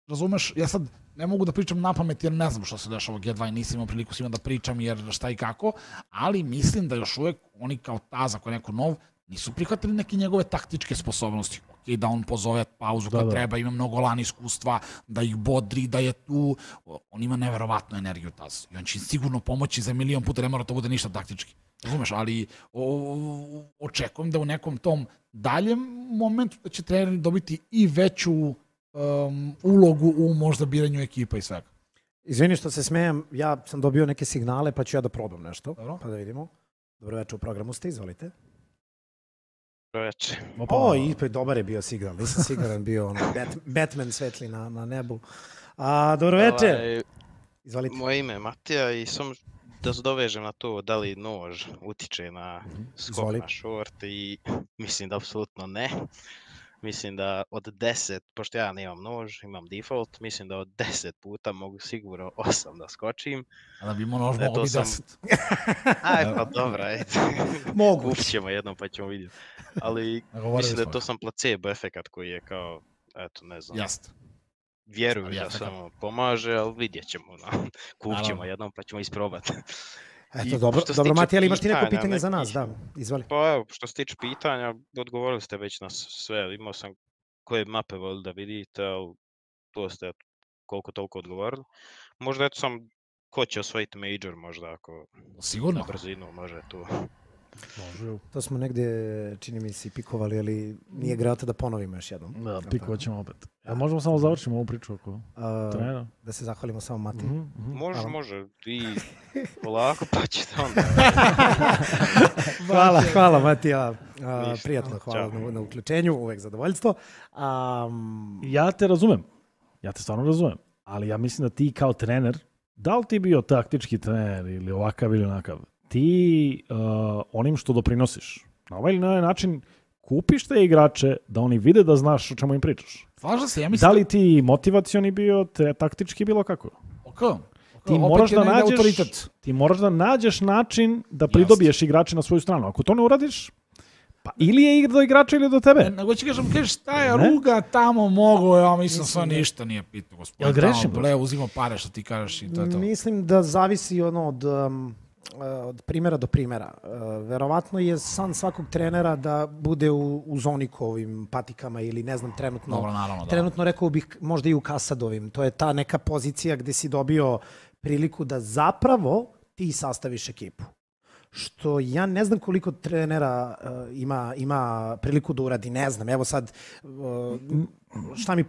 razumeš? Ja sad ne mogu da pričam na pamet jer ne znam što se dešava u G2 i nisam imao priliku s njima da pričam jer šta i kako, ali mislim da još uvek oni kao Taza, koji je neko nov, nisu prihvatili neke njegove taktičke sposobnosti. Okay, da on pozove pauzu kad treba, ima mnogo LAN iskustva, da ih bodri, da je tu. On ima neverovatnu energiju Taz. I on će sigurno pomoći za milion puta, ne mora to bude ništa taktički. Razumeš, ali očekujem da u nekom tom daljem momentu da će treneri dobiti i veću ulogu u možda biranju ekipa i svega. Izvini što se smejem, ja sam dobio neke signale pa ću ja da probam nešto. Dobro. Pa da vidimo. Dobro večer, u programu ste, izvolite. Veče. O, i dobar je bio signal. Nisam siguran bio ono, Batman svetli na nebu. Dobro večer. Izvalite. Moje ime je Matija i sam da se dovežem na to da li nož utiče na skok na short i mislim da apsolutno ne. Mislim da od 10, pošto ja nemam nož, imam default, mislim da od 10 puta mogu sigurno 8 da skočim. A da bi imao nož mogo bi 10. Aj, pa dobro, ajde. Moguće. Kupit ćemo jednom pa ćemo vidjeti. Ali mislim da je to sam placebo efekat koji je kao, eto, ne znam. Jeste. Vjeruju da samo pomaže, ali vidjet ćemo. Kupit ćemo jednom pa ćemo isprobati. Eto, dobro Matija, ali imaš ti neko pitanje za nas? Da, izvali. Pa evo, što se tiče pitanja, odgovorili ste već na sve. Imao sam koje mape volili da vidite, ali to ste koliko toliko odgovorili. Možda eto sam, ko će osvojiti major možda ako sigurno na brzinu može tu. Može. To smo negde, čini mi se, pikovali, ali nije grata da ponovimo još jednom. Da, pikovat ćemo opet. Možemo samo završimo ovu priču oko trenera? Da se zahvalimo samo Matiji. Može. I polako pa ćete onda. Hvala Matija. Prijatno, hvala na uključenju, uvek zadovoljstvo. Ja te razumem. Ja te stvarno razumem. Ali ja mislim da ti kao trener, da li ti bio taktički trener ili ovakav ili onakav, ti onim što doprinosiš, na ovaj ili na ovaj način kupiš te igrače da oni vide da znaš o čemu im pričaš. Slažem se, ja mislim... Da li ti motivacioni bio, te taktički bilo kako? Ti moraš da nađeš način da pridobiješ igrače na svoju stranu. Ako to ne uradiš, pa ili je do igrača ili do tebe. Nego će kažem, šta je Ruga tamo mogo, ja mislim sve ništa nije pitno, gospodin. Jel grešim? Uzimo pare što ti kažeš i to je to. Mislim da zavisi od primjera do primjera. Verovatno je san svakog trenera da bude u Zonikovim patikama ili ne znam trenutno. Dobro, naravno, trenutno rekao bih možda i u Kasadovim. To je ta neka pozicija gdje si dobio priliku da zapravo ti sastaviš ekipu. Što ja ne znam koliko trenera ima priliku da uradi, ne znam. Evo sad,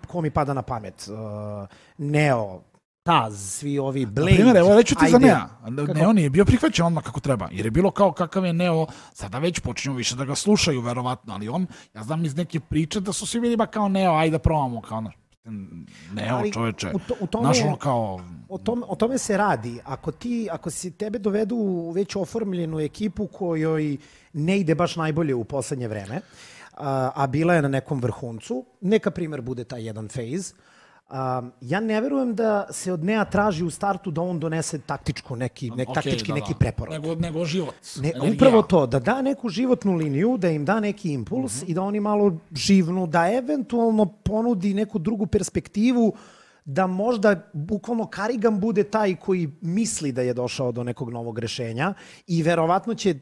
ko mi pada na pamet? Neo, Taz, svi ovi Blade. Na primjer, evo reću ti za Nea. Neo nije bio prihvaćen odmah kako treba. Jer je bilo kao kakav je Neo, sada već počinju više da ga slušaju, verovatno. Ali on, ja znam iz neke priče da su svi bili ba kao Neo, ajde da probamo. Kao Neo, čoveče. O tome se radi. Ako si tebe dovedu u već oformljenu ekipu kojoj ne ide baš najbolje u poslednje vreme, a bila je na nekom vrhuncu, neka primjer bude taj jedan phase, ja ne verujem da se od Nea traži u startu da on donese taktički neki preporod. Nego život. Upravo to, da da neku životnu liniju, da im da neki impuls i da oni malo živnu, da eventualno ponudi neku drugu perspektivu, da možda bukvalno Karigan bude taj koji misli da je došao do nekog novog rešenja i verovatno će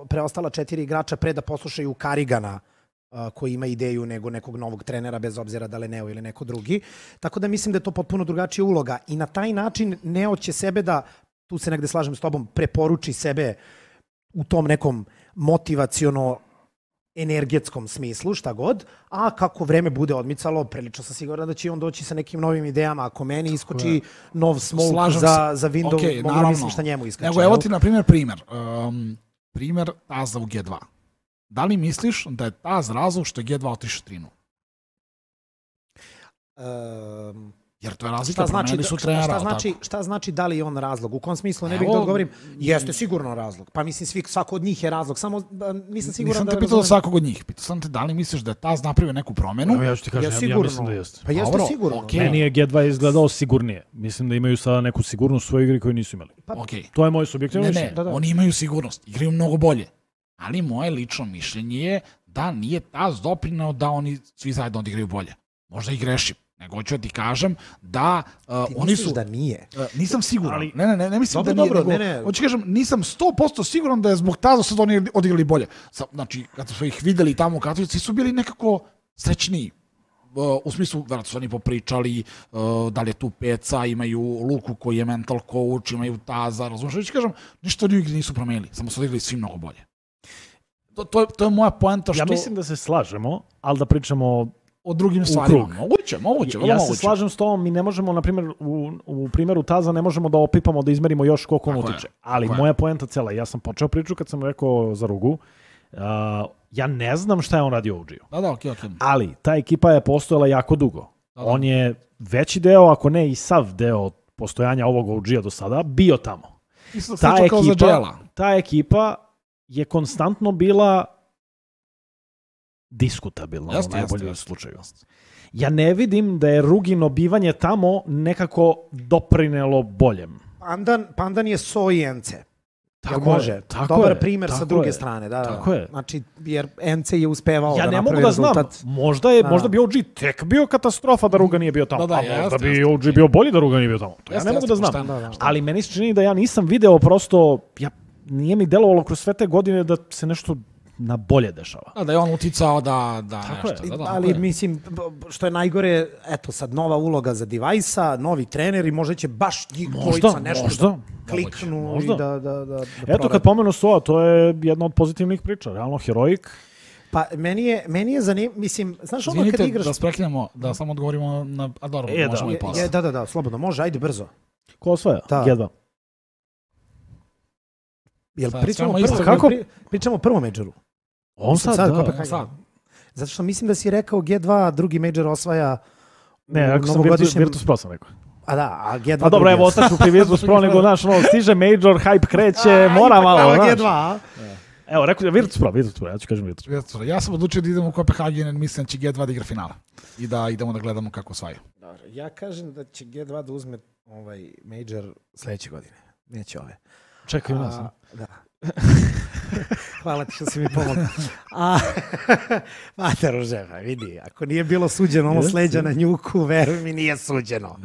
preostala 4 igrača pre da poslušaju Karigana koji ima ideju nego nekog novog trenera, bez obzira da li Neo ili neko drugi. Tako da mislim da je to potpuno drugačija uloga. I na taj način Neo će sebe da, tu se negde slažem s tobom, preporuči sebe u tom nekom motivaciono energetskom smislu, šta god, a kako vreme bude odmicalo, prilično sam siguran da će on doći sa nekim novim idejama. Ako meni iskoči nov smoke za Windows, mogu mislim šta njemu iskače. Nego evo ti na primjer primjer Taza u G2. Da li misliš da je Taz razlog što je G2 otišao 3-0? Jer to je razlika, promenili su trenera. Šta znači da li je on razlog? U kom smislu ne bih da odgovorim? Jeste sigurno razlog. Pa mislim, svako od njih je razlog. Samo nisam siguran da... Nisam te pitao svakog od njih. Pitao sam te da li misliš da je Taz napravio neku promenu? Ja ću ti kažem, ja mislim da jeste. Pa jeste sigurno. Meni je G2 izgledao sigurnije. Mislim da imaju sada neku sigurnost u svojoj igri koju nisu imali. To je moje subjektivno mišljenje. Ne, oni imaju sigurnost. Igraju mnogo bolje. Ali moje lično mišljenje je da nije Taz doprineo da oni svi zajedno odigraju bolje. Možda i grešim. Nego hoću da ti kažem da oni su... da nije? Nisam siguran. Ne mislim da nije. Hoću kažem, nisam 100% siguran da je zbog Taza sad oni odigrali bolje. Znači, kad su ih videli tamo u Katovici, su bili nekako srećniji. U smislu, vjerojatno su oni popričali da li je tu Peca, imaju Luku koji je mental coach, imaju Taza, razumiješ? Hoću kažem, ništa od igri nisu promenili, samo su odigrali svi mnogo bolje. To je moja poenta što... Ja mislim da se slažemo, ali da pričamo o drugim stvarima. Moguće. Ja se slažem s tom, mi ne možemo, na primjer, u primjeru Taza ne možemo da opipamo, da izmerimo još koliko on utiče. Ali moja poenta cela, ja sam počeo priču kad sam rekao za Rugu, Ja ne znam šta je on radio u OG-u. Da, okej. Ali ta ekipa je postojala jako dugo. On je veći deo, ako ne i sav deo postojanja ovog OG-a do sada, bio tamo. Ta ekipa je konstantno bila diskutabilna u najboljem slučaju. Ja ne vidim da je Rugino bivanje tamo nekako doprinelo boljem. Pandan je so i NC. Tako može. Dobar primer sa druge strane. Tako je. Znači, jer NC je uspevao ja da ne napravi mogu da rezultat. znam. Možda bi OG tek bio katastrofa da Ruga nije bio tamo. Možda bi OG bio bolji da Ruga nije bio tamo. To ja ne mogu da znam. Ali meni se čini da ja nisam video prosto, nije mi delovalo kroz sve te godine da se nešto na bolje dešava. Da je on uticao da nešto. Ali mislim, što je najgore, eto sad nova uloga za Device-a, novi trener i možda će baš njih dvojica nešto kliknu i da eto, kad pomenu SOA, to je jedna od pozitivnih priča. Realno, Heroic. Pa, meni je zanimljivo, mislim, znaš ono kad igraš... da sprekinemo, da samo odgovorimo na... A dobro, možemo i posle. Da, slobodno, može, ajde brzo. Ko osvaja? G2. Jel pričamo o prvom majoru? On sad. Zato što mislim da si rekao G2, drugi major osvaja ne, ako sam Virtus Pro sam rekao. A G2... Pa dobro, evo, ostaću pri Virtus Pro, nego, znaš, stiže major, hype kreće, mora malo, znaš. G2, evo, rekao Virtus Pro, ja ću kažem Virtus Pro. Ja sam odlučio da idemo u Kopenhagen, jer mislim da će G2 da igra finala. I da idemo da gledamo kako osvaju. Dobro, ja kažem da će G2 da uzme ovaj major sledeće godine. Neće ove. Čekaj u nas. Da. Hvala ti što si mi pomogao. Mater Ruževa, vidi, ako nije bilo suđeno ono sleđa na njuku, veruj mi, nije suđeno.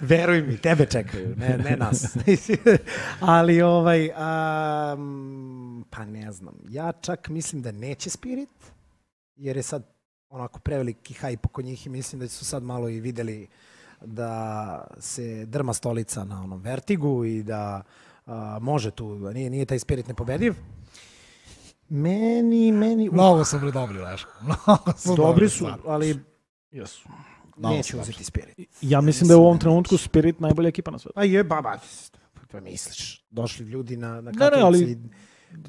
Veruj mi, tebe čekaju, ne nas. Ali pa ne znam, ja čak mislim da neće Spirit, jer je sad onako preveliki hype oko njih i mislim da su sad malo i videli da se drma stolica na onom Vertigu i da može tu, nije taj Spirit nepobediv. Meni... Mnogo su dobri, Leško. Dobri su, ali neću uzeti Spirit. Ja mislim da je u ovom trenutku Spirit najbolja ekipa na svetu. A je, to misliš. Došli ljudi na kakici i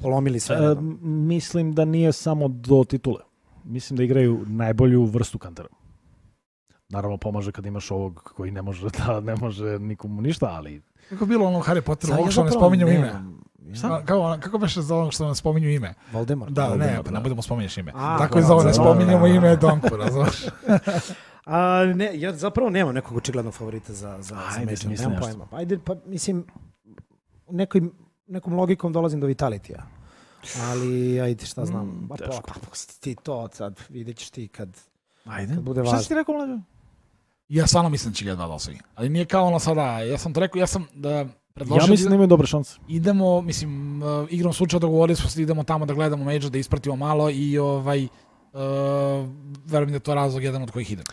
polomili sve. Mislim da nije samo do titule. Mislim da igraju najbolju vrstu kantera. Naravno, pomaže kad imaš ovog koji ne može nikomu ništa, ali... Kako bilo ono Harry Potteru, ovog što ne spominjamo ime? Kako beše za ovog što ne spominju ime? Voldemort. Da, ne budemo spominješ ime. Tako i za ovo ne spominjamo ime Donku, razumiješ? Ne, ja zapravo nemam nekog očiglednog favorita za Major. Nemam pojma. Ajde, pa mislim, nekom logikom dolazim do Vitalitija. Ali, ajde, šta znam. Ti to sad, vidjet ćeš ti kad bude važno. Šta si ti rekao, Mlađo? Ja stvarno mislim da će G2 da osvoji. Ali nije kao ono sada, ja sam to rekao, predložio... Ja mislim da imaju dobre šanse. Idemo, mislim, igrom slučaja dogovorili smo se, idemo tamo da gledamo major, da ispratimo malo i verujem da je to razlog jedan od kojih idem.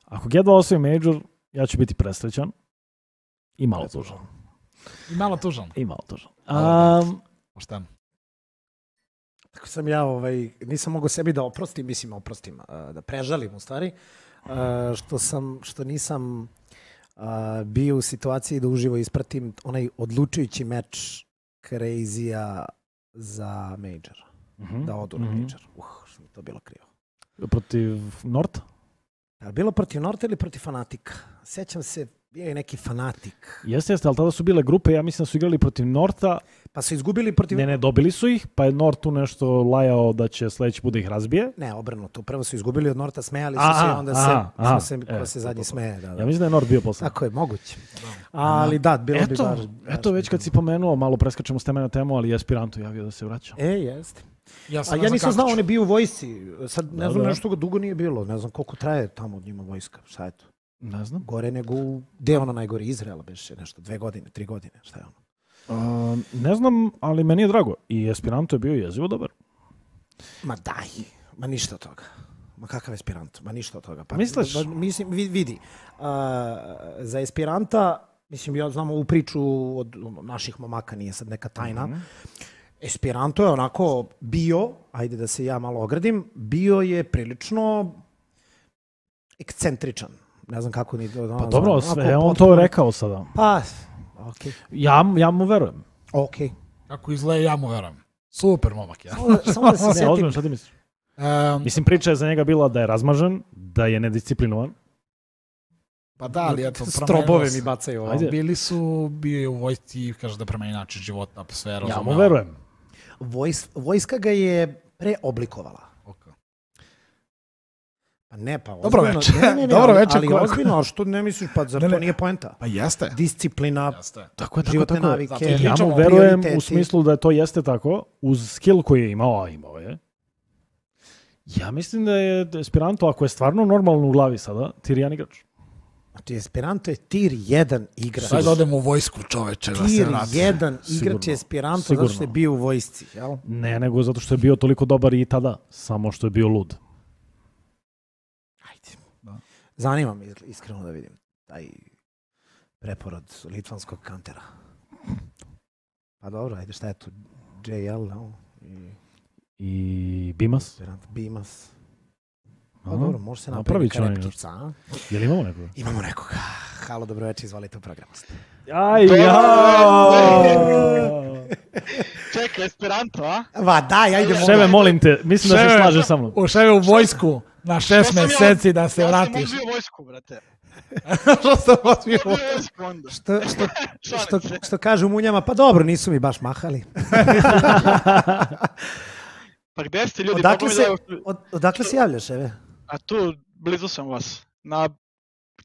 Ako G2 osvoji major, ja ću biti presrećan i malo tužan. Pošteno. Tako sam ja, nisam mogao sebi da oprostim, da prežalim u stvari, što nisam bio u situaciji da uživo ispratim onaj odlučujući meč Crazy-a za Major. Da odu na Major. Što mi to bilo krivo. Protiv Norta? Bilo protiv Norta ili protiv Fanatika? Sjećam se, bio je neki Fanatik. Jeste, ali tada su bile grupe, ja mislim da su igrali protiv Norta. Pa su izgubili protiv... Ne, dobili su ih, pa je Nort tu nešto lajao da će sledeći put da ih razbije. Ne, obrnuto. Prvo su izgubili od Norta, smejali su se i onda ko se zadnji smeje. Da. Ja mislim da je Nort bio posle. Tako je, moguće. Ali da, bilo bi baš... Eto, već kad si pomenuo, malo preskačemo s teme na temu, ali je Aspiranto javio da se vraća. Jeste. Ja nisam znao, on je bio u vojsci. Sad ne znam, nešto ga dugo nije bilo. Ne znam koliko traje tamo od njima vojska. Šta je to? Ne znam. Gore nego gde je ono najgore? Izraela beše nešto, 2 godine, 3 godine, šta je ono? Ne znam, ali meni je drago. I Esperanto je bio jezivo dobar. Ma daj, ma ništa od toga. Ma kakav Esperanto? Ma ništa od toga. Pa, misliš? Mislim, vidi, za Esperanta, mislim, ja znam ovu priču od naših momaka, nije sad neka tajna. Esperanto je onako bio, ajde da se ja malo ogradim, bio je prilično ekscentričan. Ne znam kako ni... Pa dobro, sve on to rekao sada. Pa, okej. Ja mu verujem. Okej. Kako izgleda, ja mu verujem. Super momak, ja. Samo da se setim. Šta ti misliš? Mislim, priča je za njega bila da je razmažen, da je nedisciplinovan. Pa da, ali eto, Strobove mi bacaju. Ajde. Bio je u vojsci, kaže da promeni način života, atmosfera. Ja mu verujem. Vojska ga je preoblikovala. Pa ne, pa Dobro ozbiljno. večer. Ne, Dobro večer. ali ozbiljno, a što ne misliš, pa zar to nije poenta? Pa jeste. Disciplina, Tako je, životne tako je. navike, Ja mu verujem u smislu da to jeste tako, uz skill koji je imao, a imao je. Ja mislim da je Esperanto, ako je stvarno normalno u glavi sada, tier 1 igrač. Znači, Esperanto je tier 1 igrač. Sad odemo u vojsku, čoveče, da se Tier vrati. 1 igrač je Esperanto zato što je bio u vojsci, jel? Ne, nego zato što je bio toliko dobar i tada, samo što je bio lud. Ajde. Zanima me iskreno da vidim taj preporod litvanskog kantera. Pa dobro, ajde, šta je tu? JL, no? I Bimas. Esperanto, Bimas. Pa Aha, dobro, može se napravit napraviti će on karekčica, a? Jel imamo nekoga? Imamo nekoga. Halo, dobroveče, izvolite u programu. Aj, Čekaj, Esperanto, a? Va, daj, ajde. Ševe, molim te, mislim da se slaže sa mnom. U Ševe u vojsku na 6 meseci da se vratiš. Ja sam bio vojsku, brate. Što sam vas bio? Ja bio vojsku onda. Što kažu munjama, pa dobro, nisu mi baš mahali. Pa gde ste ljudi? Odakle se javljaš, Ševe? A tu, blizu sam vas. Na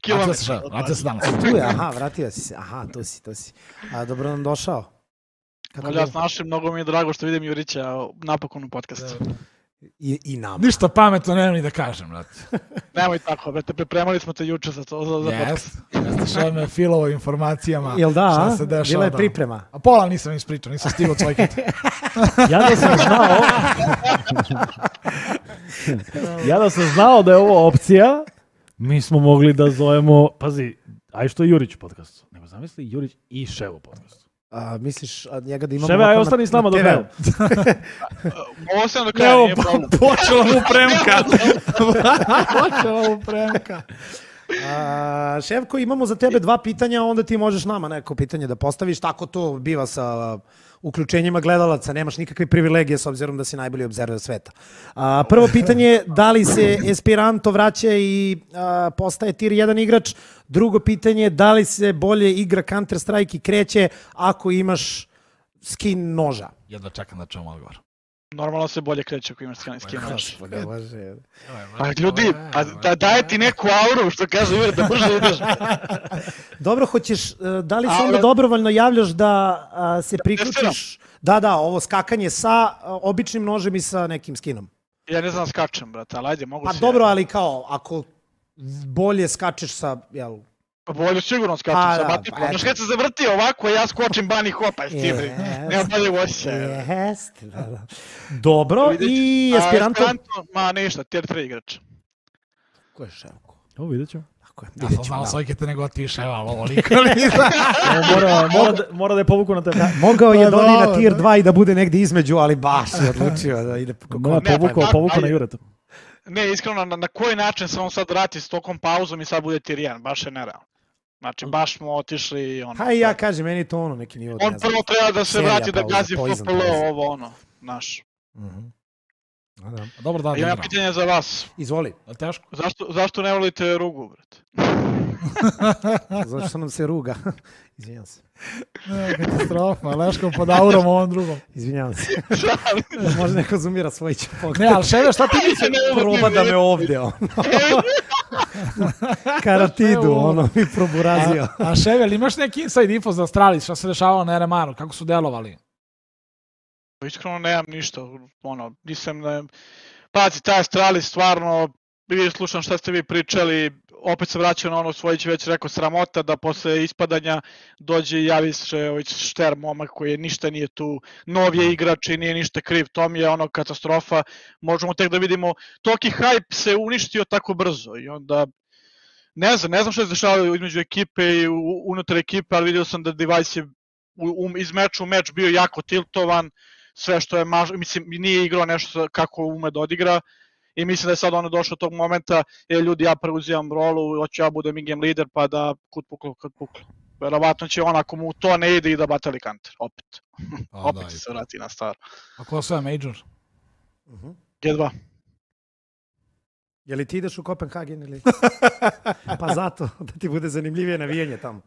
Vratio se kilometar. Ševe, vratio se danas. Tu je, aha, vratio si se. Aha, to si. A dobro nam došao. Ja snašim, mnogo mi je drago što vidim Jurića napokon u podcastu. I nama. Ništa pametno nemam ni da kažem, brate. Nemoj tako, brate, pripremali smo te juče za podcast. Jeste Ševe me filovo informacijama. Jel da, šta se dešava. bila je priprema. A pola nisam ispričao, nisam stigao od svojih. Ja da sam znao da je ovo opcija, mi smo mogli da zovemo, pazi, aj što je Jurić u podcastu. Nego zamisli Jurić i Ševo u podcastu. Misliš njega da imamo... Ševe, aj ostani s nama do kraja. Ovo sam do kraja, nije problem. Počela mu premka. Ševko, imamo za tebe 2 pitanja, onda ti možeš nama neko pitanje da postaviš. Tako to biva sa uključenjima gledalaca. Nemaš nikakve privilegije s obzirom da si najbolji obzerver sveta. Prvo pitanje je da li se Esperanto vraća i postaje tier 1 igrač. Drugo pitanje je da li se bolje igra Counter Strike i kreće ako imaš skin noža. Jedva čekam da čujem odgovor. Normalno se bolje kreće ako imaš skin nož. Bože. Pa ljudi, daje ti neku auru, što kaže Jure, da brže ideš. Dobro, hoćeš, da li se onda dobrovoljno javljaš da se priključiš? Da, ovo skakanje sa običnim nožem i sa nekim skinom. Ja ne znam skačem, brate, ali ajde, mogu se... Pa dobro, ali kao, ako bolje skačeš sa, jel... Pa bolje sigurno skačem sa batikom. Znaš kad se zavrti ovako, ja skočim bunny hopa s tim. Nema bolje voće. Jeste, da. Dobro, i Esperanto... Ma ništa, tier 3 igrač. Ko je Ševko? Ovo vidjet ću. Ja sam znao svojke te nego ti Ševa, ali ovo nikoli. Mora da je povuku na tebe. Mogao je da odi na tier 2 i da bude negdje između, ali baš je odlučio da ide... Povuku na Jureta. Ne, iskreno, na koji način se on sad vrati s tokom pauzom i sad bude tier 1, baš je nerealno. Znači, baš smo otišli ono... Ha, ja kažem, meni to ono neki nivo... On prvo treba da se vrati da gazi FPL, ovo ono, naš. Dobro, da. Imam pitanje za vas. Izvoli. Teško. Zašto ne volite rugu, brate? Zašto nam se ruga? Izvinjam se. Katastrofa, Leško pod aurom ovom drugom. Izvinjam se. Može neko zoomira svoj će pogled. Ne, ali Ševe, šta ti misli? Proba da me ovdje, ono. Karatidu, ono, mi proburazio. A Ševe, imaš neki inside info za Astralis, šta se dešavalo na RMR-u, kako su delovali? Iskreno nemam ništa, ono, nisam... Pazi, taj Astralis stvarno, slušam šta ste vi pričali, opet se vraćao na ono Svojić već rekao sramota da posle ispadanja dođe i javi se Šter momak koji ništa nije tu, nov je igrač i nije ništa kriv, to mi je ono katastrofa, možemo tek da vidimo, toliki hype se uništio tako brzo i onda ne znam što se dešavalo između ekipe i unutar ekipe, ali vidio sam da Device je iz meča u meč bio jako tiltovan, sve što je, mislim, nije igrao nešto kako ume da odigra, i mislim da je sad ono došlo do tog momenta, ljudi, ja preuzimam rolu, hoću ja budem in-game lider, pa da kut puklo. Verovatno će on, ako mu to ne ide, i da batali Counter, opet. Opet se vrati na staro. A ko sve Major? G2. Je li ti ideš u Kopenhagen ili? Pa zato, da ti bude zanimljivije navijanje tamo.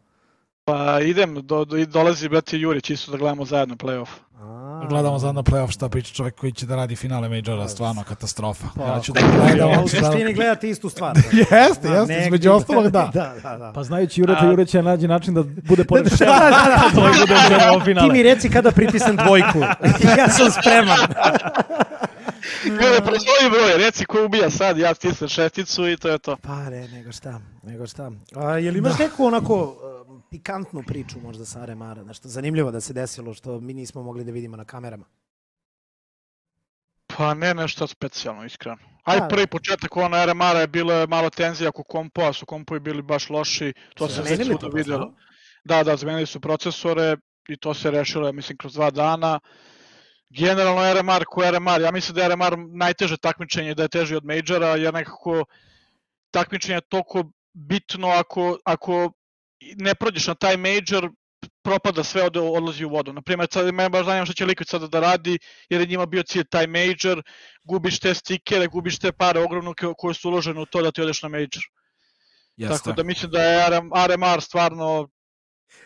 Pa idem, dolazi brati Jurić isto da gledamo zajedno play-off. Gledamo zajedno play-off, šta priča čovjek koji će da radi finale Majora, stvarno katastrofa. Ja ću da U suštini gledati istu stvar. Jeste, između ostalog da. Pa znajući Jure će nađi način da bude pored Ševa. Ti mi reci kada pritisnem dvojku. Ja sam spreman. Gledaj, prosloji broj, reci ko ubija sad, ja stisnem šesticu i to je to. Pa ne, nego šta. Je li imaš neku onako pikantnu priču možda sa Aremara, nešto zanimljivo da se desilo što mi nismo mogli da vidimo na kamerama? Pa ne nešto specijalno, iskreno. Prvi početak Aremara je bilo malo tenzija oko kompova, su kompovi bili baš loši, to se već svuda vidjelo. Da, zamenili su procesore i to se rešilo, mislim, kroz 2 dana. Generalno RMR, ja mislim da je RMR najteže takmičenje, da je teži od Majora, jer nekako takmičenje je toliko bitno ako ne prođeš na taj Major, propada sve, odlazi u vodu. Naprimjer, sad me baš zanima što će Liquid sada da radi, jer je njima bio cilj taj Major, gubiš te stikere, gubiš te pare ogromno koje su uložene u to da ti odeš na Major. Tako da mislim da je RMR stvarno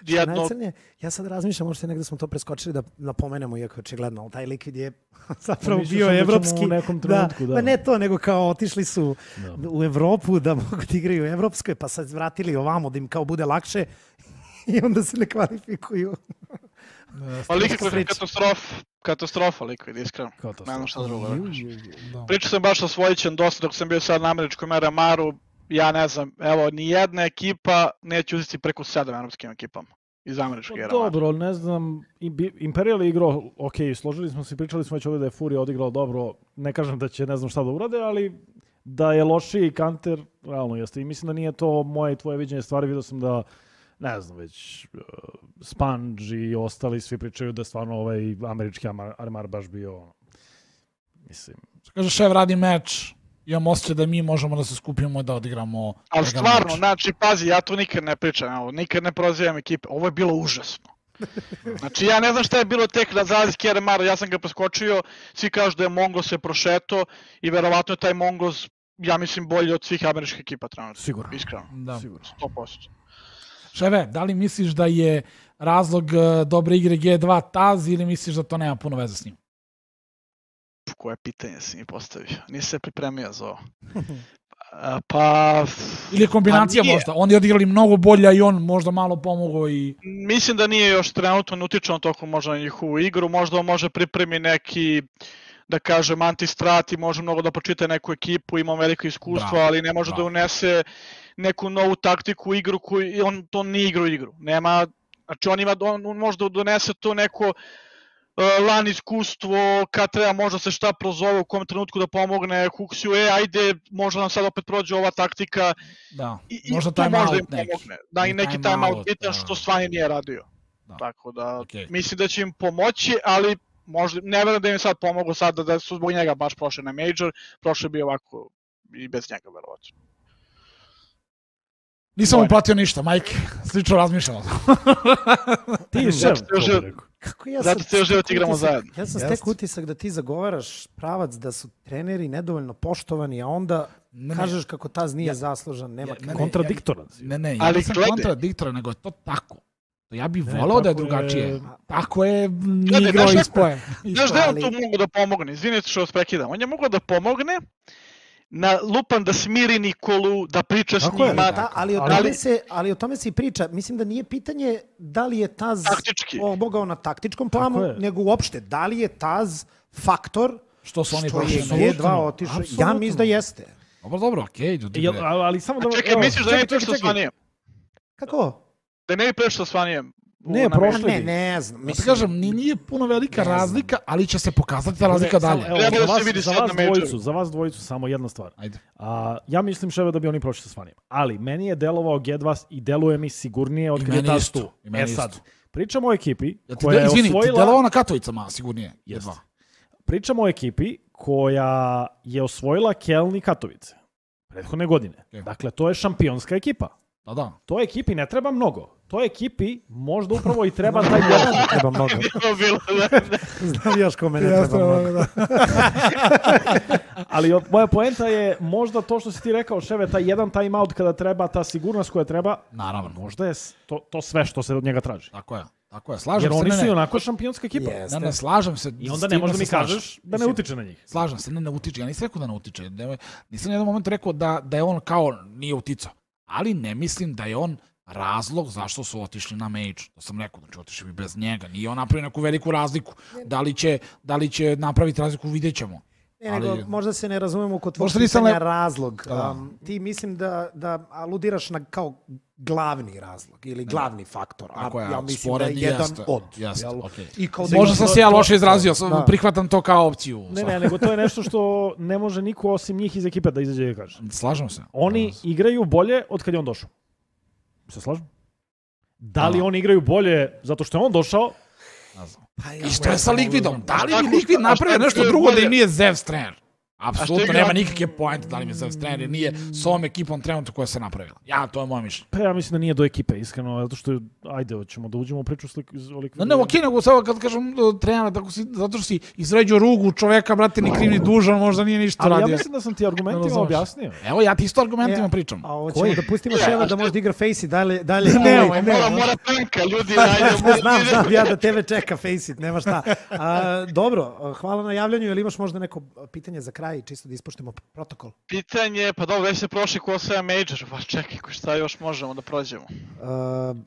jedno... Ja sad razmišljam, možda negde smo to preskočili da napomenemo, iako očigledno, ali taj Liquid je zapravo bio evropski. U nekom trenutku, Pa ne to, nego kao otišli su u Evropu da mogu da igraju u evropskoj, pa sad vratili ovamo da im kao bude lakše i onda se ne kvalifikuju. Pa Liquid je katastrofa Liquid, iskreno. Ne znam šta drugo. Pričao sam baš sa Svojićem dosta dok sam bio sad na američkom RMR-u. Ja ne znam, evo, ni jedna ekipa neće uzeti preko 7 evropskim ekipama iz američkog RMR. Dobro, ne znam, Imperial je igrao, ok, složili smo se, pričali smo već ovdje da je Fury odigrao dobro, ne kažem da će ne znam šta da urade, ali da je lošiji Counter, realno jeste. I mislim da nije to moje i tvoje viđenje stvari, vidio sam da, ne znam, već Sponge i ostali svi pričaju da je stvarno ovaj američki RMR baš bio, mislim... Kaže, šef radi meč. Imam osjećaj da mi možemo da se skupimo i da odigramo... Ali stvarno, znači, pazi, ja to nikad ne pričam, nikad ne prozivam ekipe. Ovo je bilo užasno. Znači, ja ne znam šta je bilo tek na zalazki RMR, ja sam ga preskočio, svi kažu da je Mongos se prošeto i verovatno je taj Mongos, ja mislim, bolji od svih američkih ekipa trenutno. Sigurno. Iskreno. Da. Sigurno. 100%. Ševe, da li misliš da je razlog dobre igre G2 Taz ili misliš da to nema puno veze s njim? Koje pitanje si mi postavio? Nisi se pripremio za ovo. Pa... Ili kombinacija možda. Oni je odigrali mnogo bolja i on možda malo pomogao i... Mislim da nije još trenutno utičano toliko možda na njihovu igru. Možda on može pripremi neki, da kažem, antistrat i može mnogo da počita neku ekipu, ima veliko iskustvo, ali ne može da unese neku novu taktiku u igru koju on to nije igrao igru. Nema, znači on može da donese to neko LAN iskustvo, kad treba možda se šta prozove, u kom trenutku da pomogne Huxiju, ajde, možda nam sad opet prođe ova taktika. Da, i možda to time možda out im pomogne. Da, i neki time out bitan što Svani nije radio. Tako da, mislim da će im pomoći, ali možda, ne verujem da im sad pomogu sad da su zbog njega baš prošli na Major, prošli bi ovako i bez njega verovatno. Nisam mu platio ništa, Majke, slično razmišljamo. Ti je šef, to bi rekao. Zato te još život igramo zajedno. Ja sam stek utisak da ti zagovaraš pravac da su treneri nedovoljno poštovani, a onda kažeš kako Taz nije zaslužan, nema kontradiktoran. Ne, ja nisam kontradiktoran, nego je to tako. Ja bih volao da je drugačije. Tako je igrao ispoje. Znaš da je on tu mogu da pomogne? Izvinite što vas prekidam. On je mogao da pomogne na lupan da smiri Nikolu, da priča s njima. Ali o tome se i priča. Mislim da nije pitanje da li je Taz pomogao na taktičkom planu, nego uopšte da li je Taz faktor što su oni G2 otišli. Ja mislim da jeste. Dobro, okej. Ali samo da... Čekaj, misliš da ne bi prešao s Svanijem? Kako? Da ne bi prešao s Svanijem? Ne znam. Ja kažem, nije puno velika razlika, ali će se pokazati ta razlika dalje. Za vas dvojicu samo jedna stvar. Ja mislim, ševe, da bi oni prošli sa Svanijem. Ali meni je delovao G2 i deluje mi sigurnije od kada je Taz tu. Sad, pričamo o ekipi koja je osvojila... Izvini, ti delovao na Katovicama sigurnije. Pričamo o ekipi koja je osvojila Keln i Katovice prethodne godine. Dakle, to je šampionska ekipa. Da. To ekipi ne treba mnogo. toj ekipi možda upravo i treba taj jedan. Treba mnogo. Znam još kome ne treba mnogo. Ali moja poenta je možda to što si ti rekao, Ševe, taj jedan timeout kada treba, ta sigurnost koja treba, Naravno. možda je to sve što se od njega traži. Tako je. Slažem Jer se. oni su i onako šampionska ekipa. Ne, slažem se. I onda ne možda mi kažeš da ne utiče na njih. Slažem se, ne utiče. Ja nisam rekao da ne utiče. Nisam jedan moment rekao da je on kao nije uticao. Ali ne mislim da je on razlog zašto su otišli na Mage. To sam rekao, znači otišli bi bez njega. Nije on napravio neku veliku razliku. Da li će napraviti razliku, vidjet ćemo. Nego, možda se ne razumemo kod tvojeg pitanja razlog. Ti mislim da aludiraš na kao glavni razlog ili glavni faktor. Ja mislim da je jedan od. Možda sam se ja loše izrazio, prihvatam to kao opciju. Ne, nego to je nešto što ne može niko osim njih iz ekipe da izađe i kaže. Slažem se. Oni igraju bolje od kad je on došao. Se slažem? Da li oni igraju bolje zato što je on došao? I što je sa Liquidom? Da li bi Liquid napravio nešto drugo da im nije Zeus trener? Apsolutno nema nikakve pointe da li mi je Zeus trener, nije s ovom ekipom trenutno koja se napravila. To je moje mišljenje. Pa ja mislim da nije do ekipe, iskreno, zato što, ajde, hoćemo da uđemo u priču o Liquidu. Ne, okej, nego sada kad kažem trener, zato što si izređio rugu čoveka, brate, ni kriv ni dužan, možda nije ništa radio. Ali ja mislim da sam ti argumentima objasnio. Evo, ja ti isto argumentima pričam. A hoćemo da pustimo Ševa da možda igra Faceit dalje. Mora tanka, ljudi, Znam, ja da tebe čeka Faceit, nema šta. Dobro, hvala na javljanju, ili imaš možda neko pitanje za kraj, čisto da ispoštujemo protokol? Pitanje, pa dobro, već se prošli ko sve Major, pa čekaj, šta još možemo da prođemo?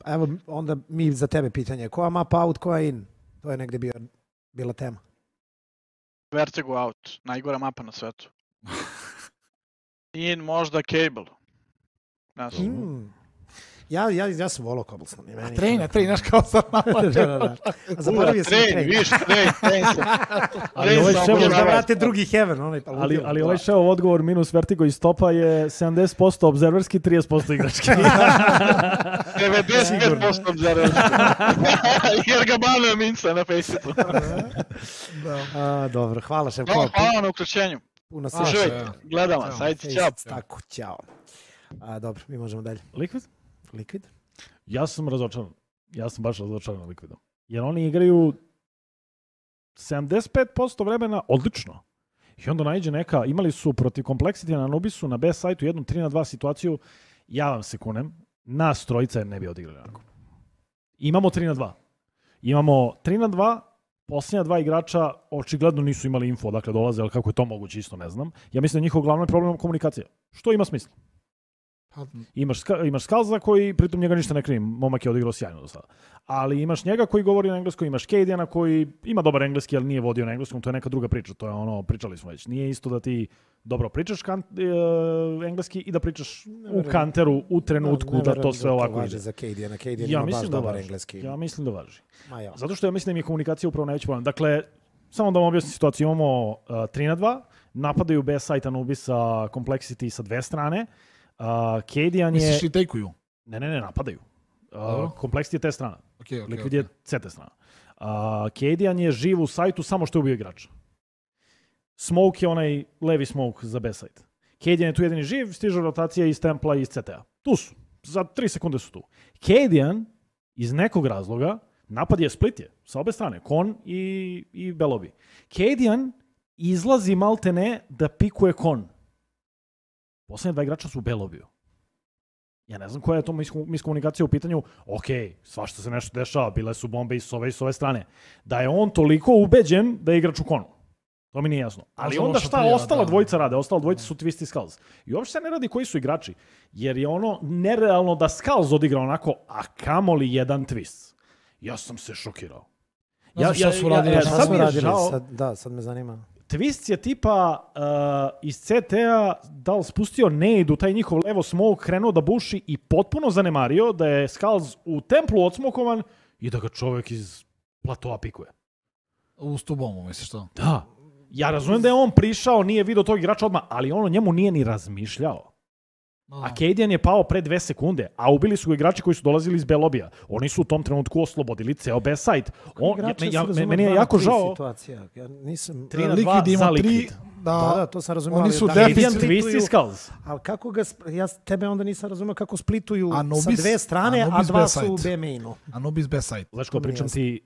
Evo, onda mi za tebe pitanje. Koja mapa out, koja in? To je negde bila tema. Vertigo out, najgora mapa na svetu. In možda Cable. Ja sam volao Cobblestone. Train, znaš kao sam da. A zaboravio sam train. Ali ovaj Ševo da vrate drugi Heaven. Ali ovaj Ševo odgovor minus Vertigo i stopa je 70% obzerverski, 30% igrački. 95% obzerverski. Jer ga banuje Minca na Faceitu. Dobro, hvala Ševo. Hvala na uključenju. Puno se. Gledam vas, ajde, ćao. Tako, ćao. Dobro, mi možemo dalje. Liquid? Ja sam razočaran. Ja sam baš razočaran Liquidom. Jer oni igraju 75% vremena odlično. I onda naiđe neka, imali su protiv Complexity na Anubisu na B sajtu jednu 3-2 situaciju, ja vam se kunem, nas trojica ne bi odigrali onako. Imamo 3-2. Imamo 3-2, posljednja dva igrača očigledno nisu imali info odakle dolaze, ali kako je to moguće isto ne znam. Ja mislim da njihov glavni problem je komunikacija. Što ima smisla? Imaš Skalza koji, pritom njega ništa ne krivim, momak je odigrao sjajno do sada. Ali imaš njega koji govori na engleskom, imaš Cadiana koji ima dobar engleski, ali nije vodio na engleskom, to je neka druga priča, to je ono, pričali smo već. Nije isto da ti dobro pričaš engleski i da pričaš u kanteru u trenutku da to sve ovako ide. Za Cadiana ima baš dobar engleski. Ja mislim da važi. Zato što ja mislim da mi je komunikacija upravo najveći problem. Dakle, samo da vam objasnim situaciju, imamo 3-2, napadaju B site Anubisa Complexity sa dve strane. Cadian je... Misliš i take-uju? Ne, napadaju. Complexity je te strana. Liquid je C te strana. Cadian je živ u sajtu samo što je ubio igrača. Smoke je onaj levi smoke za B site. Cadian je tu jedini živ, stiže rotacija iz Templa i iz CT-a. Tu su. Za 3 sekunde su tu. Cadian iz nekog razloga napad je split je sa obe strane. Kon i Belobi. Cadian izlazi maltene da pikuje Kon. Poslednje dva igrača su u B-lobiju. Ja ne znam koja je to miskomunikacija u pitanju. Ok, svašta se nešto dešava, bile su bombe i s ove strane. Da je on toliko ubeđen da je igrač u Konu. To mi nije jasno. Ali onda šta ostala dvojica rade? Ostala dvojica su Twist i Skulls. I uopšte se ne radi koji su igrači. Jer je ono nerealno da Skulls odigra onako, a kamoli jedan Twist. Ja sam se šokirao. Sad me zanima. Twist je tipa iz CT-a da li spustio nade u taj njihov levo smoke, krenuo da buši i potpuno zanemario da je Skulls u templu odsmokovan i da ga čovjek iz platoa pikuje. U stubomu, misliš to? Da. Ja razumijem da je on prišao, nije vidio tog igrača odmah, ali on o njemu nije ni razmišljao. A Cadian je pao pre 2 sekunde, a ubili su ga igrači koji su dolazili iz B-lobija. Oni su u tom trenutku oslobodili ceo B-site. Meni je jako žao. 3-2 za Liquid. Da, to sam razumio. Oni su Canadian Twist i Skulls. Ali kako ga, ja tebe onda nisam razumio kako splituju Anubis, sa dve strane, a Anubis dva B-side. su u B-mainu. Anubis B-side. Lečko, pričam ti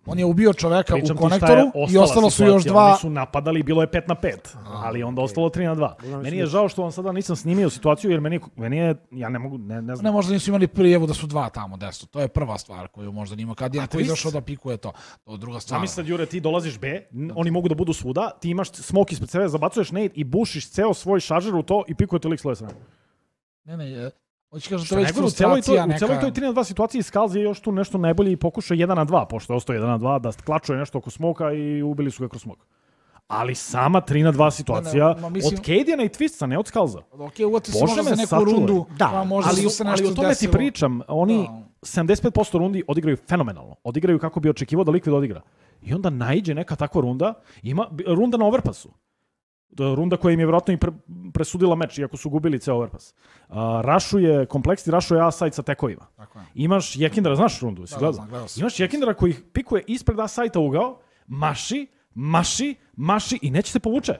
On je ubio čoveka Pričam u ti šta je konektoru i ostala ostalo su situacija. još dva. Oni su napadali, bilo je 5-5, ali onda ostalo 3-2. Meni je žao što vam sada nisam snimio situaciju, jer meni je, ja ne mogu, ne znam. Ne, možda nisu imali prijevu da su dva tamo desno. To je prva stvar koju možda nima. Kad je neko twist? izašao da pikuje to. To je druga stvar. Zamisli sad, Jure, ti dolaziš B, oni mogu da budu svuda, ti imaš smok ispred sebe, zabacuješ nade i bušiš ceo svoj šaržer u to i pikuje te lik s leve strane. Ne, hoće kažem, to Što je već najgore, u celoj frustracija toj neka. 3-2 situaciji Skulls je još tu nešto najbolje i pokušao 1-2, pošto je ostao 1-2, da klačuje nešto oko smoka i ubili su ga kroz smok. Ali sama 3-2 situacija mislim- od Cadiana i Twista, ne od Skullsa. Ok, uvati se Bože možda me za neku sačuvaj. rundu. Da, pa možda Ali, su se nešto ali o tome desilo. ti pričam, oni Da. 75% rundi odigraju fenomenalno. Odigraju kako bi očekivao da Liquid odigra. I onda naiđe neka takva runda, ima runda na overpassu. Runda koja im je vjerojatno i presudila meč, iako su gubili ceo overpass. Rašuje kompleksni, rašuje A-side sa tekovima. Tako je. Imaš Jekindara, znaš rundu, si Da, gledao? znam, gledao sam. Imaš Jekindara koji ih pikuje ispred A-side-a ugao, maši i neće se povuče.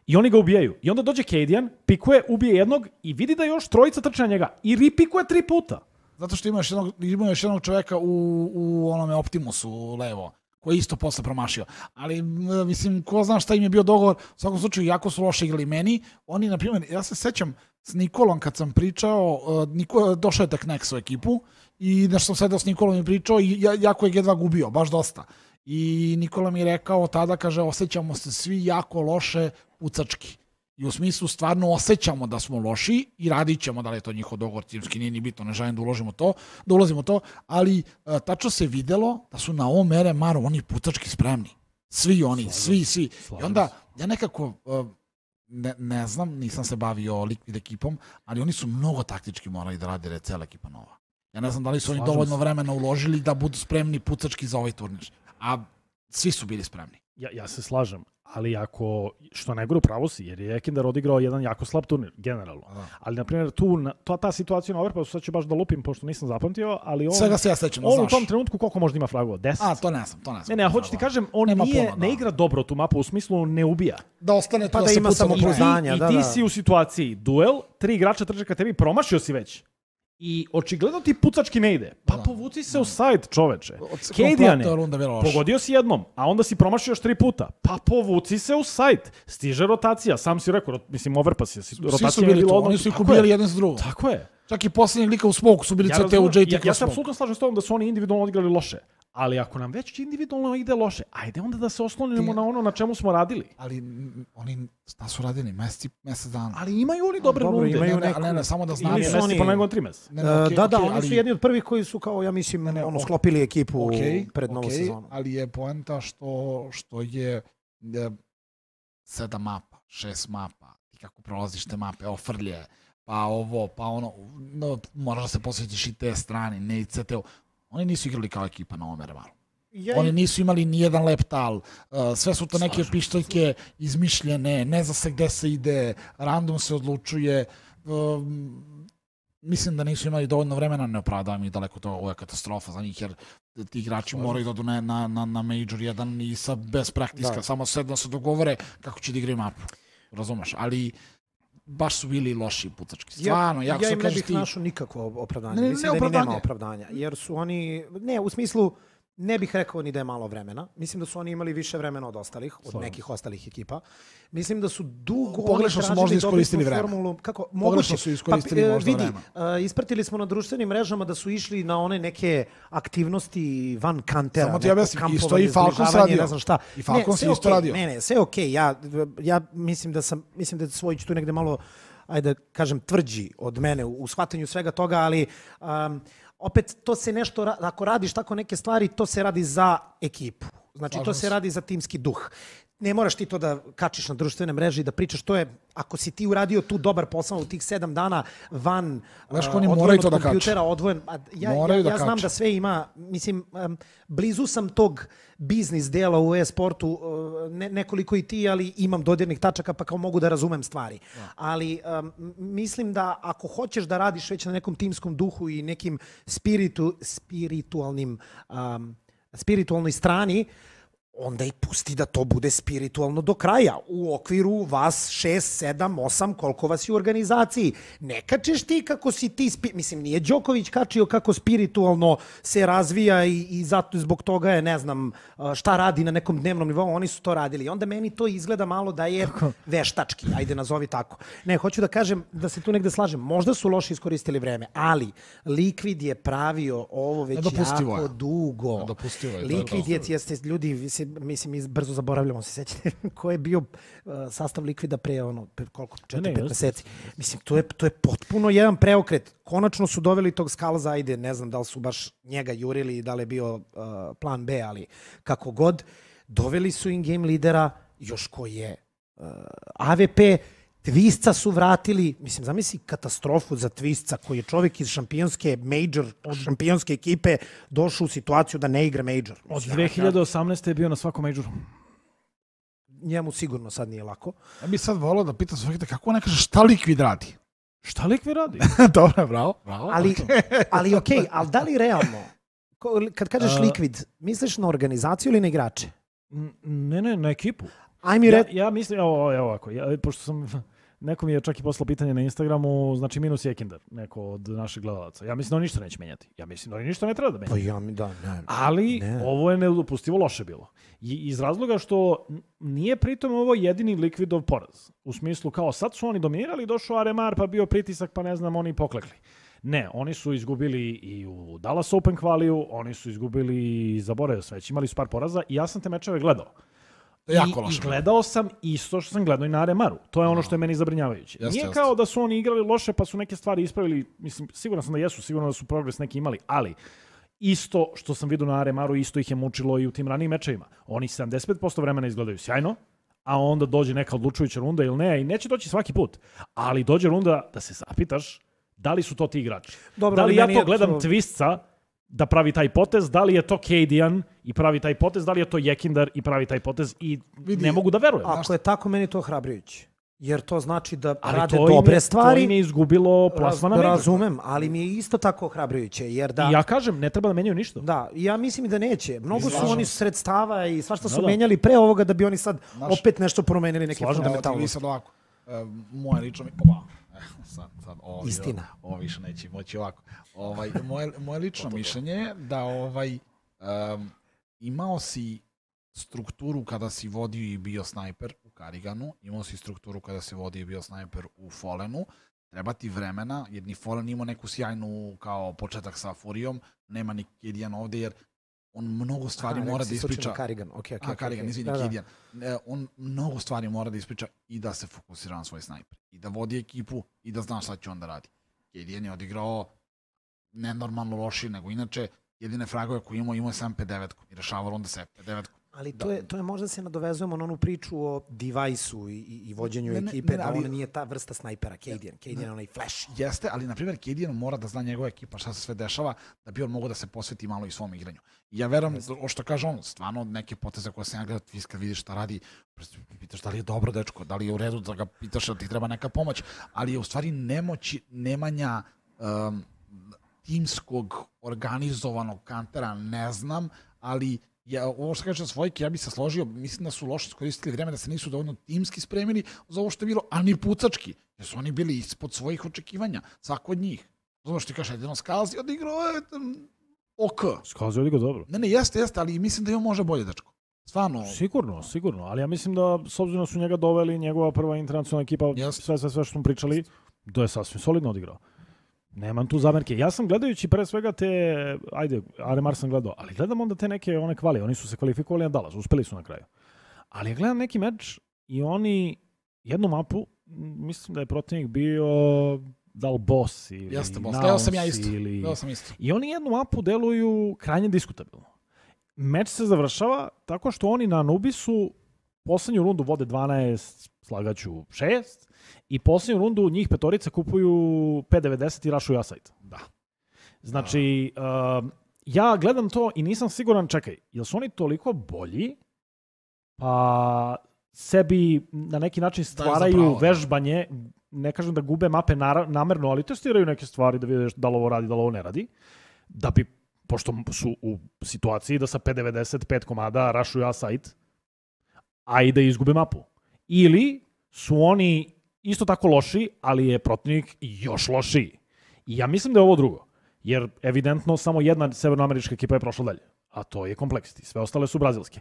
I oni ga ubijaju. I onda dođe Cadian, pikuje, ubije jednog i vidi da još trojica trče na njega. I ripikuje 3 puta. Zato što ima još jednog čoveka u onome Optimusu levo, koji je isto posle promašio. Ali, mislim, ko zna šta im je bio dogovor, u svakom slučaju, jako su loše igrali meni. Oni, na primjer, ja se sećam s Nikolom kad sam pričao, došao je tek Nex u ekipu i nešto sam sedao s Nikolom i pričao i jako je G2 gubio, baš dosta. I Nikola mi je rekao tada, kaže, osjećamo se svi jako loše pucački. I u smislu stvarno osjećamo da smo loši i radit ćemo, da li je to njihov dogovor timski, nije ni bitno, ne želim da ulazimo to, ali tačno se videlo da su na ovom RMR-u oni pucački spremni. Svi oni, svi. I onda ja nekako, ne znam, nisam se bavio Liquid ekipom, ali oni su mnogo taktički morali da rade cijela ekipa nova. Ja ne znam da li su oni dovoljno vremena uložili da budu spremni pucački za ovaj turnir. A svi su bili spremni. Ja se slažem, ali ako, što najgore pravo si, jer je Ekindar odigrao jedan jako slab turnir, generalno. Ali, na primjer, ta situacija na overpassu, sad ću baš da lupim, pošto nisam zapamtio, ali on... Svega se ja sećam, on u tom trenutku koliko možda ima fragova? 10? A, to ne znam. Ne, hoću ti kažem, on ne igra dobro tu mapu, u smislu ne ubija. Da ostane to Pa da se ima puca do kraja. samopouzdanja. I ti si u situaciji duel, 3 igrača trče ka tebi, promašio si već. I očigledno ti pucački ne ide. Pa povuci se u side, čoveče. Cadiane, pogodio si jednom, a onda si promašio još 3 puta. Pa povuci se u side. Stiže rotacija, sam si rekao, mislim, overpass je. Svi su bili tu, oni su ih ubijali jedan s drugom. Tako je. Čak i posljednjeg lika u smoku su bili CT u JT. Ja se apsolutno slažem s tobom da su oni individualno odigrali loše. Ali ako nam već individualno ide loše, ajde onda da se oslonimo na ono na čemu smo radili. Ali oni šta su radili? Mesec dana. Ali imaju oni dobre runde. Imaju ne, samo da znam. Ili su oni po nego 3 meseca. Oni su jedni od prvih koji su, kao ja mislim, sklopili ekipu pred novu sezonu. Ali je poenta što je 7 mapa, 6 mapa, i kako prolaziš te mape, ofrlje, pa ovo, pa ono, moraš da se posvetiš i te strane, ne i CT-u. Oni nisu igrali kao ekipa na ovom RMR-u. Oni nisu imali ni jedan leptal, sve su to neke pištoljke izmišljene, ne zna se gde se ide, random se odlučuje. Mislim da nisu imali dovoljno vremena, ne opravdavam ih daleko to, ovo je katastrofa za njih, jer ti igrači moraju da odu na Major 1 i bez praktiska, samo sedno se dogovore kako će da igraju mapu. Razumeš, ali baš su bili loši pucački. Stvarno, ja im ne bih našao nikakvo opravdanje. Mislim da im nema opravdanja. Jer su oni, ne, u smislu, ne bih rekao ni da je malo vremena. Mislim da su oni imali više vremena od ostalih, od nekih ostalih ekipa. Mislim da su dugo pogrešno su možda iskoristili vreme. Kako? Pogrešno su iskoristili možda vreme. Ispratili smo na društvenim mrežama da su išli na one neke aktivnosti van kantera. Samo ti objasnim, isto i Falcons radio. Ne znam šta. I Falcons isto radio. Ne, sve okej. Ja mislim da Svojić tu negde malo, ajde kažem, tvrđi od mene u shvatanju svega toga, ali opet to se nešto, ako radiš tako neke stvari, to se radi za ekipu. Znači, to se radi za timski duh. Ne moraš ti to da kačiš na društvene mreže i da pričaš, to je, ako si ti uradio tu dobar posao u tih 7 dana van odvojen od kompjutera, odvojen. Ja znam da sve ima, mislim, blizu sam tog biznis dela u e-sportu, nekoliko i ti, ali imam dodirnih tačaka pa kao mogu da razumem stvari. Ali mislim da ako hoćeš da radiš već na nekom timskom duhu i nekim spiritualnoj strani, onda i pusti da to bude spiritualno do kraja. U okviru vas 6, 7, 8, koliko vas je u organizaciji. Ne kačeš ti kako si ti, mislim, nije Đoković kačio kako spiritualno se razvija i zato zbog toga je, ne znam, šta radi na nekom dnevnom nivou, oni su to radili. I onda meni to izgleda malo da je veštački, ajde nazovi tako. Ne, hoću da kažem da se tu negde slažem. Možda su loše iskoristili vreme, ali Liquid je pravio ovo već jako dugo. Liquid jeste ljudi, mislim, mi brzo zaboravljamo, se sećate ko je bio sastav Liquida pre koliko, 4-5 meseci. Mislim, to je potpuno jedan preokret. Konačno su doveli tog Skalza, ajde, ne znam da li su baš njega jurili i da li je bio plan B, ali kako god, doveli su in-game lidera, još koji je AVP, Twisca su vratili, mislim, zamisli katastrofu za Twisca koji je čovjek iz šampionske major, od šampionske ekipe došao u situaciju da ne igra major. Od 2018. je bio na svakom majoru. Njemu sigurno sad nije lako. Ja bih sad volao da pitam svojeg kako ne kaže šta Liquid radi? Šta Liquid radi? Dobro, bravo. Ali okej, ali da li realno, kad kažeš Liquid, misliš na organizaciju ili na igrače? Ne, na ekipu. Ja mislim, evo ovako, pošto sam, neko mi je čak i poslao pitanje na Instagramu, znači minus je Kindar, neko od naših gledalaca. Ja mislim da on ništa neće menjati. Ja mislim da on ništa ne treba da menja. Ali ovo je nedopustivo loše bilo. I iz razloga što nije pritom ovo jedini Liquidov poraz. U smislu kao sad su oni dominirali, došao RMR pa bio pritisak pa ne znam, oni poklekli. Ne, oni su izgubili i u Dallas Open kvaliju, oni su izgubili, zaboravio sve, imali su par poraza i ja sam te mečeve gledao. I gledao sam isto što sam gledao i na RMR-u. To je ono što je meni zabrinjavajuće. Nije kao da su oni igrali loše pa su neke stvari ispravili. Mislim, siguran sam da jesu, sigurno da su progres neki imali, ali isto što sam vidio na RMR-u, isto ih je mučilo i u tim ranijim mečevima. Oni 75% vremena izgledaju sjajno, a onda dođe neka odlučujuća runda ili ne, i neće doći svaki put. Ali dođe runda da se zapitaš da li su to ti igrači. Dobro, da li ja to gledam Twisca da pravi taj potez, da li je to Cadian i pravi taj potez, da li je to Jekindar i pravi taj potez i ne mogu da verujem. Ako je tako, meni to ohrabrujuće. Jer to znači da rade dobre stvari. To im je izgubilo plasman na major. Razumem, ali mi je isto tako ohrabrujuće. Jer da, I ja kažem, ne treba da menjaju ništa. Da, ja mislim da neće. Mnogo su oni sredstava i svašta su menjali pre ovoga da bi oni sad opet nešto promenili neke fundamentalnosti. Sad ovako, moje lično... Sad, istina. Ovo više neće moći ovako. Moje lično mišljenje je da imao si strukturu kada si vodio i bio snajper u Kariganu, imao si strukturu kada si vodio i bio snajper u Fallenu, treba ti vremena, jer ni Fallen imao neku sjajnu kao početak sa Furijom, nema ni Cadian ovdje, jer on mnogo stvari mora da ispriča. Karigan, izvini, Cadian. On mnogo stvari mora da ispriča i da se fokusira na svoj snajper. I da vodi ekipu i da zna šta će on da radi. Cadian je odigrao nenormalno loši, nego inače jedine fragove koje imao je 7-5-9 i rešavalo onda se 5-9. Ali to je možda se nadovezujemo na onu priču o device-u i vođenju ekipe, da on nije ta vrsta snajpera, Cadian je onaj flash. Jeste, ali na primjer Cadian mora da zna njegova ekipa šta se sve dešava, da bi on mogao da se posveti malo i svom igranju. I ja verujem, o što kaže on, stvarno neke poteze koje sam ja gledao, ti kad vidiš šta radi, pitaš da li je dobro dečko, da li je u redu da ga pitaš da ti treba neka pomoć, ali je u stvari nemanja timskog organizovanog kantera, ne znam, ali ovo što kaže Svojke, ja bih se složio, mislim da su loše iskoristili vreme, da se nisu dovoljno timski spremili za ovo što je bilo, a ni pucački, jer su oni bili ispod svojih očekivanja, svako od njih. Zato što ti kaže, jedino Skalzi odigrao je OK. Skalzi odigrao dobro. Ne, jeste, ali mislim da je on može bolje, dečko. Stvarno. Sigurno, ali ja mislim da s obzirom su njega doveli, njegova prva internacionalna ekipa, sve što smo pričali, da je sasvim solidno odigrao. Nemam tu zamerke. Ja sam gledajući pre svega RMR sam gledao, ali gledam onda te neke one kvali. Oni su se kvalifikovali na Dallas, uspeli su na kraju. Ali ja gledam neki meč i oni jednu mapu, mislim da je protivnik bio da li Boss ili Naus ili... I oni jednu mapu deluju krajnje diskutabilno. Meč se završava tako što oni na Anubisu poslednju rundu vode 12, slagaću 6, i posljednju rundu njih petorica kupuju 5.90 i rašuju asajt. Da. Znači, ja gledam to i nisam siguran, čekaj, jel su oni toliko bolji, pa sebi na neki način stvaraju vežbanje, ne kažem da gube mape namerno, ali testiraju neke stvari da vidiš da li ovo radi, da li ovo ne radi, da bi pošto su u situaciji da sa 5.95 komada rašuju A-side, a i da izgube mapu. Ili su oni isto tako loši, ali je protivnik još lošiji. I ja mislim da je ovo drugo. Jer evidentno samo jedna severnoamerička ekipa je prošla dalje. A to je Complexity. Sve ostale su brazilske.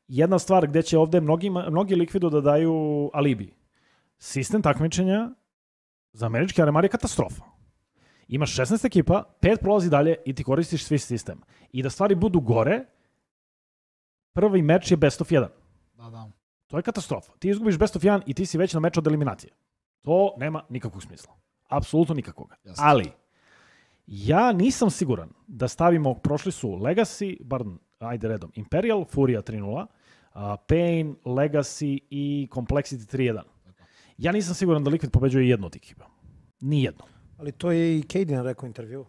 Jedna stvar gde će ovde mnogi Liquidu da daju alibi. Sistem takmičenja za američki Aremar je katastrofa. Imaš 16 ekipa, 5 prolazi dalje i ti koristiš svi sistem. I da stvari budu gore, prvi meč je best of 1. Da. To je katastrofa. Ti izgubiš best of 1 i ti si već na meču od eliminacije. To nema nikakvog smisla. Apsolutno nikakvog. Jasne. Ali, ja nisam siguran da stavimo, prošli su Legacy, bar ajde redom, Imperial, Furia 3-0, Pain, Legacy i Complexity 3-1. Ja nisam siguran da Liquid pobeđuje jednu od ekipa. Nijedno. Ali to je i Cadian rekao u intervju.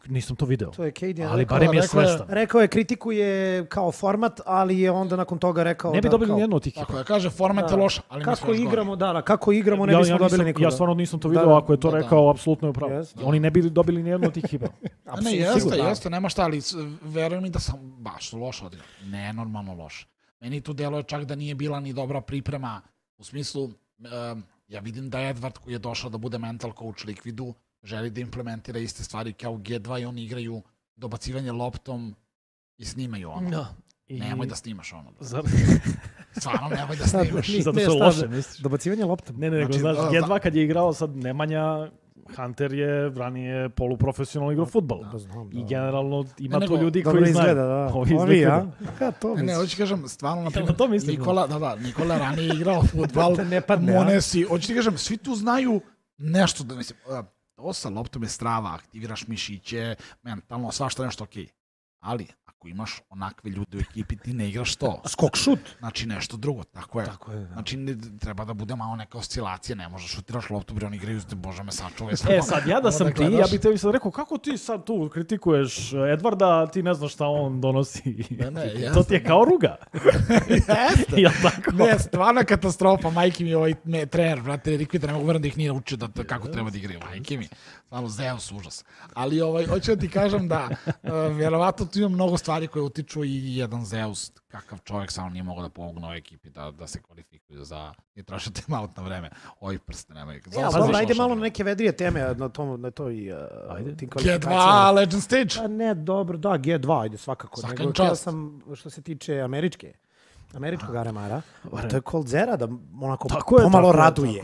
Nisam to video. To je Cadian ali rekao, barem je svestan. Rekao je, kritikuje kao format, ali je onda nakon toga rekao ne bi dobili nijednu od tih ekipa. Tako je, kaže, format je loš, ali kako igramo, kako igramo, ne bismo dobili nikoga. Ja stvarno nisam to video, ako je to rekao, apsolutno je upravo. Oni ne bi dobili nijednu od tih ekipa. Ne, jeste, nema šta, ali verujem mi da sam baš loš odigrao. Nenormalno loš. Meni tu deluje čak da nije bila ni dobra priprema, u smislu, ja vidim da Edward koji je došao da bude mental coach Liquidu, želi da implementira iste stvari kao G2 i oni igraju dobacivanje loptom i snimaju ono. No. Nemoj da snimaš ono. Stvarno, nemoj da snimaš. Zato što loše, misliš? Dobacivanje loptom? Ne, nego znaš, G2 kad je igrao sad Nemanja, Hunter je ranije poluprofesionalno igrao fudbal. I generalno ima to ljudi koji znaju. Ovi, ja? Ne, hoću ti kažem, stvarno, naprimjer, Nikola ranije igrao fudbal, Monesi, hoću ti kažem, svi tu znaju nešto, da mislim, to sa loptom je strava, aktiviraš mišiće, mentalno, svašta nešto okej. Ali, ako imaš onakve ljude u ekipi, ti ne igraš to. Skok šut. Znači nešto drugo, tako je. Znači treba da bude malo neka oscilacija, ne možeš šutiraš loptu, bre, oni igraju, bože me sačuvaj. Sad ja da sam ti, ja bih tebi sad rekao, kako ti sad tu kritikuješ Edvarda, ti ne znaš šta on donosi. To ti je kao ruga. Jeste. Ne, stvarna katastrofa, majke mi ovaj trener, brate, Liquid, ne mogu verujem da ih nije učio kako treba da igraju, majke mi. Stvarno, Zeus, užas. Ali hoću da ti kažem da verovatno tu ima mnogo stvari koje utiču i jedan Zeus, kakav čovjek samo nije mogao da pomogne ovoj ekipi da se kvalifikuju za i traže time out na vreme. Ovi prste nemaju. Ajde malo na neke vedrije teme na toj tim kvalifikacijama. G2 Legend Stage. Ne, dobro, da, G2, ajde svakako. Nego htio sam, što se tiče američkog Aremara, to je Coldzera da onako pomalo raduje.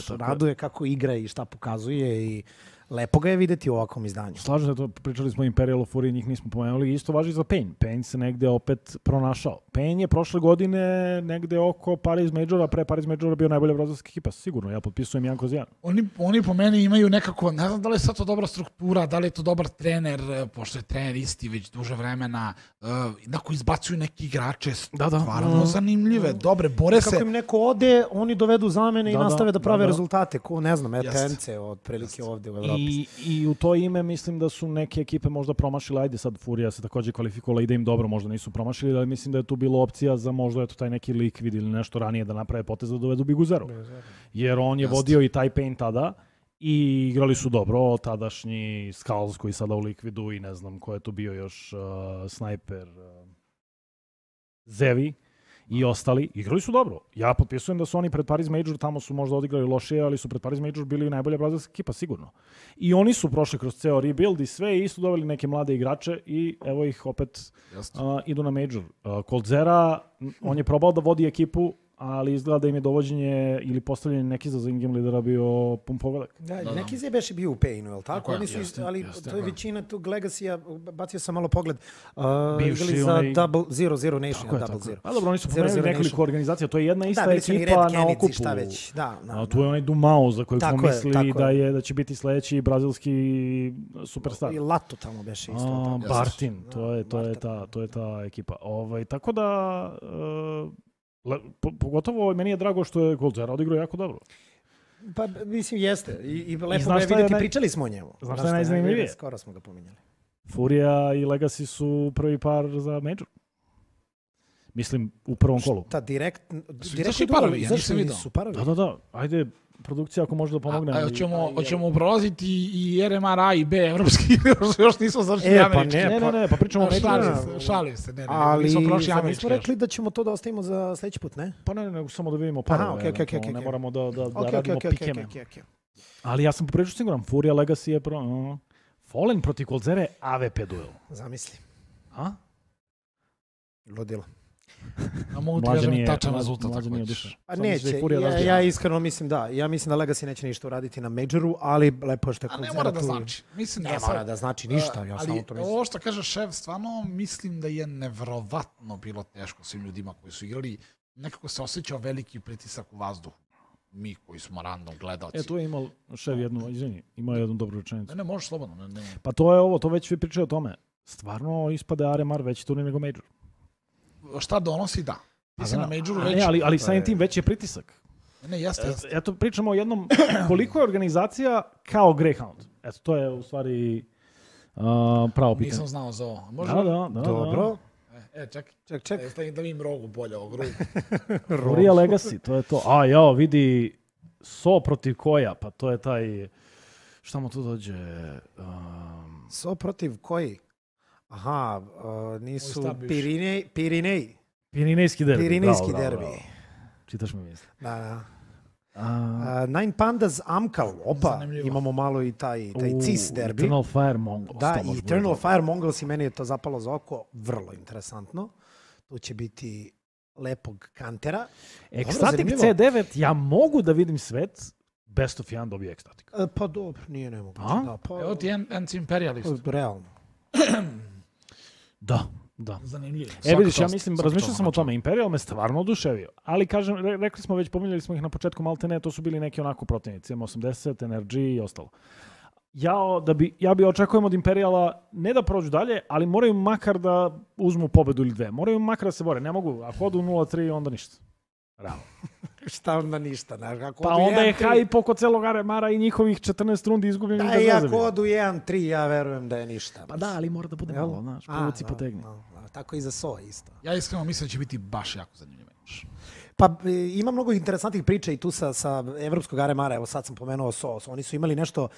Raduje kako igra i šta pokazuje i lepo ga je videti u ovakvom izdanju. Slažem se, to pričali smo o Imperial of Fury, njih nismo pomenuli. Isto važi za Pain. Pain se negde opet pronašao. Pain je prošle godine negde oko Paris Majora, pre Paris Majora bio najbolja brazilska ekipa. Sigurno, ja potpisujem 1/1. Oni po meni imaju nekako, ne znam da li je sad to dobra struktura, da li je to dobar trener, pošto je trener isti već duže vremena, koji izbacuju neki igrače, stvarno zanimljive, dobre, bore se. Kako im neko ode, oni dovedu zamene i nastave da prave rezultate. Ko, ne znam, ETNC otprilike ovde u Evropi. I u to ime mislim da su neke ekipe možda promašile, ajde sad Furija se također kvalifikovala i da im dobro, možda nisu promašili, ali mislim da je tu bilo opcija za možda taj neki Liquid ili nešto ranije da naprave potez da dovedu Bigu Zero. Jer on je vodio i taj Pain tada i igrali su dobro, tadašnji Skulls koji sada u Liquidu i ne znam ko je tu bio još, Sniper, Zevi i ostali, igrali su dobro. Ja potpisujem da su oni pred Paris Major, tamo su možda odigrali lošije, ali su pred Paris Major bili najbolja brazilska ekipa, sigurno. I oni su prošli kroz ceo rebuild i sve i su doveli neke mlade igrače i evo ih opet idu na Major. Coldzera, on je probao da vodi ekipu, ali izgleda da im je dovođenje ili postavljanje neki za in-game lidera bio pun pogodak. Da, neki je beše bio u Painu, je li tako? Oni su, ali to je većina tog Legacy-a, bacio sam malo pogled, igrali za Double Zero Nation. A dobro, oni su pomenuli nekoliko organizacija, to je jedna ista ekipa na okupu. Tu je onaj Dumao za kojeg smo mislili da će biti sledeći brazilski superstar. I Lato tamo beše isto. Bartin, to je ta ekipa. Tako da... Pogotovo meni je drago što je Coldzera odigrao jako dobro. Pa mislim jeste. I lepo ga je vidjeti, pričali smo o njemu. Znaš šta je najzanimljivije? Skoro smo ga pominjali. Furia i Legacy su prvi par za Major. Mislim, u prvom kolu. Šta, direkt parovi, ja nisam vidio. Su parovi. Da. Ajde, produkcija ako može da pomogne. Hoćemo prolaziti i RMR A i B evropski, još nismo završili američki. Ne, pa pričamo o Šalim se, ali nismo rekli da ćemo to da ostavimo za sledeći put, ne? Pa ne, nego samo da vidimo parove. Ne moramo da radimo pikeme. Ali ja sam poprilično siguran, Furia Legacy je Fallen protiv Coldzere AVP duel. Zamisli. A? Ludilo. A mogu ti kažem tačan rezultat. Pa neće, ja iskreno mislim da. Ja mislim da Legacy neće ništa uraditi na Majoru, ali lepo je što je Coldzera tu. A ne mora da znači. Ne mora da znači ništa, ja samo to mislim. Ovo što kaže šef, stvarno mislim da je nevjerovatno bilo teško svim ljudima koji su igrali. Nekako se osjećao veliki pritisak u vazduhu. Mi koji smo random gledalci. Tu je imao šef imao jednu dobru rečenicu. Ne, možeš slobodno. Ne. Pa to je ovo, to već vi pričaju o tome. Stvarno ispade RMR veći turnir nego Major. Šta donosi, da. Mislim na Majoru već... Ali samim tim veći je pritisak. Ne, jeste. Eto, pričamo o jednom, koliko je organizacija kao Greyhound. Eto, to je u stvari pravo pitanje. Nisam znao za ovo. Da. Dobro. Ček. Stavim da vidim rogu bolje ovog ruku. Furia Legacy, to je to. Vidi So protiv Koja, pa to je taj... Šta mu tu dođe? So protiv koji? Aha, nisu Pirinej. Pirinejski derbi. Pirinejski derbi. Čitaš mi misli. Da. Nine Pandas Amkal. Opa, zanimljivo. Imamo malo i taj CIS derbi. Eternal Fire Mongols. Da, i Eternal Fire Mongols i meni je to zapalo za oko. Vrlo interesantno. Tu će biti lepog kantera. Ecstatic C9, ja mogu da vidim svet. Best of 1 dobije Ecstatic. Pa dobro, nije nemoguće. Evo ti Anti-Imperialist. Realno. Da. Zanimljivo. Vidiš, ja mislim, razmišljao sam o tome, Imperial me stvarno oduševio, ali kažem, rekli smo već, pominjali smo ih na početku maltene, to su bili neki onako protivnici, M80, NRG i ostalo. Ja bi očekujem od Imperiala ne da prođu dalje, ali moraju makar da uzmu pobedu ili dve. Moraju makar da se bore, ne mogu, ako odu 0-3, onda ništa. Realno. Šta onda ništa? Pa onda je hype oko celog RMR-a i njihovih 14 rundi izgubljenih bez veze. Da, i ako odu 1-3, ja verujem da je ništa. Pa da, ali mora da bude malo, znaš, povuci potegni. Tako i za So isto. Ja iskreno mislim da će biti baš jako zanimljiv meč. Pa ima mnogo interesantnih priča i tu sa evropskog RMR-a, evo sad sam pomenuo So. Oni su imali nešto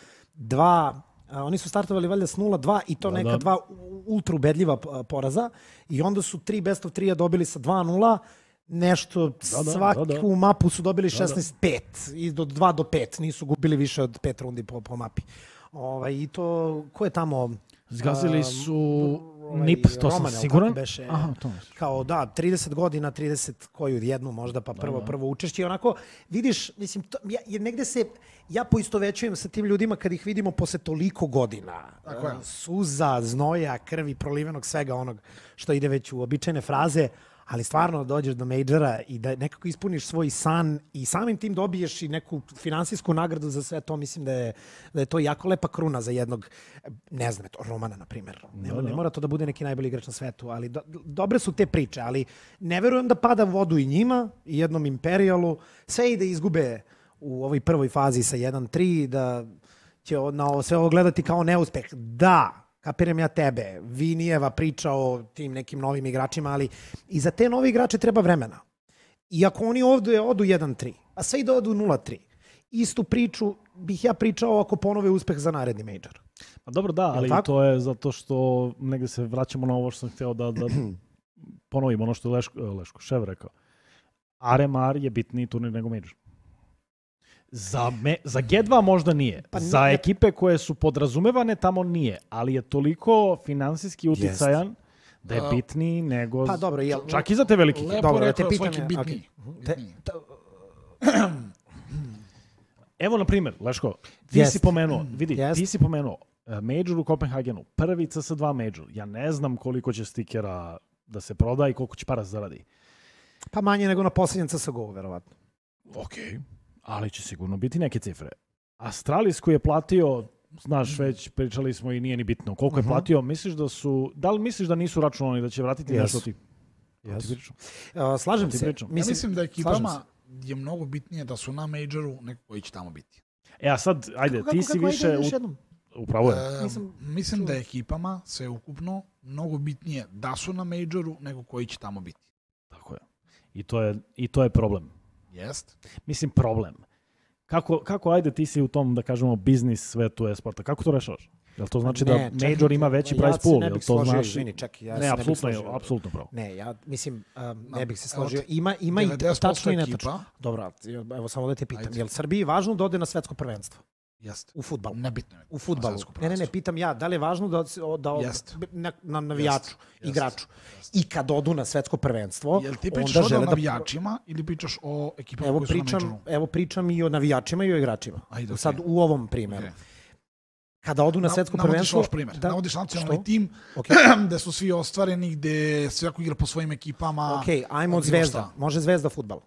oni su startovali valjda s 0-2 i to neka dva ultra ubedljiva poraza i onda su 3 best of 3 dobili sa 2-0. Nešto, svaku mapu su dobili 16-5 i do 2-5, nisu gubili više od 5 rundi po mapi. I to, ko je tamo? Zgazili su NIP, to sam siguran. Aha, to kao 30 godina, 30 koju jednu možda, pa prvo učešće. Onako, vidiš, mislim, negde se, ja poistovećujem sa tim ljudima kad ih vidimo posle toliko godina. Suza, znoja, krvi, prolivenog, svega onog što ide već u običajne fraze. Ali stvarno dođeš do Majora i da nekako ispuniš svoj san i samim tim dobiješ i neku finansijsku nagradu za sve to, mislim da je to jako lepa kruna za jednog, ne znam, Romana, na primjer. Ne mora to da bude neki najbolji igrač na svetu, ali dobre su te priče, ali ne verujem da pada vodu i njima, i jednom Imperialu, sve i da izgube u ovoj prvoj fazi sa 1-3, da će sve ovo gledati kao neuspeh. Da, kapiram ja tebe, Vinijeva priča o tim nekim novim igračima, ali i za te nove igrače treba vremena. I ako oni ovdje odu 1-3, a sve i da odu 0-3, istu priču bih ja pričao ako ponove uspeh za naredni major. Pa dobro, da, ali to je zato što negdje se vraćamo na ovo što sam htio da ponovim, ono što je Leško Šev rekao. RMR je bitniji turnir nego major. Za G2 možda nije. Za ekipe koje su podrazumevane tamo nije, ali je toliko finansijski uticajan da je bitniji nego... Pa dobro, čak i za te velike. Lepo rekao svaki bitniji. Evo, na primjer, Leško, ti si pomenuo Major u Kopenhagenu, prvi CS2 Major. Ja ne znam koliko će stikera da se proda i koliko će para zaradi. Pa manje nego na posljednjem CSGO-u, verovatno. Okej. Ali će sigurno biti neke cifre. Astralis koji je platio, znaš, već pričali smo i nije ni bitno koliko je platio, da li misliš da nisu računali da će vratiti nešto ti? Slažem se. Ja mislim da ekipama je mnogo bitnije da su na Majoru nego koji će tamo biti. A sad, ajde, ti si više... Upravo je. Mislim da je ekipama sve ukupno mnogo bitnije da su na Majoru nego koji će tamo biti. Tako je. I to je problem. Jest. Mislim, problem. Kako ajde ti si u tom, da kažemo, biznis svetu e-sporta, kako to rešavaš? Jel to znači da Major ima veći prize pool? Jel to znači... Izvini, čekaj, ja se ne bih složio. Apsolutno pravo. Ne, ja mislim, ne bih se složio. Ima i tačno i netačno. Dobro, evo samo da te pitam. Je li Srbiji važno da ode na svetsko prvenstvo? Jeste. U fudbalu. Nebitno je. U fudbalu. Ne, pitam ja, da li je važno da na navijaču, igraču. I kad odu na svetsko prvenstvo, jel ti pričaš o navijačima ili pričaš o ekipama koji su na Majoru? Evo pričam i o navijačima i o igračima. Sad u ovom primjeru. Kada odu na svetsko prvenstvo... Navodiš primjer. Navodiš nacionalni tim gde su svi ostvareni, gde svako igra po svojim ekipama. Ok, ajmo od Zvezda. Može Zvezda fudbal.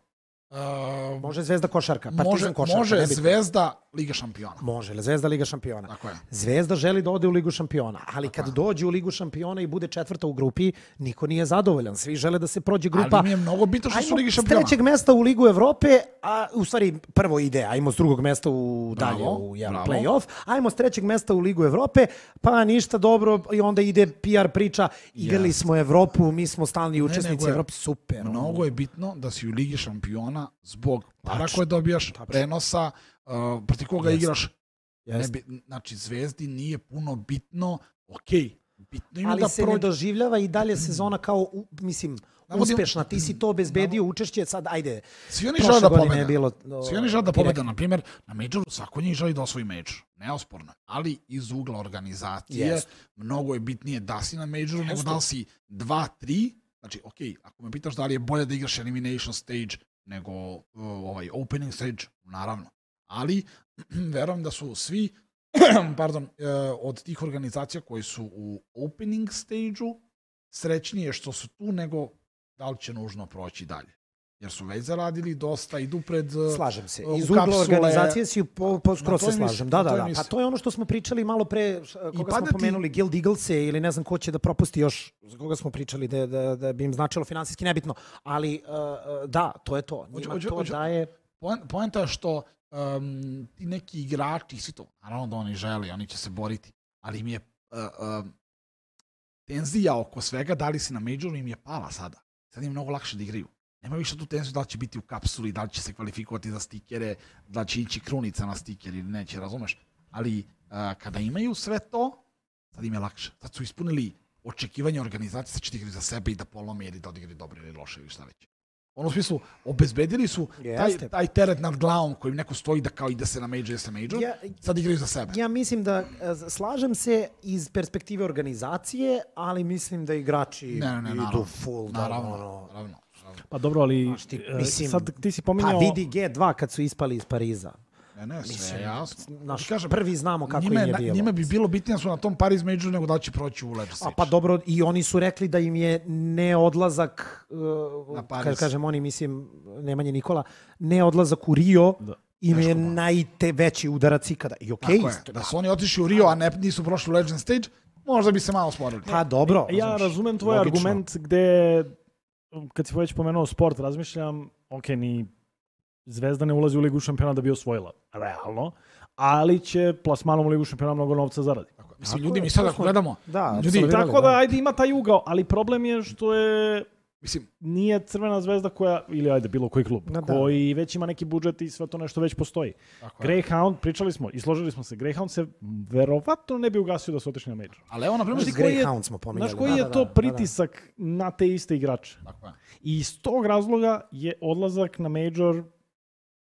Može Zvezda košarka, Partizan košarka. Može Zvezda Liga šampiona. Može Zvezda Liga šampiona. Tako je. Zvezda želi da ode u Ligu šampiona, ali kad dođe u Ligu šampiona i bude četvrta u grupi, niko nije zadovoljan. Svi žele da se prođe grupa. Ali mi je mnogo bitno što su Ligi šampiona. S trećeg mesta u Ligu Evrope, a u stvari prvo ide, ajmo s drugog mesta u dalje u play-off, ajmo s trećeg mesta u Ligu Evrope, pa ništa dobro i onda ide PR priča, igrali smo Evropu, mi smo stalni učesnici Evrope, super. Mnogo je bitno da si u Ligi šampiona zbog para koje dobijaš, prenosa, protiv koga igraš. Znači, Zvezdi nije puno bitno, bitno ima ali da se ne doživljava i dalje sezona kao, mislim, uspešna. Ti si to obezbedio učešće, sad, ajde. Svi oni žele da pobede. Svi oni žele da pobede. Na primjer, na Majoru svako njih želi da osvoji Major. Neosporno. Ali iz ugla organizacije mnogo je bitnije da si na Majoru nego da li si 2-3. Znači, ako me pitaš da li je bolje da igraš elimination stage nego opening stage, naravno. Ali, verujem da su svi od tih organizacija koji su u opening stage-u srećnije što su tu nego da li će nužno proći dalje. Jer su već zaradili dosta, idu pred slažem se. Iz ugla organizacije si skoro se slažem. Da. Pa to je ono što smo pričali malo pre, koga smo pomenuli, Guild Eaglese ili ne znam ko će da propusti još, za koga smo pričali da bi im značilo finansijski nebitno. Ali da, to je to. Njima to daje... Poenta je što ti neki igrači, svi to, naravno da oni žele, oni će se boriti, ali im je tenzija oko svega, da li si na Majoru, im je pala sada. Sad im je mnogo lakše da igraju. Nema više tu tenziju da li će biti u kapsuli, da li će se kvalifikovati za stikere, da li će ići krunica na stiker ili neće, razumeš? Ali kada imaju sve to, sad im je lakše. Sad su ispunili očekivanje organizacije, sad će da igraju za sebe i da polome ili da odigraju dobro ili loše ili šta već. U smislu, obezbedili su taj teret nad glavom kojim neko stoji da kao ide se na Major, sad igraju za sebe. Ja mislim da, slažem se iz perspektive organizacije, ali mislim da igrači idu full. Naravno. Pa dobro, ali sad ti si pominjao... Pa vidi G2 kad su ispali iz Pariza. Ne, sve jasno. Prvi znamo kako im je bilo. Njima bi bilo bitnije su na tom Paris Majoru nego da će proći u lepši stage. Pa dobro, i oni su rekli da im je neodlazak, kad kažem oni, mislim, Nemanje Nikola, neodlazak u Rio im je najveći udarac ikada. I okej. Da su oni otišli u Rio, a nisu prošli u Legend Stage, možda bi se malo sporili. Pa dobro. Ja razumem tvoj argument gde, kad si već pomenuo sport, razmišljam, ni Zvezda ne ulazi u Ligu šampiona da bi osvojila, realno, ali će plasmanom u Ligu šampiona mnogo novca zaradi. Mislim, ljudi, mi sad ako gledamo... Tako da, ajde, ima taj ugao, ali problem je što je... Mislim, nije Crvena Zvezda koja, ili ajde, bilo koji klub, koji već ima neki budžet i sve to nešto već postoji. Greyhound, pričali smo i složili smo se, Greyhound se verovatno ne bi ugasio da su otišli na Major. Ali evo, na primjer, Greyhound smo pominjali. Znaš koji je to pritisak na te iste igrače? I iz tog razloga je odlazak na Major...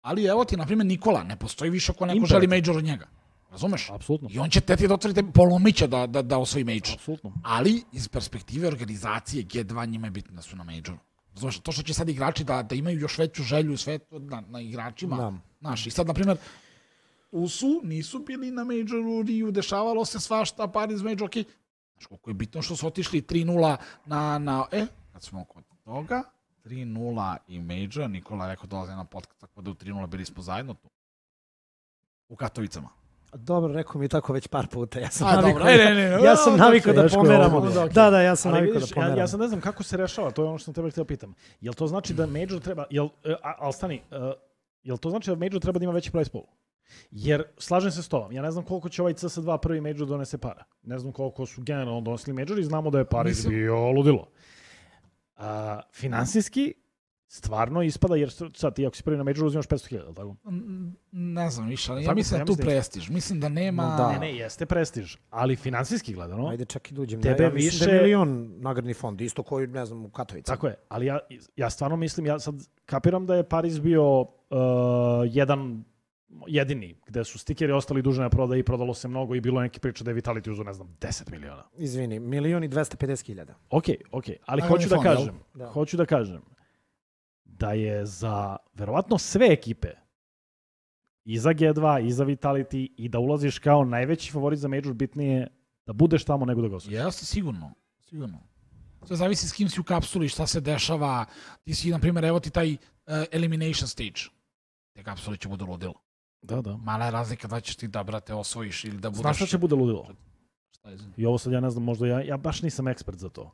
Ali evo ti, na primjer, Nikola, ne postoji više ako neko želi Major od njega. Razumeš? Apsolutno. I on će teti da otvorite polomića da osvoji Major. Apsolutno. Ali iz perspektive organizacije G2 njima je bitno da su na Majoru. Razumeš? To što će sad igrači da imaju još veću želju i sve na igračima. Znaš, i sad, na primjer, nisu bili na Majoru, Riju, dešavalo se svašta, Paris Major, okej. Znaš, koliko je bitno što su otišli 3-0 kad smo kod toga, 3-0 i Major, Nikola je rekao dolaze na podcast, tako da u 3-0 bili smo zajedno tu. U Katovicama. Dobro, rekao mi tako već par puta. Ja sam navikao da pomeramo. Da, ja sam navikao da pomeramo. Ja sam ne znam kako se rešava, to je ono što sam tebe htio pitam. Jel to znači da Major treba, jel to znači da Major treba da ima veći prize pool? Jer, slažem se s tobom, ja ne znam koliko će ovaj CS2 prvi Major donese para. Ne znam koliko su generalno donosili Major i znamo da je Paris bio ludilo. Finansijski, stvarno ispada, jer sad ti ako si prvi na majoru uzimaš 500.000, tako? Ne znam više, ali ja Tako, mislim ja da tu mislim da- prestiž. Mislim da nema... Da. Ne, jeste prestiž, ali finansijski gledano, Ajde čak i duđem. Tebe Ja mislim da više- je milion nagradni fond, isto koji, ne znam, u Katovicama. tako je, ali ja stvarno mislim, ja sad kapiram da je Paris bio jedini, gde su stikeri ostali duže na prodaji i prodalo se mnogo i bilo neki priča da je Vitality uzeo, ne znam, 10 miliona. Izvini, 1.250.000. Ok, ali Nagradni hoću da fond, jel? kažem, Da. hoću da kažem da je za verovatno sve ekipe i za G2 i za Vitality i da ulaziš kao najveći favorit za major bitnije da budeš tamo nego da ga osvojiš. Jeste, sigurno. Sve zavisi s kim si u kapsuli, šta se dešava. Ti si, na primjer, evo ti taj elimination stage. Te kapsule će budu ludilo. Da. Mala je razlika da ćeš ti da, brate, osvojiš ili da budeš... Znaš šta će bude ludilo? Šta je, I ovo sad ja ne znam, možda ja baš nisam ekspert za to.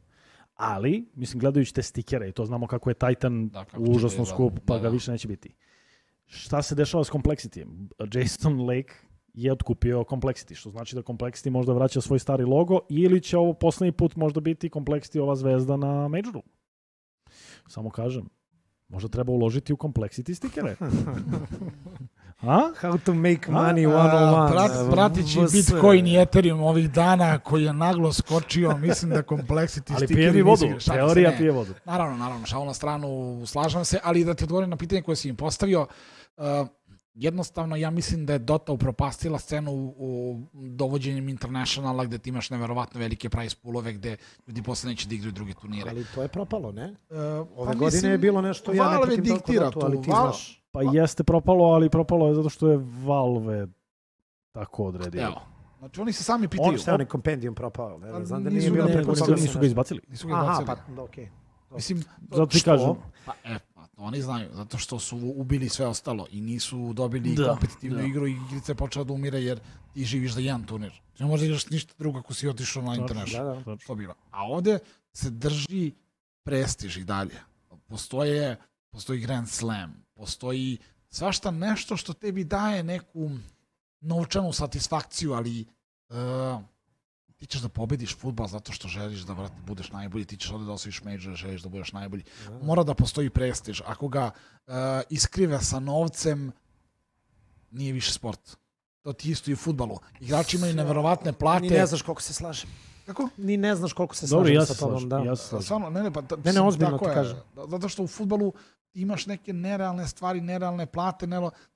Ali, mislim, gledajući te stikere i to znamo kako je Titan Da, kako će užasno da skup, izgleda. pa Da, ga da. više neće biti. Šta se dešava s Complexity? Jason Lake je otkupio Complexity, što znači da Complexity možda vraća svoj stari logo ili će ovo poslednji put možda biti Complexity ova zvezda na majoru. Samo kažem, možda treba uložiti u Complexity stikere. A? How to make money A, 101. pratići VS. Bitcoin i Ethereum ovih dana koji je naglo skočio, mislim da Complexity Ali stikeri pije mi vodu, nisu- šalim se, teorija ne. pije vodu. Naravno, šalu na stranu, slažem se, ali da ti odgovorim na pitanje koje si im postavio, jednostavno ja mislim da je Dota upropastila scenu u dovođenjem internationala gde ti imaš neverovatno velike prize poolove gde ljudi posle neće da igraju druge turnire. Ali to je propalo, ne? Pa Ove godine je bilo nešto, ja ne Valve pratim toliko diktira Dotu, tu, ali ti Valve- znaš. Pa jeste propalo, ali propalo je zato što je Valve tako odredio. Evo, znači oni se sami pitaju. Šta je onaj kompendium propao? Pa Ne znam da nisu nije bilo ga preko prepustili, toga Nisu ga izbacili. Nisu ga Aha, izbacili. pa okej. Mislim, Zato ti Što? kažem. pa oni znaju, zato što su ubili sve ostalo i nisu dobili Da, kompetitivnu da. igru i igrica je počela da umire jer ti živiš za jedan turnir. Ne možeš igraš ništa drugo ako si otišao na international. Da. Što bilo. A ovde se drži prestiž i dalje. Postoji Grand Slam, postoji svašta nešto što tebi daje neku novčanu satisfakciju, ali ti ćeš da pobediš fudbal zato što želiš da, brate, budeš najbolji, ti ćeš ovde da osvojiš major, želiš da budeš najbolji. Mora da postoji prestiž. Ako ga iskrive sa novcem, nije više sport. To ti isto i u fudbalu. Igrači imaju neverovatne plate. Ni ne znaš koliko se slažem. Kako? Ni ne znaš koliko se Dobro, slažem ja sa se tobom. slažem. Da. Ja se slažem. Stvarno, Ne, ozbiljno tako ti je. kažem. Zato što u fudbalu ti imaš neke nerealne stvari, nerealne plate,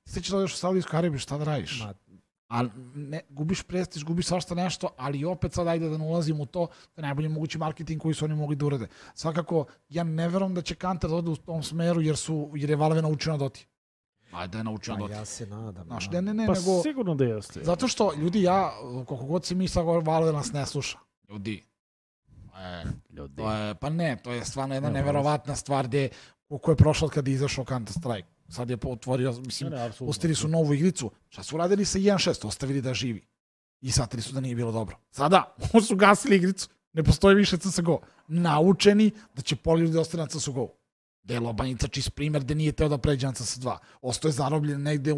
ti se ćeš da odeš u Saudijsku Arabiju, šta da radiš? Ma, Ali gubiš prestiž, gubiš svašta nešto, ali opet sad ajde da ne ulazim u to, to je najbolji mogući marketing koji su oni mogli da urade. Svakako, ja ne verujem da će Counter da ode u tom smeru jer je Valve naučio na Doti. Ajde da je naučio na pa Doti. ja se nadam. Znaš, da. ne, Pa nego... sigurno da jeste. Zato što, ljudi, koliko god se mi sad govorimo, Valve nas ne sluša. Ljudi. Ljudi. To je stvarno jedna Ne, neverovatna stvar gde koliko je prošlo od kada je izašao Counter Strike. Sad je otvorio, mislim, apsolutno. pustili su novu igricu. Šta su uradili sa 1.6? Ostavili da živi. I shvatili su da nije bilo dobro. Sada, su gasili igricu. Ne postoji više CSGO. Naučeni da će pola ljudi ostati na CSGO. Gde je Lobanjica čist primer gde nije teo da pređe na CS2. Ostao je zarobljen negde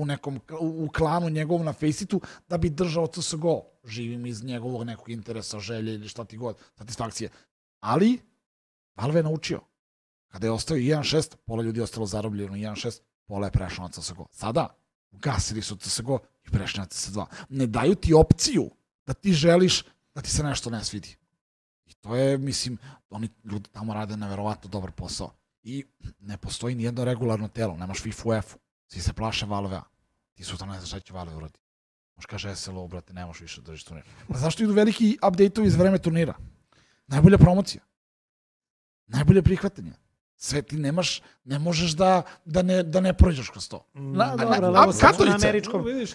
u klanu njegovom na Faceitu da bi držao CSGO. Živim iz njegovog nekog interesa, želje ili šta ti god, satisfakcije. Ali, Valve je naučio. Kada je ostao 1.6, pola ljudi je ostalo zarobljeno 1.6, pola je prešlo na CSGO. Sada, ugasili su CSGO i prešli na CS2. Ne daju ti opciju da ti želiš da ti se nešto ne svidi. I to je, mislim, oni ljudi tamo rade neverovatno dobar posao. I ne postoji nijedno regularno telo, nemaš FIFA u F-u. Svi se plaše Valve-a. Ti sutra ne znaš šta će Valve uradi. Možeš kaže SLO, brate, ne možeš više držiš turnir. Pa zašto idu veliki update-ovi iz vreme turnira? Najbolja promocija. Najbolje prihvatanje. Sve ti ne možeš da ne prođeš kroz to.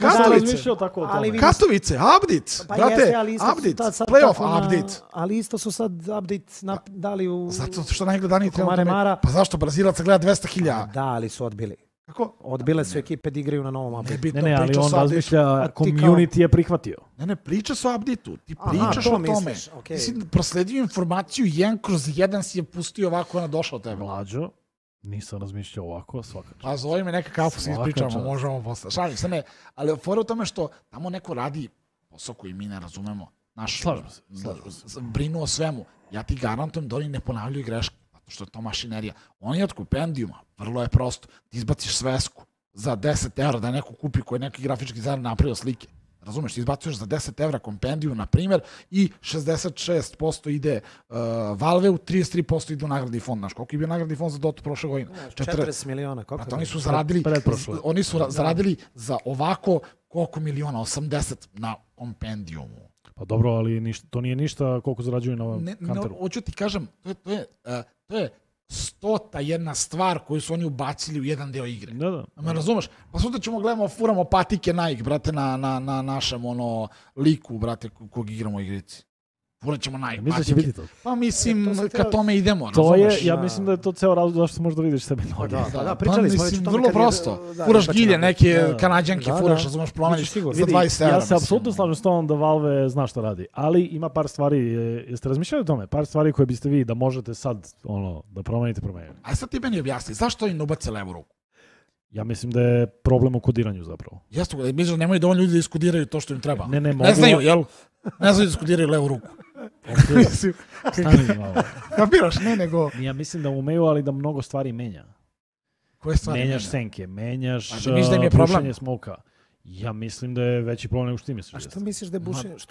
Katovice. Ali Katovice, update. Pa Brate, jeste, ali isto su update. sad Playoff, tako na- update. Ali isto su sad update dali u... Zato što najgledaniji Oko Mare trenutno... Mara. Pa zašto? Brazilaca gleda 200.000. Da, ali su odbili. Kako? Odbile su ekipe da igraju na novom update. Nebitno, Ne, ali priča on su o update-u. razmišlja, ti kao- community je prihvatio. Ne, priča se o update-u. Ti Aha, pričaš to o tome. misliš, okej. Ti si prosledio informaciju 1/1 si je pustio ovako ona došla od tebe. Mlađo, nisam razmišljao ovako, svaka čast. Pa zove me neka kafu se Svaka ispričamo, čast. možemo posle. Šalim se, ne. Ali fora u tome što tamo neko radi posao koji mi ne razumemo. Slažem se. Brinu o svemu. Ja ti garantujem da oni ne ponavljaju greške. zato što je to mašinerija. Oni od kompendijuma, vrlo je prosto, ti izbaciš svesku za 10 evra da neko kupi koji je neki grafički dizajner napravio slike. Razumeš, ti izbacuješ za 10 evra kompendiju, na primjer, i 66% ide Valve-u, 33% ide u nagradni fond. Znaš, koliko je bio nagradni fond za Dota prošle godine? 40 miliona, koliko? Pa oni su zaradili za ovako koliko miliona, 80 na kompendijumu. Pa dobro, ali to nije ništa koliko zarađuju na Counteru. Hoću ti kažem, to je 101 stvar koju su oni ubacili u jedan deo igre. Da. Me razumeš? Pa sutra ćemo gledamo, furamo patike Nike, brate, na našem liku, brate, kog igramo u igrici. Furat ćemo Nike patike. Će biti to? Pa mislim, kad tome idemo, to razumeš? Ja mislim da je to ceo razlog zašto možda vidiš sebi noge. Da, pričali smo već o tome. Vrlo prosto. Furaš gilje, neke kanadjanke furaš, razumeš, promeniš za 20 evra. Ja se apsolutno slažem s tom da Valve zna šta radi, ali ima par stvari, jeste razmišljali o tome? Par stvari koje biste vi da možete sad da promenite. A sad ti meni objasni, zašto im ne ubace levu ruku? Ja mislim da je problem u kodiranju zapravo. Jeste, mislim da nemaju dovoljno ljudi da iskodiraju to što im treba. Ne znaju, jel? Ne znaju da iskodiraju levu ruku. Stani malo. Kapiraš, ne nego... Ja mislim da umeju, ali da mnogo stvari menja. Koje stvari menjaš senke, menjaš bušenje smoka. Ja mislim da je veći problem nego što ti misliš. A što misliš da je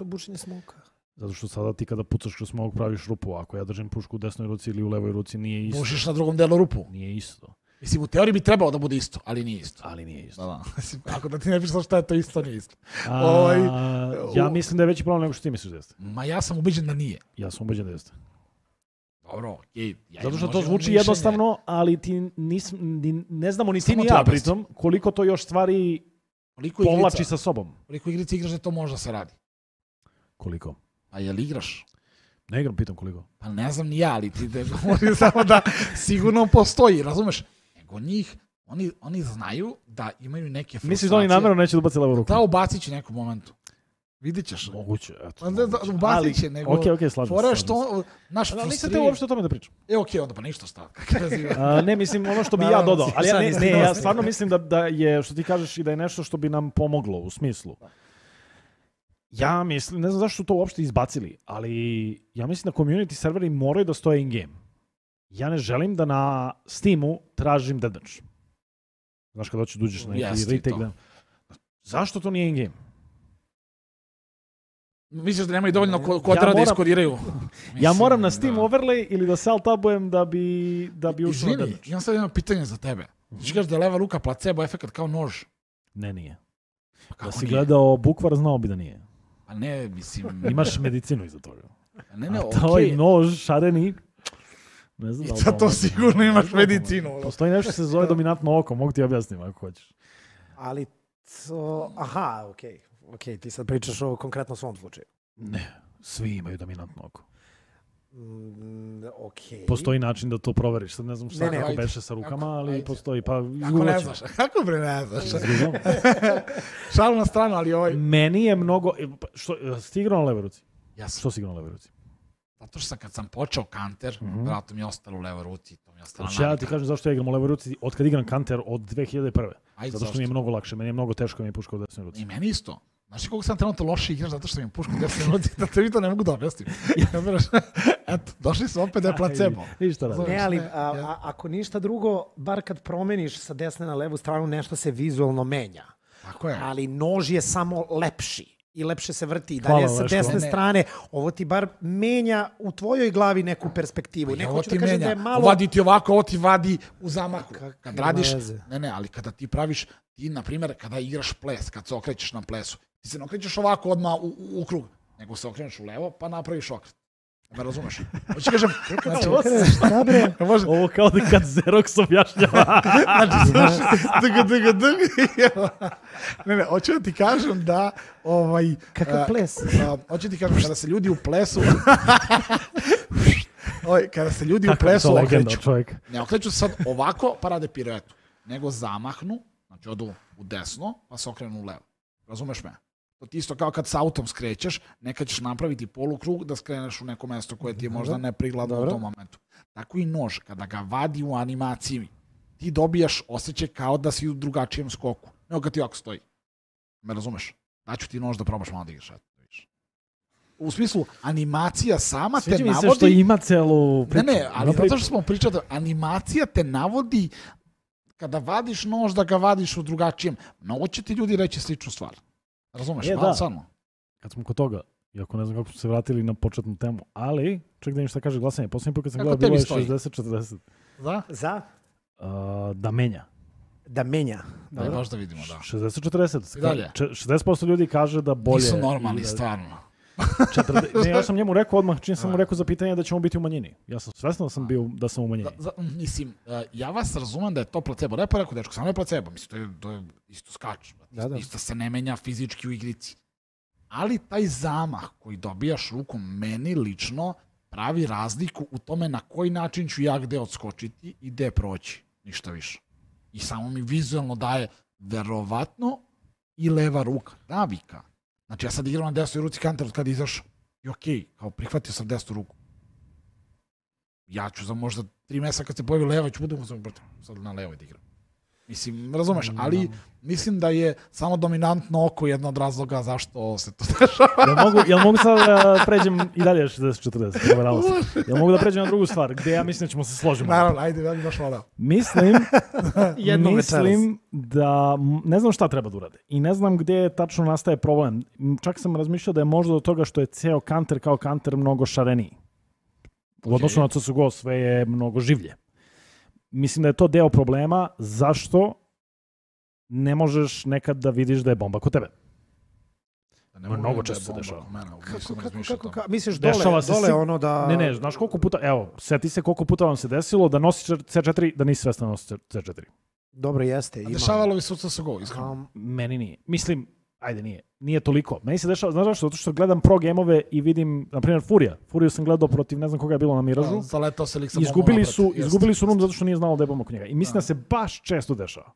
bušenje smoka? Zato što sada ti kada pucaš kroz smok praviš rupu, ako ja držim pušku u desnoj ruci ili u levoj ruci nije isto. Bušiš na drugom delu rupu. Nije isto. Mislim, u teoriji bi trebalo da bude isto, ali nije isto. Da. Ako da ti ne pišeš šta je to isto, nije isto. Ja mislim da je veći problem nego što ti misliš da jeste. Ma ja sam ubeđen da nije. Ja sam ubeđen da jeste. Dobro, okej. Zato što to zvuči jednostavno, ali ti ne znamo ni ti ni ja pritom koliko to još stvari povlači sa sobom. Koliko igrice igraš da to može da se radi? Koliko? A jel igraš? Ne igram, pitam koliko. Pa ne znam ni ja, ali ti da govorim samo da sigurno postoji, razumeš? Nego njih, oni znaju da imaju neke frustracije. Misliš da oni namjerno neće da ubaci levu ruku? Da, ubacit će nekom momentu. Vidit ćeš. Moguće, eto. Ubacit će, nego... Okej, slažem se. Ali nisam te uopšte o tome da pričam. Okej, onda pa ništa stav. Ne, mislim, ono što bi ja dodao. Ali ja stvarno mislim da je, što ti kažeš, i da je nešto što bi nam pomoglo u smislu. Ja mislim, ne znam zašto su to uopšte izbacili, ali ja mislim da community serveri moraju da stoje in-game. Ja ne želim da na Steamu tražim deathmatch. Znaš kada hoćeš da uđeš na neki retake. Zašto to nije in-game? Misliš da nemaju dovoljno kodera da iskodiraju? Ja moram na Steam overlay ili da self-tabujem da bi ušao na deathmatch. Izvini, imam sad jedno pitanje za tebe. Ti kažeš da je leva ruka placebo efekt kao nož? Ne, nije. Da si gledao bukvar, znao bi da nije. A ne, mislim... Imaš medicinu iza toga. Ne, okej. A tvoj nož, šareni, ne znam da li... I to sigurno imaš medicinu. Postoji nešto se zove dominantno oko, mogu ti objasniti ako hoćeš. Ali to... Aha, okej, ti sad pričaš o konkretno svom slučaju. Ne, svi imaju dominantno oko. Okej. Postoji način da to proveriš. Sad ne znam šta kako beše sa rukama, ali postoji. Pa kako ne znaš? Kako bre ne znaš? Šalu na stranu, ali Meni je mnogo... Si igrao na levoj ruci? Jasno. Što si igrao na levoj ruci? Zato što kad sam počeo Counter, vratno mi je ostalo u levoj ruci. Ja ti kažem zašto ja igram u levoj ruci od kad igram Counter od 2001. Zato što mi je mnogo lakše. Meni je mnogo teško mi je puška u desnoj ruci. I meni isto. Znaš koliko sam trenutno loše igraš zato što mi je puška u desnoj ruci, da te vi to ne mogu da objasnim. Eto, došli su opet da je placebo. Ne, ali ako ništa drugo, bar kad promeniš sa desne na levu stranu, nešto se vizualno menja. Tako je. Ali nož je samo lepši i lepše se vrti. Dalje sa desne strane, ovo ti bar menja u tvojoj glavi neku perspektivu. Ovo ti menja, vadi ti ovako, ovo ti vadi u zamahu. Kad radiš, ali kada ti praviš, ti na primjer kada igraš ples, kad se okrećeš na plesu, ti se ne okrećeš ovako odmah u krug, nego se okreneš u levo pa napraviš okret. Me razumeš? Hoću kažem, ovo kao da kad Xerox objašnjava. Ne, hoću da ti kažem da... Kakav ples? Hoću da ti kažem, kada se ljudi u plesu... Kada se ljudi u plesu okreću... Ne okreću sad ovako pa rade piruetu, nego zamahnu, znači odu u desno pa se okrenu u levo. Razumeš me? To ti isto kao kad s autom skrećeš, nekad ćeš napraviti polukrug da skreneš u neko mesto koje ti je možda neprikladno u tom momentu. Tako i nož, kada ga vadi u animaciji, ti dobijaš osjećaj kao da si u drugačijem skoku. Nego kad ti ovako stoji. Me razumeš? Daću ti nož da probaš malo da igraš. u smislu animacija sama te Sviđa mi navodi... se što ima celu priču. Ne, ali zato što smo pričali, animacija te navodi kada vadiš nož da ga vadiš u drugačijem. Mnogo će ti ljudi reći sličnu stvar. Razumeš? Da. Samo. Kad smo kod toga, iako ne znam kako smo se vratili na početnu temu, ali, ček da im šta kaže glasanje. Posljednji put kad sam gledao bilo je 60-40. Za? Da menja. Da menja. Da, baš da vidimo, da. 60-40. I dalje. 60% ljudi kaže da bolje... Nisu normalni, stvarno. Ne, ja sam njemu rekao odmah, čim sam mu rekao za pitanje da ćemo biti u manjini. Ja sam svesno da sam u manjini. Mislim, ja vas razumem da je to placebo. Ne pa rekao, dečko, samo je placebo. Mislim, to je isto skač. Isto se ne menja fizički u igrici. Ali taj zamah koji dobijaš rukom, meni lično pravi razliku u tome na koji način ću ja gde odskočiti i gde proći. Ništa više. I samo mi vizualno daje verovatno i leva ruka, navika. Znači ja sad igram na desnoj ruci Counter od kada izašao. I okej, kao prihvatio sam desnu ruku. Ja ću za možda 3 mjeseca kad se pojavi leva, ću budem sad na levoj da igram. Mislim, razumeš, ali mislim da je samo dominantno oko jedno od razloga zašto se to dešava. Jel mogu sad da pređem i dalje 60-40? Jel mogu da pređem na drugu stvar, gde ja mislim da ćemo se složiti? Naravno, ajde, ja bih baš voleo. Mislim da ne znam šta treba da urade i ne znam gdje tačno nastaje problem. Čak sam razmišljao da je možda do toga što je ceo Counter kao Counter mnogo šareniji. U odnosu na CSGO sve je mnogo življe. Mislim da je to deo problema zašto ne možeš nekad da vidiš da je bomba kod tebe. Mnogo često se dešava. Kako? Misliš dole ono da... Ne, znaš koliko puta, evo, seti se koliko puta vam se desilo da nosiš C4, da nisi svestan nosiš C4. Dobro, jeste. Dešavalo bi se u CSGO, iskreno. Meni nije. Mislim, ajde nije. Nije toliko. Meni se dešava, znaš zašto? Zato što gledam pro gameove i vidim, na primjer, Furiju sam gledao protiv, ne znam koga je bilo na Miražu. Zaletao se lik sa izgubili su rund zato što nije znao da je bomba kod njega. I mislim da se baš često dešava.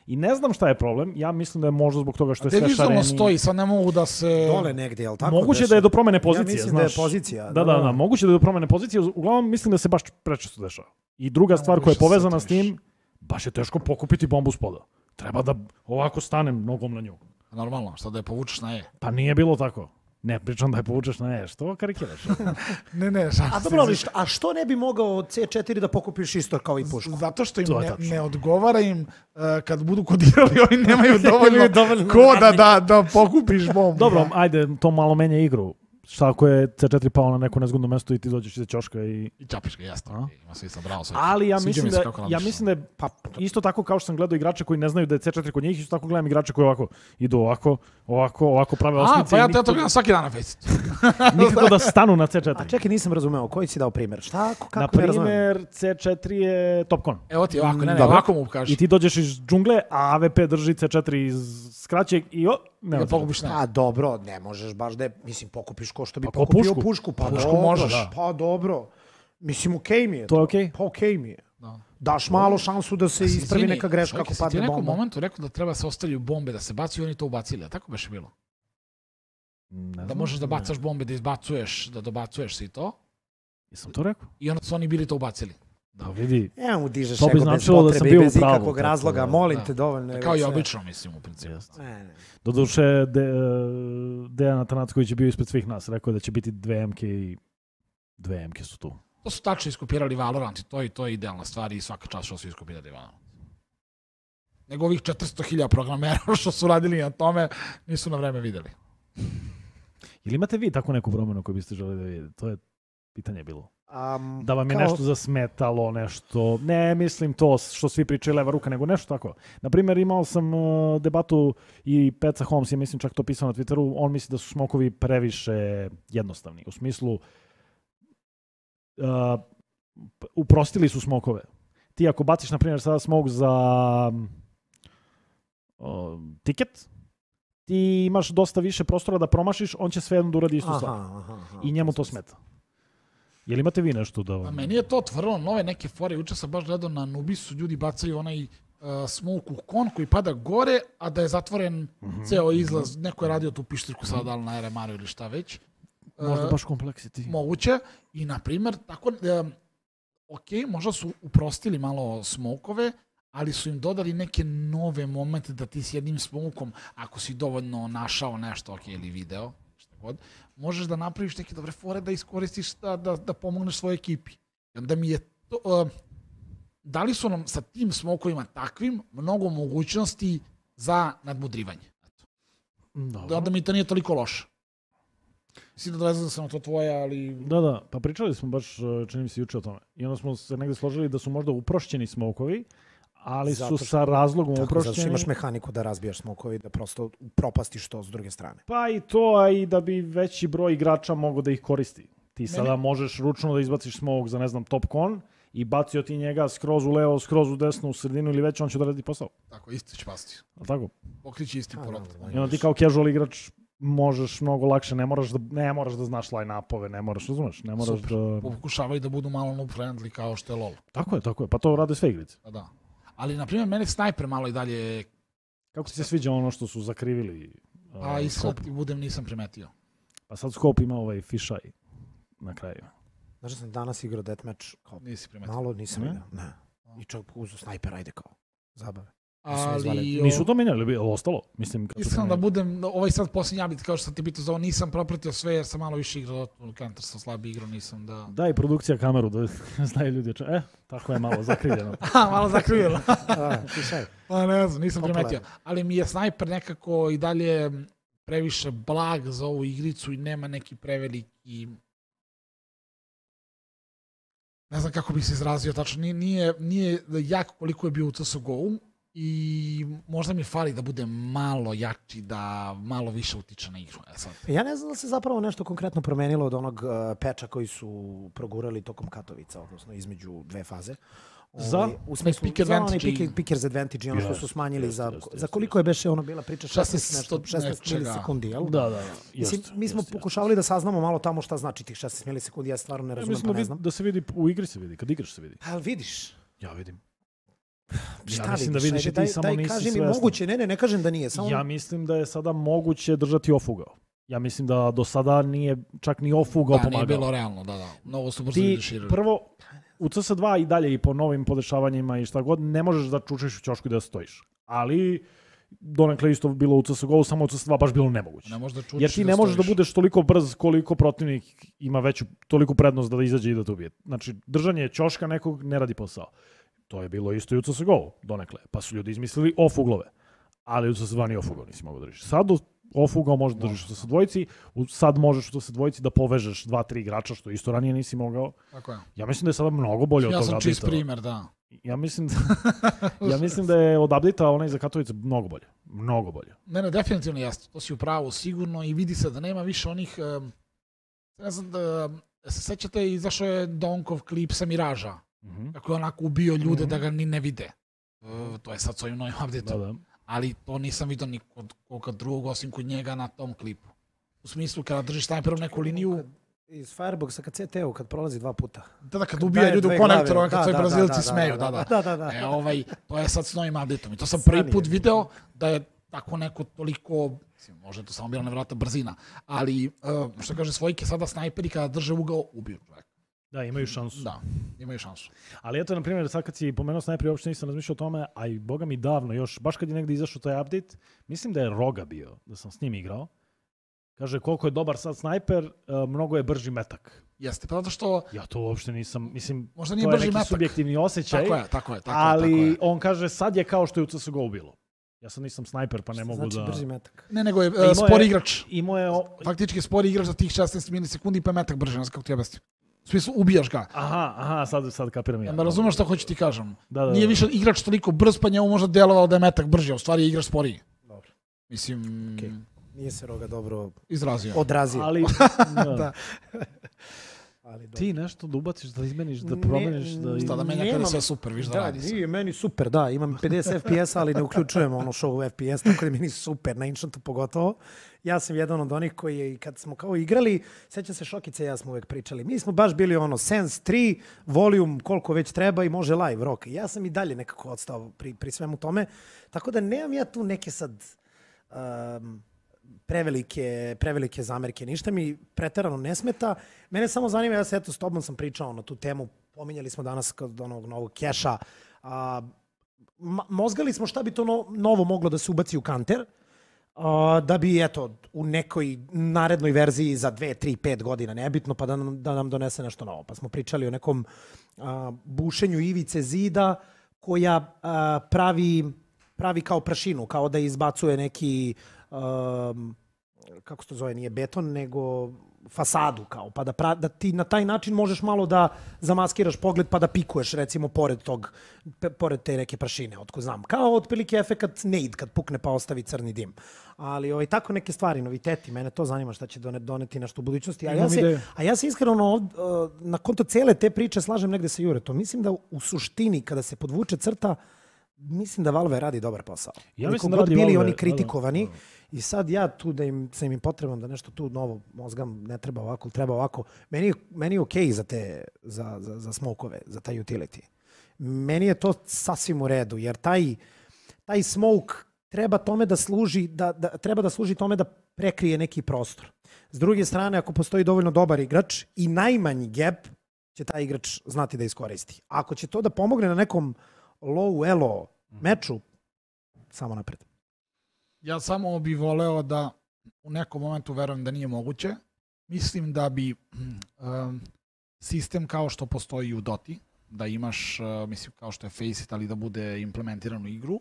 I ne znam šta je problem, ja mislim da je možda zbog toga što je sve šareniji. Vizualno stoji, sad ne mogu da se... Dole negdje, jel tako? Moguće da je do promene pozicije, ja mislim znaš. Da je pozicija. Da, moguće da je do promene pozicije, uglavnom mislim da se baš prečesto dešava. I druga stvar koja je povezana s tim, baš je teško pokupiti bombu s poda. Treba da ovako stanem nogom na nju. Normalno, šta da je povučeš na E? Pa nije bilo tako. Ne, pričam da je povučeš na E. Što karikiraš? Ne. A dobro, a što ne bi mogao od C4 da pokupiš isto kao i pušku? Zato što im ne odgovara im kad budu kodirali, oni nemaju dovoljno koda da pokupiš bombu. Dobro, ajde, to malo menja igru. Šta ako je C4 pao na neko nezgodno mesto i ti dođeš iza ćoška i čapiš ga, jasno. Ima smisla, bravo. Ali ja mislim da je isto tako kao što sam gledao igrače koji ne znaju da je C4 kod njih, isto tako gledam igrače koji ovako idu ovako prave osmice. Pa ja to gledam svaki dan na Facebooku. Nikako da stanu na C4. A čekaj, nisam razumeo, koji si dao primjer? Šta, kako na primjer, C4 je Topcon. Evo ti ovako, ne, ovako mu kažeš. I ti dođeš iz džungle, a AVP drži C4 iz skraćeg i ne pokupiš ne. A dobro, ne možeš baš da je, mislim, pokupiš ko što bi pokupio pušku. Pa pušku možeš. Pa dobro. Mislim, okej mi je. To je okej? Pa okej mi je. Daš malo šansu da se ispravi neka greška ako padne bomba. Ti u nekom momentu rekao da treba se ostavljaju bombe, da se baci i oni to ubacili, a tako baš je bilo? Da možeš da bacaš bombe, da izbacuješ, da dobacuješ i to. Jesam to rekao? I onda su oni bili to ubacili. Da vidi. Ja mu dižeš ego bez potrebe i bez ikakvog razloga, molim te, dovoljno je. Kao i obično, mislim, u principu. Doduše, Dejan Atanacković je bio ispred svih nas, rekao da će biti 2 MK i 2 MK su tu. To su tačno iskopirali Valorant i to je idealna stvar i svaka čast što su iskopirali Valorant. Nego ovih 400.000 programera što su radili na tome, nisu na vreme videli. Ili imate vi tako neku promenu koju biste želeli da vidite? To je pitanje bilo. Da vam je nešto zasmetalo, nešto... Ne, mislim to što svi pričaju leva ruka, nego nešto tako. Naprimjer, imao sam debatu i Peca Holmes je, mislim, čak to pisao na Twitteru, on misli da su smokovi previše jednostavni. U smislu, uprostili su smokove. Ti ako baciš, na primjer, sada smok za tiket, ti imaš dosta više prostora da promašiš, on će svejedno da uradi istu stvar. I njemu to smeta. Jel imate vi nešto da... A meni je to otvorilo nove neke fore. Juče sam baš gledao na Nubisu, ljudi bacaju onaj smoke u kon koji pada gore, a da je zatvoren ceo izlaz. Neko je radio tu pištirku sada, ali na RMR-u ili šta već. Možda baš Complexity. Moguće. I, na primjer, tako... Ok, možda su uprostili malo smokove, ali su im dodali neke nove momente da ti s jednim smokom, ako si dovoljno našao nešto, ok, ili video, god, možeš da napraviš neke dobre fore da iskoristiš da pomogneš svojoj ekipi. I onda mi je to... dali su nam sa tim smokovima takvim mnogo mogućnosti za nadmudrivanje. Onda mi to nije toliko loše. Mislim da dolazim sam na to tvoje, ali... Da, pa pričali smo baš, čini mi se juče o tome. I onda smo se negde složili da su možda uprošćeni smokovi, ali su sa razlogom uprošćeni. Zato što imaš mehaniku da razbijaš smokovi, da prosto propastiš to s druge strane. Pa i to, a i da bi veći broj igrača mogao da ih koristi. Ti sada možeš ručno da izbaciš smok za, ne znam, top con i bacio ti njega skroz u levo, skroz u desno, u sredinu ili već, on će da radi posao. Tako, isto će pasti. Tako? Pokrići isti porod. I onda ti kao casual igrač možeš mnogo lakše, ne moraš da znaš line-upove, ne moraš, razumeš? Ne moraš da... Pokušavaju da budu malo noob-friendly kao što je LoL. Tako je, pa to rade sve igrice. Da. Ali, na primjer, mene Sniper malo i dalje... Kako ti se sviđa ono što su zakrivili? A iskreno ti budem, nisam primetio. Pa sad Scope ima ovaj fišaj na kraju. Znaš da sam danas igrao deathmatch, kao nisi primetio. malo nisam igrao, ne. I čovjek uzeo Sniper, ajde kao, zabave. Ali... Nisu to menjali, ali ostalo? Mislim, iskreno da budem, ovaj sad posljednji update, kao što sam ti pitao za ovo, nisam propratio sve jer sam malo više igrao, Counter sam slabiji igrao, nisam da... Daj produkcija kameru da znaju ljudi. Tako je malo zakrivljeno. Malo zakrivljeno. Pa ne znam, nisam primetio. Ali mi je Sniper nekako i dalje previše blag za ovu igricu i nema neki preveliki... Ne znam kako bih se izrazio, tačno nije jak koliko je bio u CSGO-u i možda mi fali da bude malo jači, da malo više utiče na igru. Ja ne znam da se zapravo nešto konkretno promenilo od onog peča koji su progurali tokom Katovica, odnosno između dve faze. U smislu, za onaj Pickers Advantage i ono što su smanjili za koliko je beše ono bila priča 16 milisekundi, jel? Da. Mi smo pokušavali da saznamo malo tamo šta znači tih 16 milisekundi, ja stvarno ne razumem, pa ne znam. Da se vidi, u igri se vidi, kad igraš se vidi. Ali vidiš? Ja vidim. Ja mislim da vidiš i ti samo nisi svestan. Kaži mi moguće, ne kažem da nije. Ja mislim da je sada moguće držati off-ugao. Ja mislim da do sada nije čak ni off-ugao pomagao. Da, nije bilo realno, da. Mnogo su brzo deširali. Prvo, u CS2 i dalje i po novim podešavanjima i šta god, ne možeš da čučeš u ćošku i da stojiš. Ali donekle isto bilo u CSGO, samo u CS2 baš bilo nemoguće. Jer ti ne možeš da budeš toliko brz koliko protivnik ima toliku prednost da izađe i da te ubije. Znači, držanje ćoška nekog ne radi posao. To je bilo isto i u CSGO donekle. Pa su ljudi izmislili off-uglove. Ali u CS2 ni off-ugao nisi mogao držiš. Sad off-ugao možeš da držiš u CS2, sad možeš u CS2 da povežeš 2-3 igrača, što isto ranije nisi mogao. Tako je. Ja mislim da je sada mnogo bolje od toga. Ja sam čist primer, da. Ja mislim da je od update-a onaj za Katovice mnogo bolje. Mnogo bolje. Ne, definitivno jasno. To si u pravu sigurno i vidi se da nema više onih... ne znam da... Se sećate, izašao je Donkov klip sa Miraža. Kako je onako ubio ljude da ga ni ne vide. To je sad s ovim novim update-om. Ali to nisam vidio ni kod drugog, osim kod njega na tom klipu. U smislu, kada držiš Sniperom neku liniju... Iz Fireboxa kad CT-u, kad prolazi 2 puta. Da, kad ubija ljudi u konektoru, kad svoji Brazilci smeju. Da. To je sad s novim update-om. I to sam prvi put video da je tako neko toliko... Možda je to samo bila nevjerojatna brzina. Ali, što kaže Svojke, sada snajperi kada drže ugao, ubiju čovjek. Da, imaju šansu. Da, imaju šansu. Ali eto, na primjer, sad kad si pomenuo snajperi, uopšte nisam razmišljao o tome, a i boga mi davno još, baš kad je negdje izašao taj update, mislim da je Roga bio, da sam s njim igrao. Kaže, koliko je dobar sad snajper, mnogo je brži metak. Jeste, pa zato što... Ja to uopšte nisam, mislim, možda nije to je neki metak. Subjektivni osjećaj. Tako je. Ali on kaže, sad je kao što je u CSGO bilo. Ja sad nisam snajper, pa ne mogu da... Znači brži metak? Ne, nego je spor igrač. Faktički spor igrač za tih 16 milisekundi pa je metak brži, ne znam kako ti objasnim. U smislu, ubijaš ga. Aha, sad kapiram ja. Ne razumeš što hoću ti kažem. Da. Nije više igrač toliko brz, pa njemu možda delovalo da je metak brži, a u stvari je igrač sporiji. Dobro. Mislim... Okay. Nije se Roga dobro odrazio. Ali... da. Ti nešto da ubaciš, da izmeniš, da promeniš, da menja kada sve super, viš da radi. Nije meni super, da, imam 50 FPS, ali ne uključujem ono show FPS, tako da meni super, na Ancientu pogotovo. Ja sam jedan od onih koji je, kad smo kao igrali, sećam se Šokice i ja smo uvek pričali, mi smo baš bili ono Sense 3, volume koliko već treba i može live rock. Ja sam i dalje nekako odstao pri svemu tome, tako da nemam ja tu neke sad... prevelike zamerke. Ništa mi preterano ne smeta. Mene samo zanima, ja se s tobom sam pričao na tu temu, pominjali smo danas kod onog novog keša. Mozgali smo šta bi to novo moglo da se ubaci u Counter. da bi, eto, u nekoj narednoj verziji za 2, 3, 5 godina, nebitno, pa da nam donese nešto novo. Pa smo pričali o nekom bušenju ivice zida koja pravi kao prašinu, kao da izbacuje neki, kako se to zove, nije beton, nego fasadu, kao, pa da ti na taj način možeš malo da zamaskiraš pogled pa da pikuješ, recimo, pored te neke prašine, otko znam. Kao otprilike efekat Nade kad pukne pa ostavi crni dim. Ali tako neke stvari, noviteti, mene to zanima šta će doneti nešto u budućnosti. A ja se iskreno na konto cele te priče slažem negde sa Juretom. Mislim da u suštini kada se podvuče crta, mislim da Valve radi dobar posao. Ja mislim da radi Valve. Bili oni kritikovani i sad ja tu da sam im potreban da nešto tu novo mozgam, ne treba ovako, treba ovako. Meni je okej za smokove, za taj utility. Meni je to sasvim u redu, jer taj smoke treba tome da služi, treba da služi tome da prekrije neki prostor. S druge strane, ako postoji dovoljno dobar igrač i najmanji gap će taj igrač znati da iskoristi. Ako će to da pomogne na nekom low elo meču, samo napred. Ja samo bih voleo da u nekom momentu verujem da nije moguće. Mislim da bi sistem kao što postoji u Doti, da imaš, mislim kao što je Faceit, ali da bude implementiran u igru,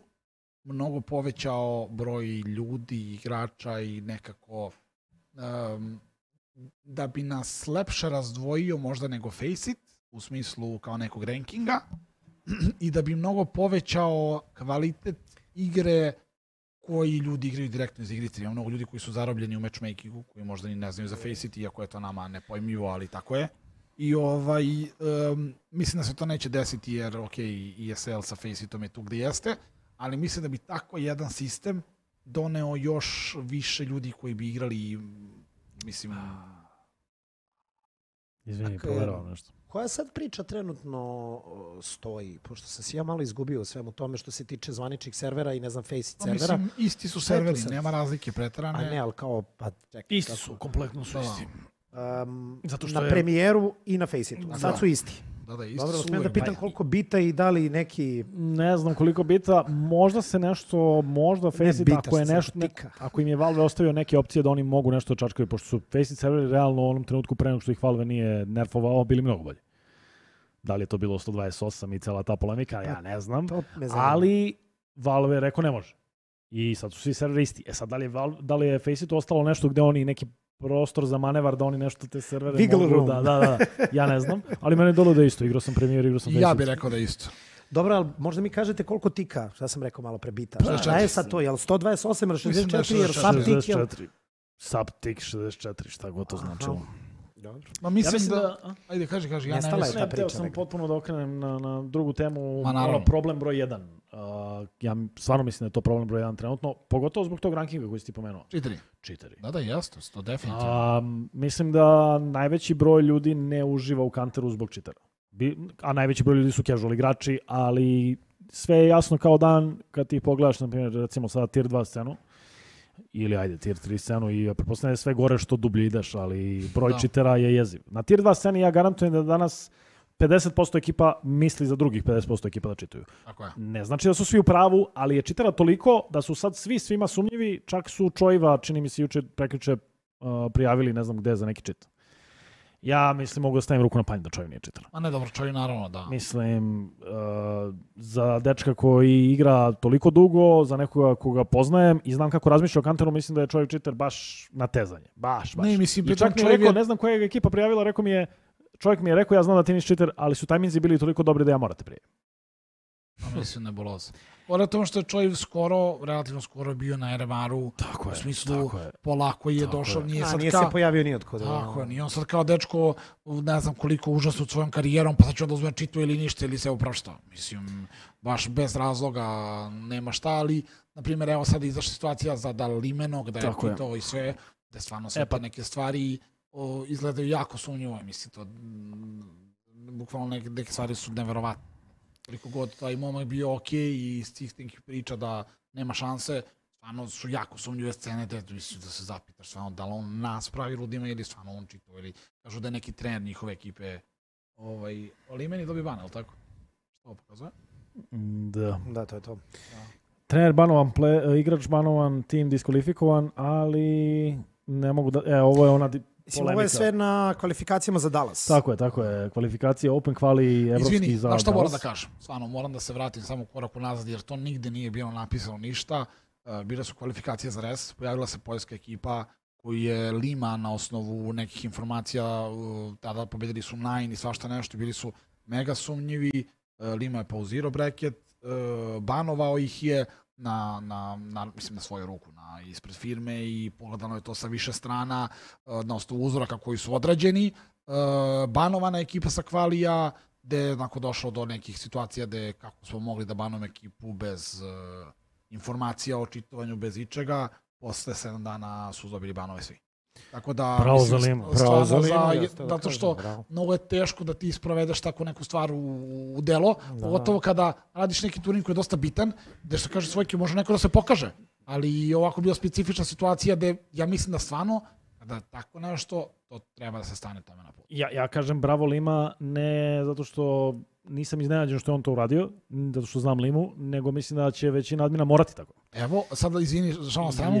mnogo povećao broj ljudi, igrača i nekako da bi nas lepše razdvojio možda nego Faceit, u smislu kao nekog rankinga, i da bi mnogo povećao kvalitet igre koji ljudi igraju direktno iz igrice. Ima mnogo ljudi koji su zarobljeni u matchmakingu, koji možda ni ne znaju za Faceit, iako je to nama nepojmljivo, ali tako je. I mislim da se to neće desiti jer, ESL sa Faceitom je tu gde jeste, ali mislim da bi tako jedan sistem doneo još više ljudi koji bi igrali, mislim... Izvini, poverao nešto. Koja sad priča trenutno stoji, pošto sam se ja malo izgubio u svemu tome što se tiče zvaničnih servera i ne znam Faceit servera. Mislim, isti su serveri, nema razlike preterane. A ne, ali kao, pa čekaj. Isti su, kompletno su isti. Na premijeru i na Faceitu. Sad su isti. Da, isti dobro, su. smijem da pitam koliko bita i da li neki... Ne znam koliko bita, možda se nešto, možda Faceit, ako im je Valve ostavio neke opcije da oni mogu nešto čačkaju, pošto su Faceit serveri realno u onom trenutku pre nego što ih Valve nije nerfovao, bili mnogo bolji. Da li je to bilo 128 i cela ta polemika, ja ne znam. Ali Valve je rekao ne može. I sad su svi serveri isti. Sad, da li je Faceitu ostalo nešto gde oni neki prostor za manevar da oni nešto te servere mogu da. Ja ne znam, ali meni je dolo da je isto. Igrao sam Premijer, igrao sam Faceit. Ja bih rekao da je isto. Dobro, ali možda mi kažete koliko tika, šta sam rekao malo pre bita. Šta je sad to, je li 128 ili 64 jer subtik je... Subtik 64, šta god to značilo. Dobro. Ma mislim da... Ajde, kaži, ja ne mislim. Ne, teo sam potpuno da okrenem na drugu temu, problem broj 1. Ja stvarno mislim da je to problem broj 1 trenutno, pogotovo zbog tog rankinga koji si ti pomenuo. Cheateri. Da, jasno, to definitivno. Mislim da najveći broj ljudi ne uživa u Counteru zbog cheatera. A najveći broj ljudi su casual igrači, ali sve je jasno kao dan kad ti pogledaš, na primjer, recimo sada tier 2 scenu, ili ajde tier 3 scenu i pretpostavljam je sve gore što dublje ideš, ali broj cheatera je jeziv. Na tier 2 sceni ja garantujem da danas 50% ekipa misli za drugih 50% ekipa da čituju. Ne znači da su svi u pravu, ali je cheatera toliko da su sad svima sumnjivi, čak su Čojiva, čini mi se prekjuče prijavili ne znam gde za neki cheat. Ja mislim mogu da stavim ruku na panj da Čojiv nije cheater. A ne, dobro, Čojiv naravno da. Mislim, za dečka koji igra toliko dugo, za nekoga koga poznajem i znam kako razmišlja o Counteru, mislim da je Čojiv cheater baš natezanje. Baš. Ne, mislim, i čak mi je rekao, ne znam koja je ekipa prijavila, čovjek mi je rekao, ja znam da ti nisi cheater, ali su tajminzi bili toliko dobri da ja morate prijaviti. Mislim, nebuloza. Pored tome što je Čojiv relativno skoro bio na RMR-u, u smislu polako je došao, nije se pojavio ni otkud. Tako je, nije on sad kao dečko, ne znam koliko užasno svojom karijerom, pa sad ću da uzme čitu ili ništa, ili se uprašta. Mislim, baš bez razloga nema šta, ali, na primjer, evo sad izašla situacija za Dalimenog, da je pitao i sve, da stvarno sve te neke stvari izgledaju jako sumnjivo, mislim, to bukvalno neke stvari su neverovatne. Koliko god taj momak bio okej i iz tih nekih priča da nema šanse, stvarno su jako sumnjive scene da se zapitaš stvarno da li on nas pravi ludima ili stvarno on čitao ili kažu da je neki trener njihove ekipe ali meni dobije ban, je li tako? Što ovo pokazuje? Da, to je to. Trener banovan, igrač banovan, tim diskvalifikovan, ali ne mogu da... ovo je ona Mislim, ovo je sve na kvalifikacijama za Dallas. Tako je. Kvalifikacije, Open Quali, evropski Izvini, za Dallas. što moram da kažem? Stvarno, moram da se vratim samo korak unazad, jer to nigde nije bilo napisano ništa. Bile su kvalifikacije za res, pojavila se poljska ekipa koju je Lima na osnovu nekih informacija, tada pobedili su Nine i svašta nešto, bili su mega sumnjivi. Lima je pauzirao bracket, banovao ih je na svoju ruku, ispred firme i pogledano je to sa više strana na osnovu uzoraka koji su odrađeni. Banovana ekipa sa kvalija, gde je došlo do nekih situacija gde kako smo mogli da banujemo ekipu bez informacija o čitovanju, bez ičega. Posle 7 dana su dobili banove svi. Tako da, bravo za Limu. Zato što mnogo je teško da ti isprovedeš tako neku stvar u delo, pogotovo kada radiš neki turnir koji je dosta bitan, gde što kaže svojke može neko da se pokaže, ali ovako bila specifična situacija gde ja mislim da stvarno kada tako nešto, to treba da se stane tome na put. Ja kažem bravo Lima, ne zato što nisam iznenađen što je on to uradio, zato što znam Limu, nego mislim da će većina admina morati tako. Evo, sada izvini, žalno stranu,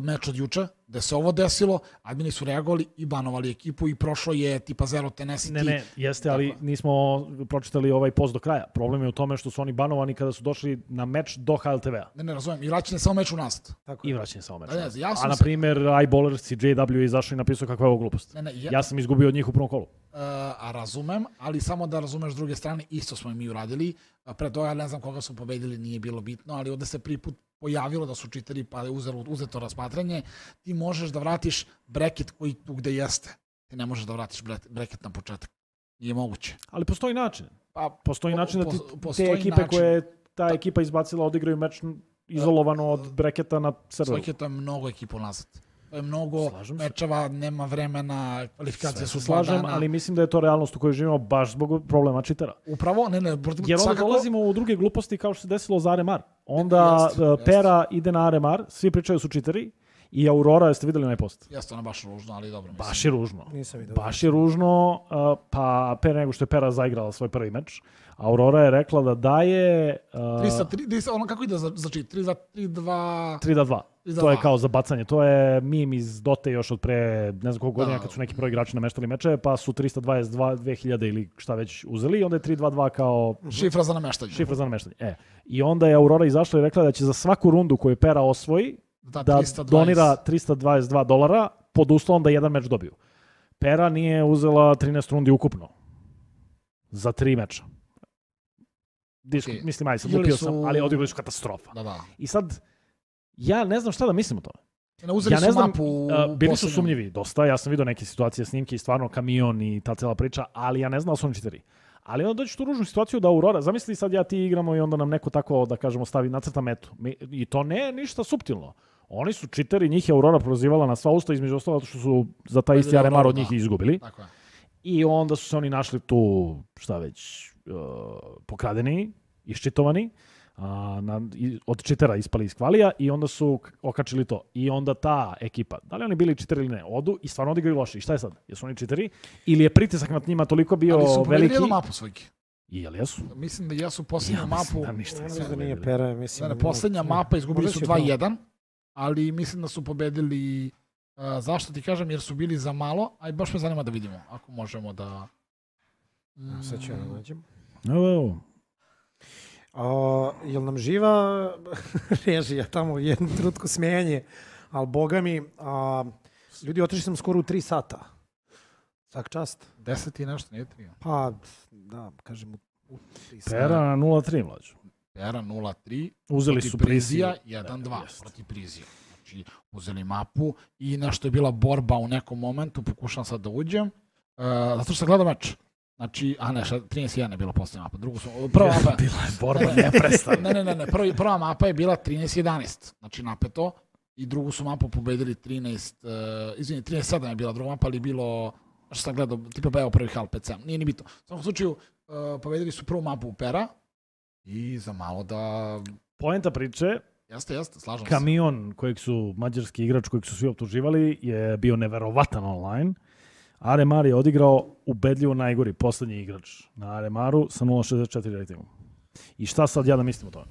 meč od juče, gde se ovo desilo, admini su reagovali i banovali ekipu i prošlo je tipa Zero Tennessee. Ne, jeste, ali nismo pročitali ovaj post do kraja. Problem je u tome što su oni banovani kada su došli na meč do HLTV-a. Ne, razumem, i vraćanje samo meč u nazad. I vraćanje samo meč. A na primjer, iBallers i JW je izašao i napisao kakva je ovo glupost. Ja sam izgubio od njih u prvom kolu. A razumem, ali samo da razumeš s druge strane, isto smo i mi uradili. Pre toga ne znam koga smo pobedili, nije bilo bitno, ali ovde se prvi put pojavilo da su čiteri pa je uzeto razmatranje, ti možeš da vratiš bracket koji tu gde jeste. Ti ne možeš da vratiš bracket na početak. Nije moguće. Ali postoji način. Postoji način da ti te ekipe koje ta ekipa izbacila odigraju meč izolovano od bracketa na serveru. To je mnogo ekipa nazad. To je mnogo mečeva, nema vremena, kvalifikacije su 2 dana. Ali mislim da je to realnost u kojoj živimo baš zbog problema čitera. Upravo, jer onda dolazimo u druge gluposti kao što se desilo za Aremar. Onda Pera ide na Aremar, svi pričaju su čiteri i Aurora, jeste vidjeli onaj post? Jeste ona baš ružno, ali dobro. Baš je ružno. Baš je ružno, pa pre nego što je Pera zaigrala svoj prvi meč, Aurora je rekla da daje... 3-3, ono kako ide za čit? 3-2... 3-2. To je kao za bacanje. To je meme iz Dote još od pre ne znam koliko godina kad su neki pro igrači nameštali meče, pa su 322 2000 ili šta već uzeli i onda je 3-2-2 kao... Šifra za nameštanje. I onda je Aurora izašla i rekla da će za svaku rundu koju Pera osvoji da donira $322 pod uslovom da jedan meč dobiju. Pera nije uzela 13 rundi ukupno za 3 meča. Mislim, aj sad lupio sam, ali odigrali su katastrofa. I sad, ja ne znam šta da mislim o tome. Ja ne znam, bili su sumnjivi dosta, ja sam vidio neke situacije, snimke i stvarno kamion i ta cela priča, ali ja ne znam da su oni čiteri. Ali onda dođeš tu ružnu situaciju da Aurora, zamisli sad ja ti igramo i onda nam neko tako, da kažemo, stavi nacrta metu. I to ne ništa suptilno. Oni su čiteri, njih je Aurora prozivala na sva usta, između ostalo što su za taj isti Aremar od njih izgubili. I onda su se oni našli tu, šta već, pokradeni, iščitovani, od čitera ispali iz kvalija i onda su okačili to. I onda ta ekipa, da li oni bili čiteri ili ne, odu i stvarno odigraju loše. I šta je sad? Jesu oni čiteri? Ili je pritisak nad njima toliko bio veliki? Ali su pobedili jednu mapu svojki. I jel jesu? Mislim da jesu posljednju mapu. Da nije Pera, mislim. Posljednja mapa izgubili su 2-1, ali mislim da su pobedili, zašto ti kažem, jer su bili za malo, a i baš me zanima da vidimo, ako možemo da... Sad ću ja da nađem. Evo. Jel nam živa režija tamo u jednu trutku smijanje, ali boga mi, ljudi otišli sam skoro u 3 sata. Svak čast. 10 i nešto, nije 3. Pa, da, kažem u 3 sata. Pera na 0-3, mlađo. Pera 0-3. Uzeli su Prizija 1-2 protiv Prizije. Znači, uzeli mapu i nešto je bila borba u nekom momentu, pokušam sad da uđem, zato što sam gledao meč. Znači, 13-1 je bila posljednja mapa. Prva mapa... Bila je borba neprestana. Ne. Prva mapa je bila 13-11. Znači, napeto. I drugu su mapu pobedili 13-7 je bila druga mapa, ali bilo... Što sam gledao, tipa evo prvi HAL 5-7. Nije ni bitno. U svakom slučaju, pobedili su prvu mapu u Pera i za malo da... Poenta priče... Jeste, slažem se. Kamion kojeg su, mađarski igrač kojeg su svi optuživali, je bio neverovatan online. Aremar je odigrao ubedljivo najgori posljednji igrač na Aremaru sa 0.64 ratingom. I šta sad ja da mislim o tome?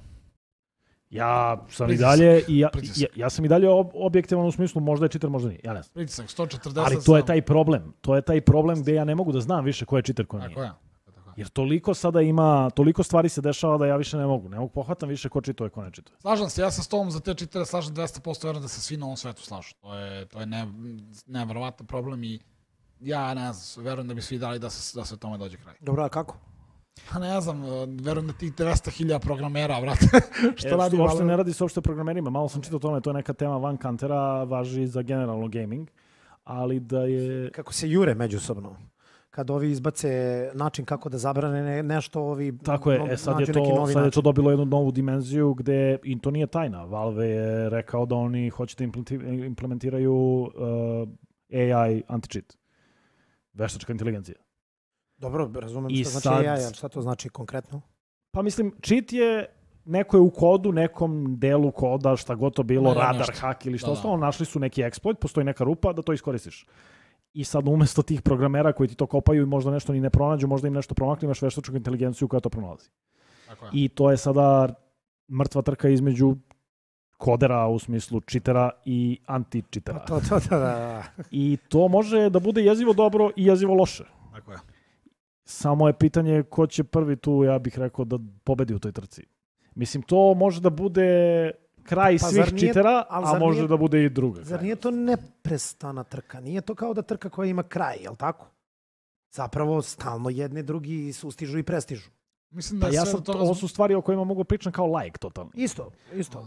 Ja sam Pritisak. i dalje, Pritisak. ja sam i dalje objektivan u smislu možda je cheater, možda nije. Ja ne znam. Pritisak, 140. Ali to je taj problem. To je taj problem gde ja ne mogu da znam više ko je cheater, ko nije. Tako je. Jer toliko sada ima, toliko stvari se dešava da ja više ne mogu pohvatam više ko čituje, ko ne čituje. Slažem se, ja se s tobom za te cheatere slažem 200%, verujem da se svi na ovom svetu slažu. To je neverovatan problem i ja ne znam, verujem da bi svi dali da se tome dođe kraj. Dobro, a kako? Pa ne znam, verujem da tih 200.000 programera, brate, što radi Uopšte ne radi se uopšte o programerima, malo sam čitao o tome, to je neka tema van kantera, važi za generalno gaming, ali da je... Kako se jure međusobno. Kad ovi izbace način kako da zabrane nešto, ovi Tako je, sad je to dobilo jednu novu dimenziju gde, i to nije tajna, Valve je rekao da oni hoće da implementiraju AI anti-cheat. Veštačka inteligencija. Dobro, razumem I šta znači sad- AI, ali šta to znači konkretno? Pa mislim, cheat je neko je u kodu, nekom delu koda, šta god to bilo, Ne, radar, nešto. hak ili šta Da, ostalo, našli su neki exploit, postoji neka rupa da to iskoristiš. I sad umesto tih programera koji ti to kopaju i možda nešto ni ne pronađu, možda im nešto promakne, imaš veštačku inteligenciju koja to pronalazi. Tako je. I to je sada mrtva trka između kodera u smislu čitera i anti-čitera. Da. I to može da bude jezivo dobro i jezivo loše. Tako je. Samo je pitanje ko će prvi tu, ja bih rekao, da pobedi u toj trci. Mislim, to može da bude kraj Pa svih zar nije- čitera, ali a zar može nije- da bude i druga. Zar nije to neprestana trka? Nije to kao da trka koja ima kraj, jel tako? Zapravo, stalno jedni drugi sustižu i prestižu. Mislim da Pa je ja sve sam, do toga... ovo su stvari o kojima mogu pričam kao like totalno. Isto.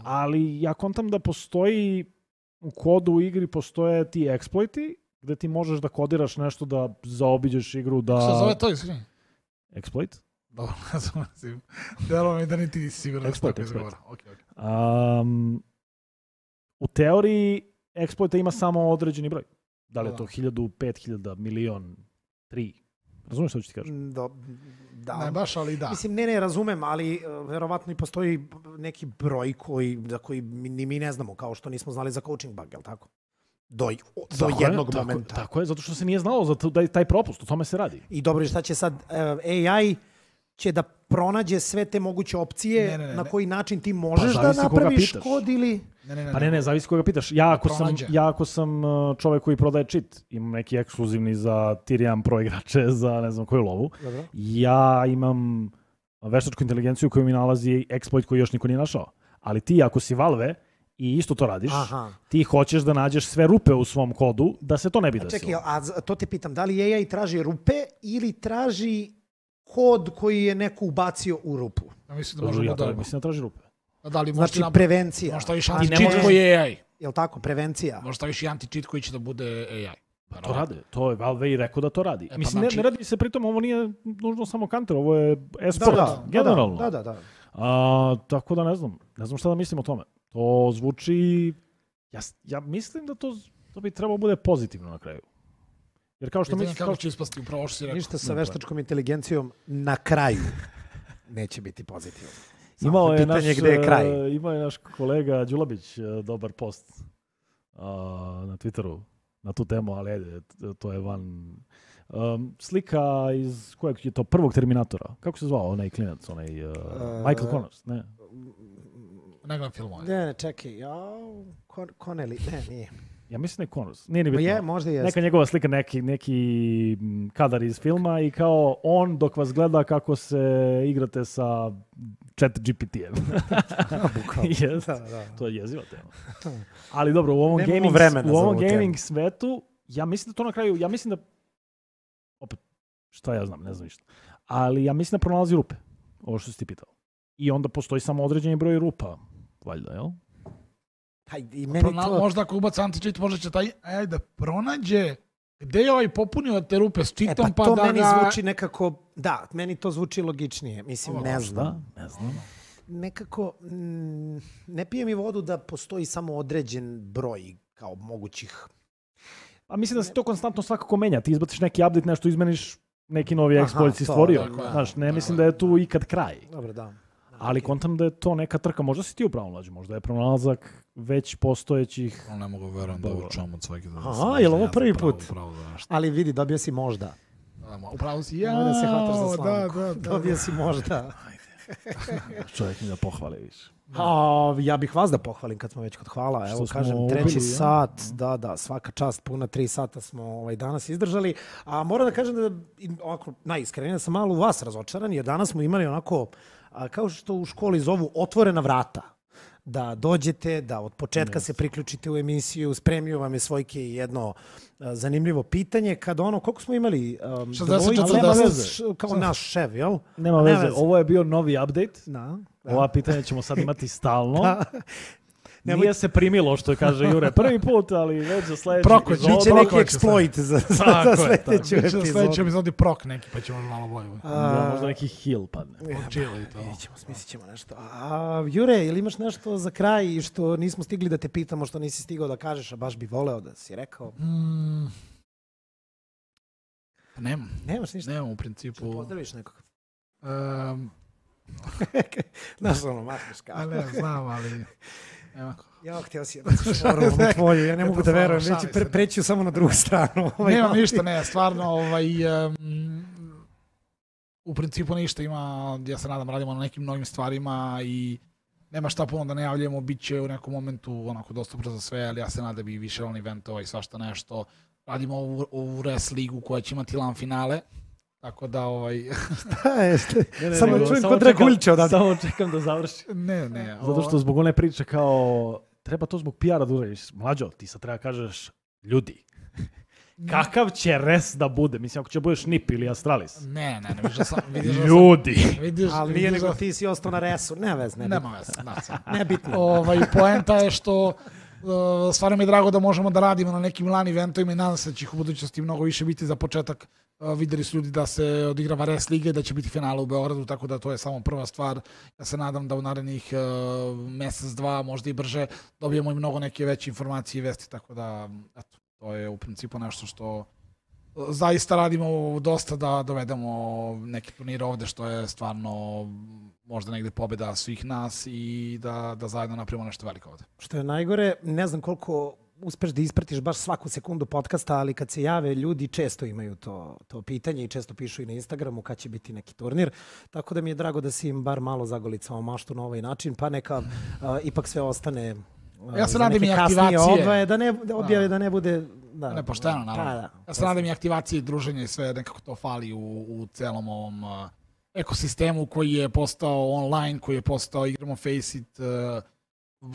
Ali ja kontam da postoji u kodu u igri postoje ti exploiti gde ti možeš da kodiraš nešto da zaobiđeš igru, da... Što zove to, izvini? Exploit? Dobro, ne znam, delo mi da niti nisi siguran da se tako Exploit. izgovara. Ok. U teoriji exploita ima samo određeni broj. Da li je Da. to 1000, 5000, milion, 3? Razumiješ što ću ti kažem? Da. Ne baš, ali da. Mislim, ne razumem, ali verovatno i postoji neki broj za koji ni mi ne znamo, kao što nismo znali za coaching bug, jel tako? Do jednog momenta. Tako je, zato što se nije znalo za taj propust, o tome se radi. I dobro, šta će sad AI će da pronađe sve te moguće opcije Ne. na koji način ti možeš da zavisi koga napraviš pitaš. kod ili... Pa ne, zavisi koga pitaš. Ja ako sam čovek koji prodaje cheat, imam neki ekskluzivni za Tier 1 Pro igrače, za ne znam koju lovu, Dobro. ja imam veštačku inteligenciju koju mi nalazi exploit koji još niko nije našao. Ali ti ako si Valve i isto to radiš, ti hoćeš da nađeš sve rupe u svom kodu da se to ne bi desilo. Čekaj, a to te pitam, da li AI traži rupe ili traži kod koji je neko ubacio u rupu? Ja mislim da možemo da... Mislim da traži rupe. Da li Znači, prevencija. Možda viš anti-cheat koji je AI. Jel tako, prevencija? Možda viš i anti-cheat koji će da bude AI. To rade, to je Valve i rekao da to radi. Pa Mislim, znači... ne radi se pritom, ovo nije nužno samo Counter, ovo je esport, generalno. Da. Tako da ne znam šta da mislim o tome. To zvuči, ja mislim da to bi trebalo bude pozitivno na kraju. Jer kao što mislim... Kako će ispasti upravo što si rekao. Ništa sa veštačkom inteligencijom na kraju neće biti pozitivno. Imao je je naš kolega Đulabić dobar post na Twitteru na tu temu, ali ajde, to je van... slika iz kojeg je to prvog Terminatora. Kako se zvao onaj klinac, Michael Connors, ne? Ne gledam filmove. Ne, čekaj, Connelly, ne, nije. Ja mislim da je Connors. Nije ni bitno. Možda jeste. Neka njegova slika, neki kadar iz filma i kao on dok vas gleda kako se igrate sa chat GPT-em. To je jeziva tema. Ali dobro, u ovom gaming svetu, ja mislim da to na kraju, opet, šta ja znam, ne znam ništa. Ali ja mislim da pronalazi rupe, ovo što si ti pitao. I onda postoji samo određeni broj rupa, valjda, jel? Možda ako ubaca anti-cheat, možda će taj AI da pronađe gde je ovaj popunio te rupe s cheatom, pa to meni zvuči nekako, da, meni to zvuči logičnije. Mislim, ne znam. Nekako, ne pije mi vodu da postoji samo određen broj kao mogućih. A mislim da se to konstantno svakako menja. Ti izbaciš neki update, nešto izmeniš, neki novi exploit si stvorio. Znaš, ne mislim da je tu ikad kraj. Dobro, da. Ali kontam da je to neka trka. Možda si ti upravo mlađi, možda je pronalazak već postojećih... Ne mogu verujem da učam od svake... Aha, je li ovo prvi put? Ali vidi, dobio si možda. Upravo si, Da se hvataš za slamku. Dobio si možda. Čovjek mi da pohvali više. Ja bih vas da pohvalim kad smo već kod hvala. Evo, Što kažem, smo treći ubili, sat, da, svaka čast, puna 3 sata smo danas izdržali. A moram da kažem da, ovako, najiskrenije, sam malo u vas razočaran, jer danas smo imali onako, kao što u školi zovu, otvorena vrata. Da dođete, da od početka se priključite u emisiju, spremio vam je Svojke jedno zanimljivo pitanje. Kada koliko smo imali? 60, kao naš šef, jel? Nema veze, ovo je bio novi update. Da. Ova pitanja ćemo sad imati stalno. Nije se primilo, što kaže Jure, prvi put, ali već za sljedeći epizod. Biće neki exploit za sljedeću epizodu. Sljedeći epizodi prok neki, pa ćemo malo bolje. Možda neki heal padne. Smislit ćemo nešto. Jure, ili imaš nešto za kraj što nismo stigli da te pitamo, što nisi stigao da kažeš, a baš bi voleo da si rekao? Nemam. Nemaš ništa? Nemam u principu. Pozdraviš nekog? Znaš ono, mašniš kao. Ne znam, ali... Ja, htio si jednu šoru tvoju, ja ne mogu da verujem, već preću samo na drugu stranu. Nemam ništa, ne, stvarno, u principu ništa ima, ja se nadam, radimo na nekim novim stvarima i nema šta puno da najavljamo, bit će u nekom momentu onako dostupno za sve, ali ja se nadam da bi više on eventova i svašta nešto. Radimo u Res ligu koja će imati LAN finale. Tako da Samo čujem kod Draguljča odavde. Samo čekam da završi. Ne. Zato što zbog one priče kao treba to zbog PR-a da uradiš. Mlađo, ti sad treba kažeš ljudi. Kakav će res da bude? Mislim, ako će budeš NIP ili Astralis. Ne, ljudi. Ali nije nego ti si ostao na resu. Nema veze. Nebitno. Poenta je što stvarno mi je drago da možemo da radimo na nekim LAN eventovima i nadam se da će ih u budućnosti mnogo više biti. Za početak vidjeli su ljudi da se odigrava Res Liga, da će biti finala u Beogradu, tako da to je samo prva stvar. Ja se nadam da u narednih mjesec, dva, možda i brže, dobijemo i mnogo neke veće informacije i vesti, tako da eto, to je u principu nešto što zaista radimo dosta da dovedemo neki turnir ovde, što je stvarno možda negde pobjeda svih nas i da zajedno napravimo nešto veliko ovde. Što je najgore, ne znam koliko uspeš da ispratiš baš svaku sekundu podcasta, ali kad se jave ljudi često imaju to pitanje i često pišu i na Instagramu kad će biti neki turnir. Tako da mi je drago da si im bar malo zagolicao maštu na ovaj način, pa neka ipak sve ostane ja se nadam i aktivacije. Da ne objave, da ne bude... Nepošteno, naravno. Ja se nadam i aktivacije i druženje i sve, nekako to fali u celom ovom ekosistemu koji je postao online, koji je postao igramo Faceit,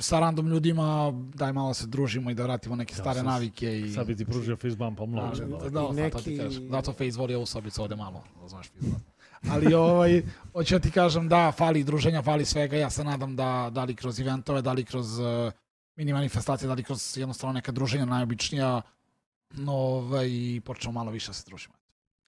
sa random ljudima, daj malo se družimo i da vratimo neke stare navike. I... Sad bi ti pružio face bump, pa mnogo. Zato Face voli ovu sobicu ovde malo, razumeš face bump. Ali hoću ja ti kažem da fali druženja, fali svega, ja se nadam da li kroz eventove, da li kroz mini manifestacije, da li kroz jednostavno neka druženja najobičnija, i počnemo malo više da se družimo.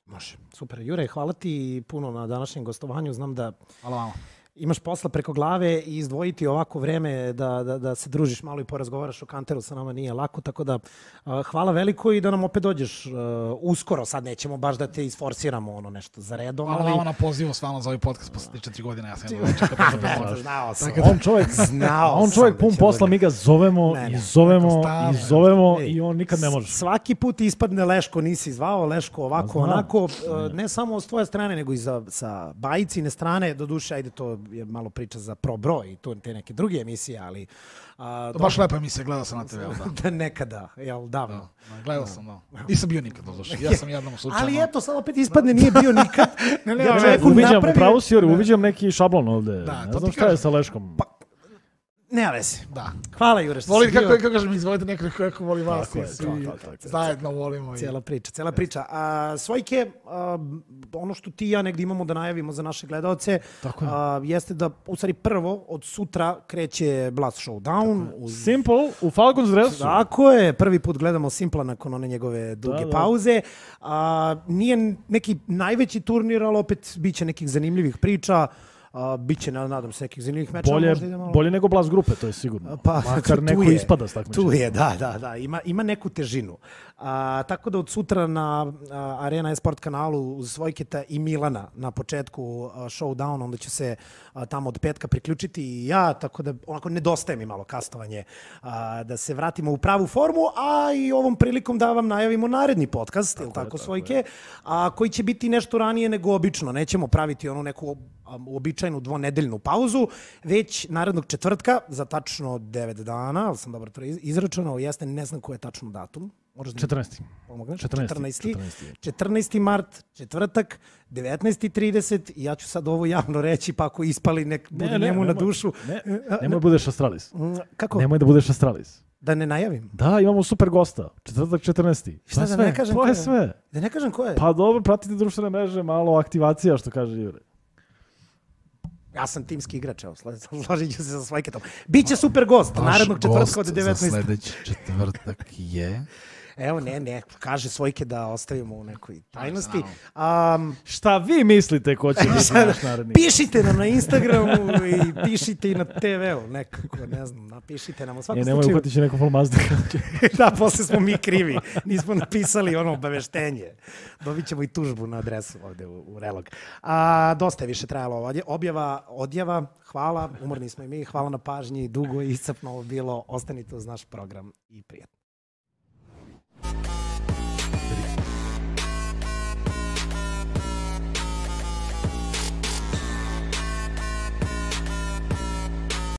Može, super. Jure, hvala ti puno na današnjem gostovanju, znam da... Hvala vama. Imaš posla preko glave i izdvojiti ovako vreme da se družiš malo i porazgovaraš o Kanteru sa nama nije lako, tako da hvala veliko i da nam opet dođeš uskoro. Sad nećemo baš da te isforsiramo nešto za redom. Hvala vama na pozivu stvarno za ovaj podcast posle 4 godine. Ja sam znao sam. On čovjek pun posla, mi ga zovemo i on nikad ne može. Svaki put ispadne Leško, nisi zvao, Leško ovako, onako. Ne samo s tvoje strane, nego i sa Bajicine strane. Doduše, ajde, to je malo priča za Pro Bro i te neke druge emisije, ali... To baš lepa emisija, gledao sam na TV-u, da. Nekada, jel, davno. Gledao sam, da. Nisam bio nikad, ja sam jednom slučajno. Ali eto, sad opet ispadne, nije bio nikad. Uviđam neki šablon ovde. Ne znam šta je sa Leškom. Ne vezi. Da. Hvala, Jure, što si bio. Kako kažem, izvolite nekako kako voli vas i svi zajedno volimo. Cijela priča. Svojke, ono što ti i ja negdje imamo da najavimo za naše gledalce, jeste da, u stvari, prvo od sutra kreće Blast Showdown. Simple, u Falcons dresu. Tako je, prvi put gledamo Simpla nakon one njegove duge pauze. Nije neki najveći turnir, ali opet bit će nekih zanimljivih priča. Biće, nadam se, nekih zanimljivih mečeva. Bolje nego Blast grupe, to je sigurno. Makar neko ispada s takmičenja. Tu je, da. Ima neku težinu. Tako da od sutra na Arena Esport kanalu uz Svojketa i Milana na početku Showdown, onda ću se tamo od petka priključiti i ja, tako da onako nedostaje mi malo kastovanje da se vratimo u pravu formu, a i ovom prilikom da vam najavimo naredni podcast, ili tako Svojke, koji će biti nešto ranije nego obično. Nećemo praviti onu neku uobičajenu dvonedeljnu pauzu, već narednog četvrtka za tačno 9 dana, ali sam dobro to izračunao, jeste, ne znam koji je tačno datum. 14. 14. mart, četvrtak, 19.30 i ja ću sad ovo javno reći, pa ako ispali nek bude njemu na dušu. Nemoj da budeš Astralis. Kako? Nemoj da budeš Astralis. Da ne najavim? Da, imamo super gosta. Četvrtak 14. Šta da ne kažem ko je? Sve. Da ne kažem ko je? Pa dobro, pratite društvene mreže, malo aktivacija, što kaže Jure. Ja sam timski igrač, evo, složit ću se sa Svajketom. Biće super gost, narednog četvrtka od 19. Za sledeći četvrtak je... Evo, ne, kaže Svojke da ostavimo u nekoj tajnosti. Šta vi mislite ko će biti naš naredni? Pišite nam na Instagramu i pišite i na TV-u, nekako, ne znam, napišite nam u svakom slučaju. Nemoj uhvatit će neko Falmazda. Da, posle smo mi krivi, nismo napisali ono obaveštenje. Dobit ćemo i tužbu na adresu ovde u Relog. Dosta je više trajalo ova odjava, hvala, umorni smo i mi, hvala na pažnji, dugo i iscrpno bilo, ostanite uz naš program i prijatno.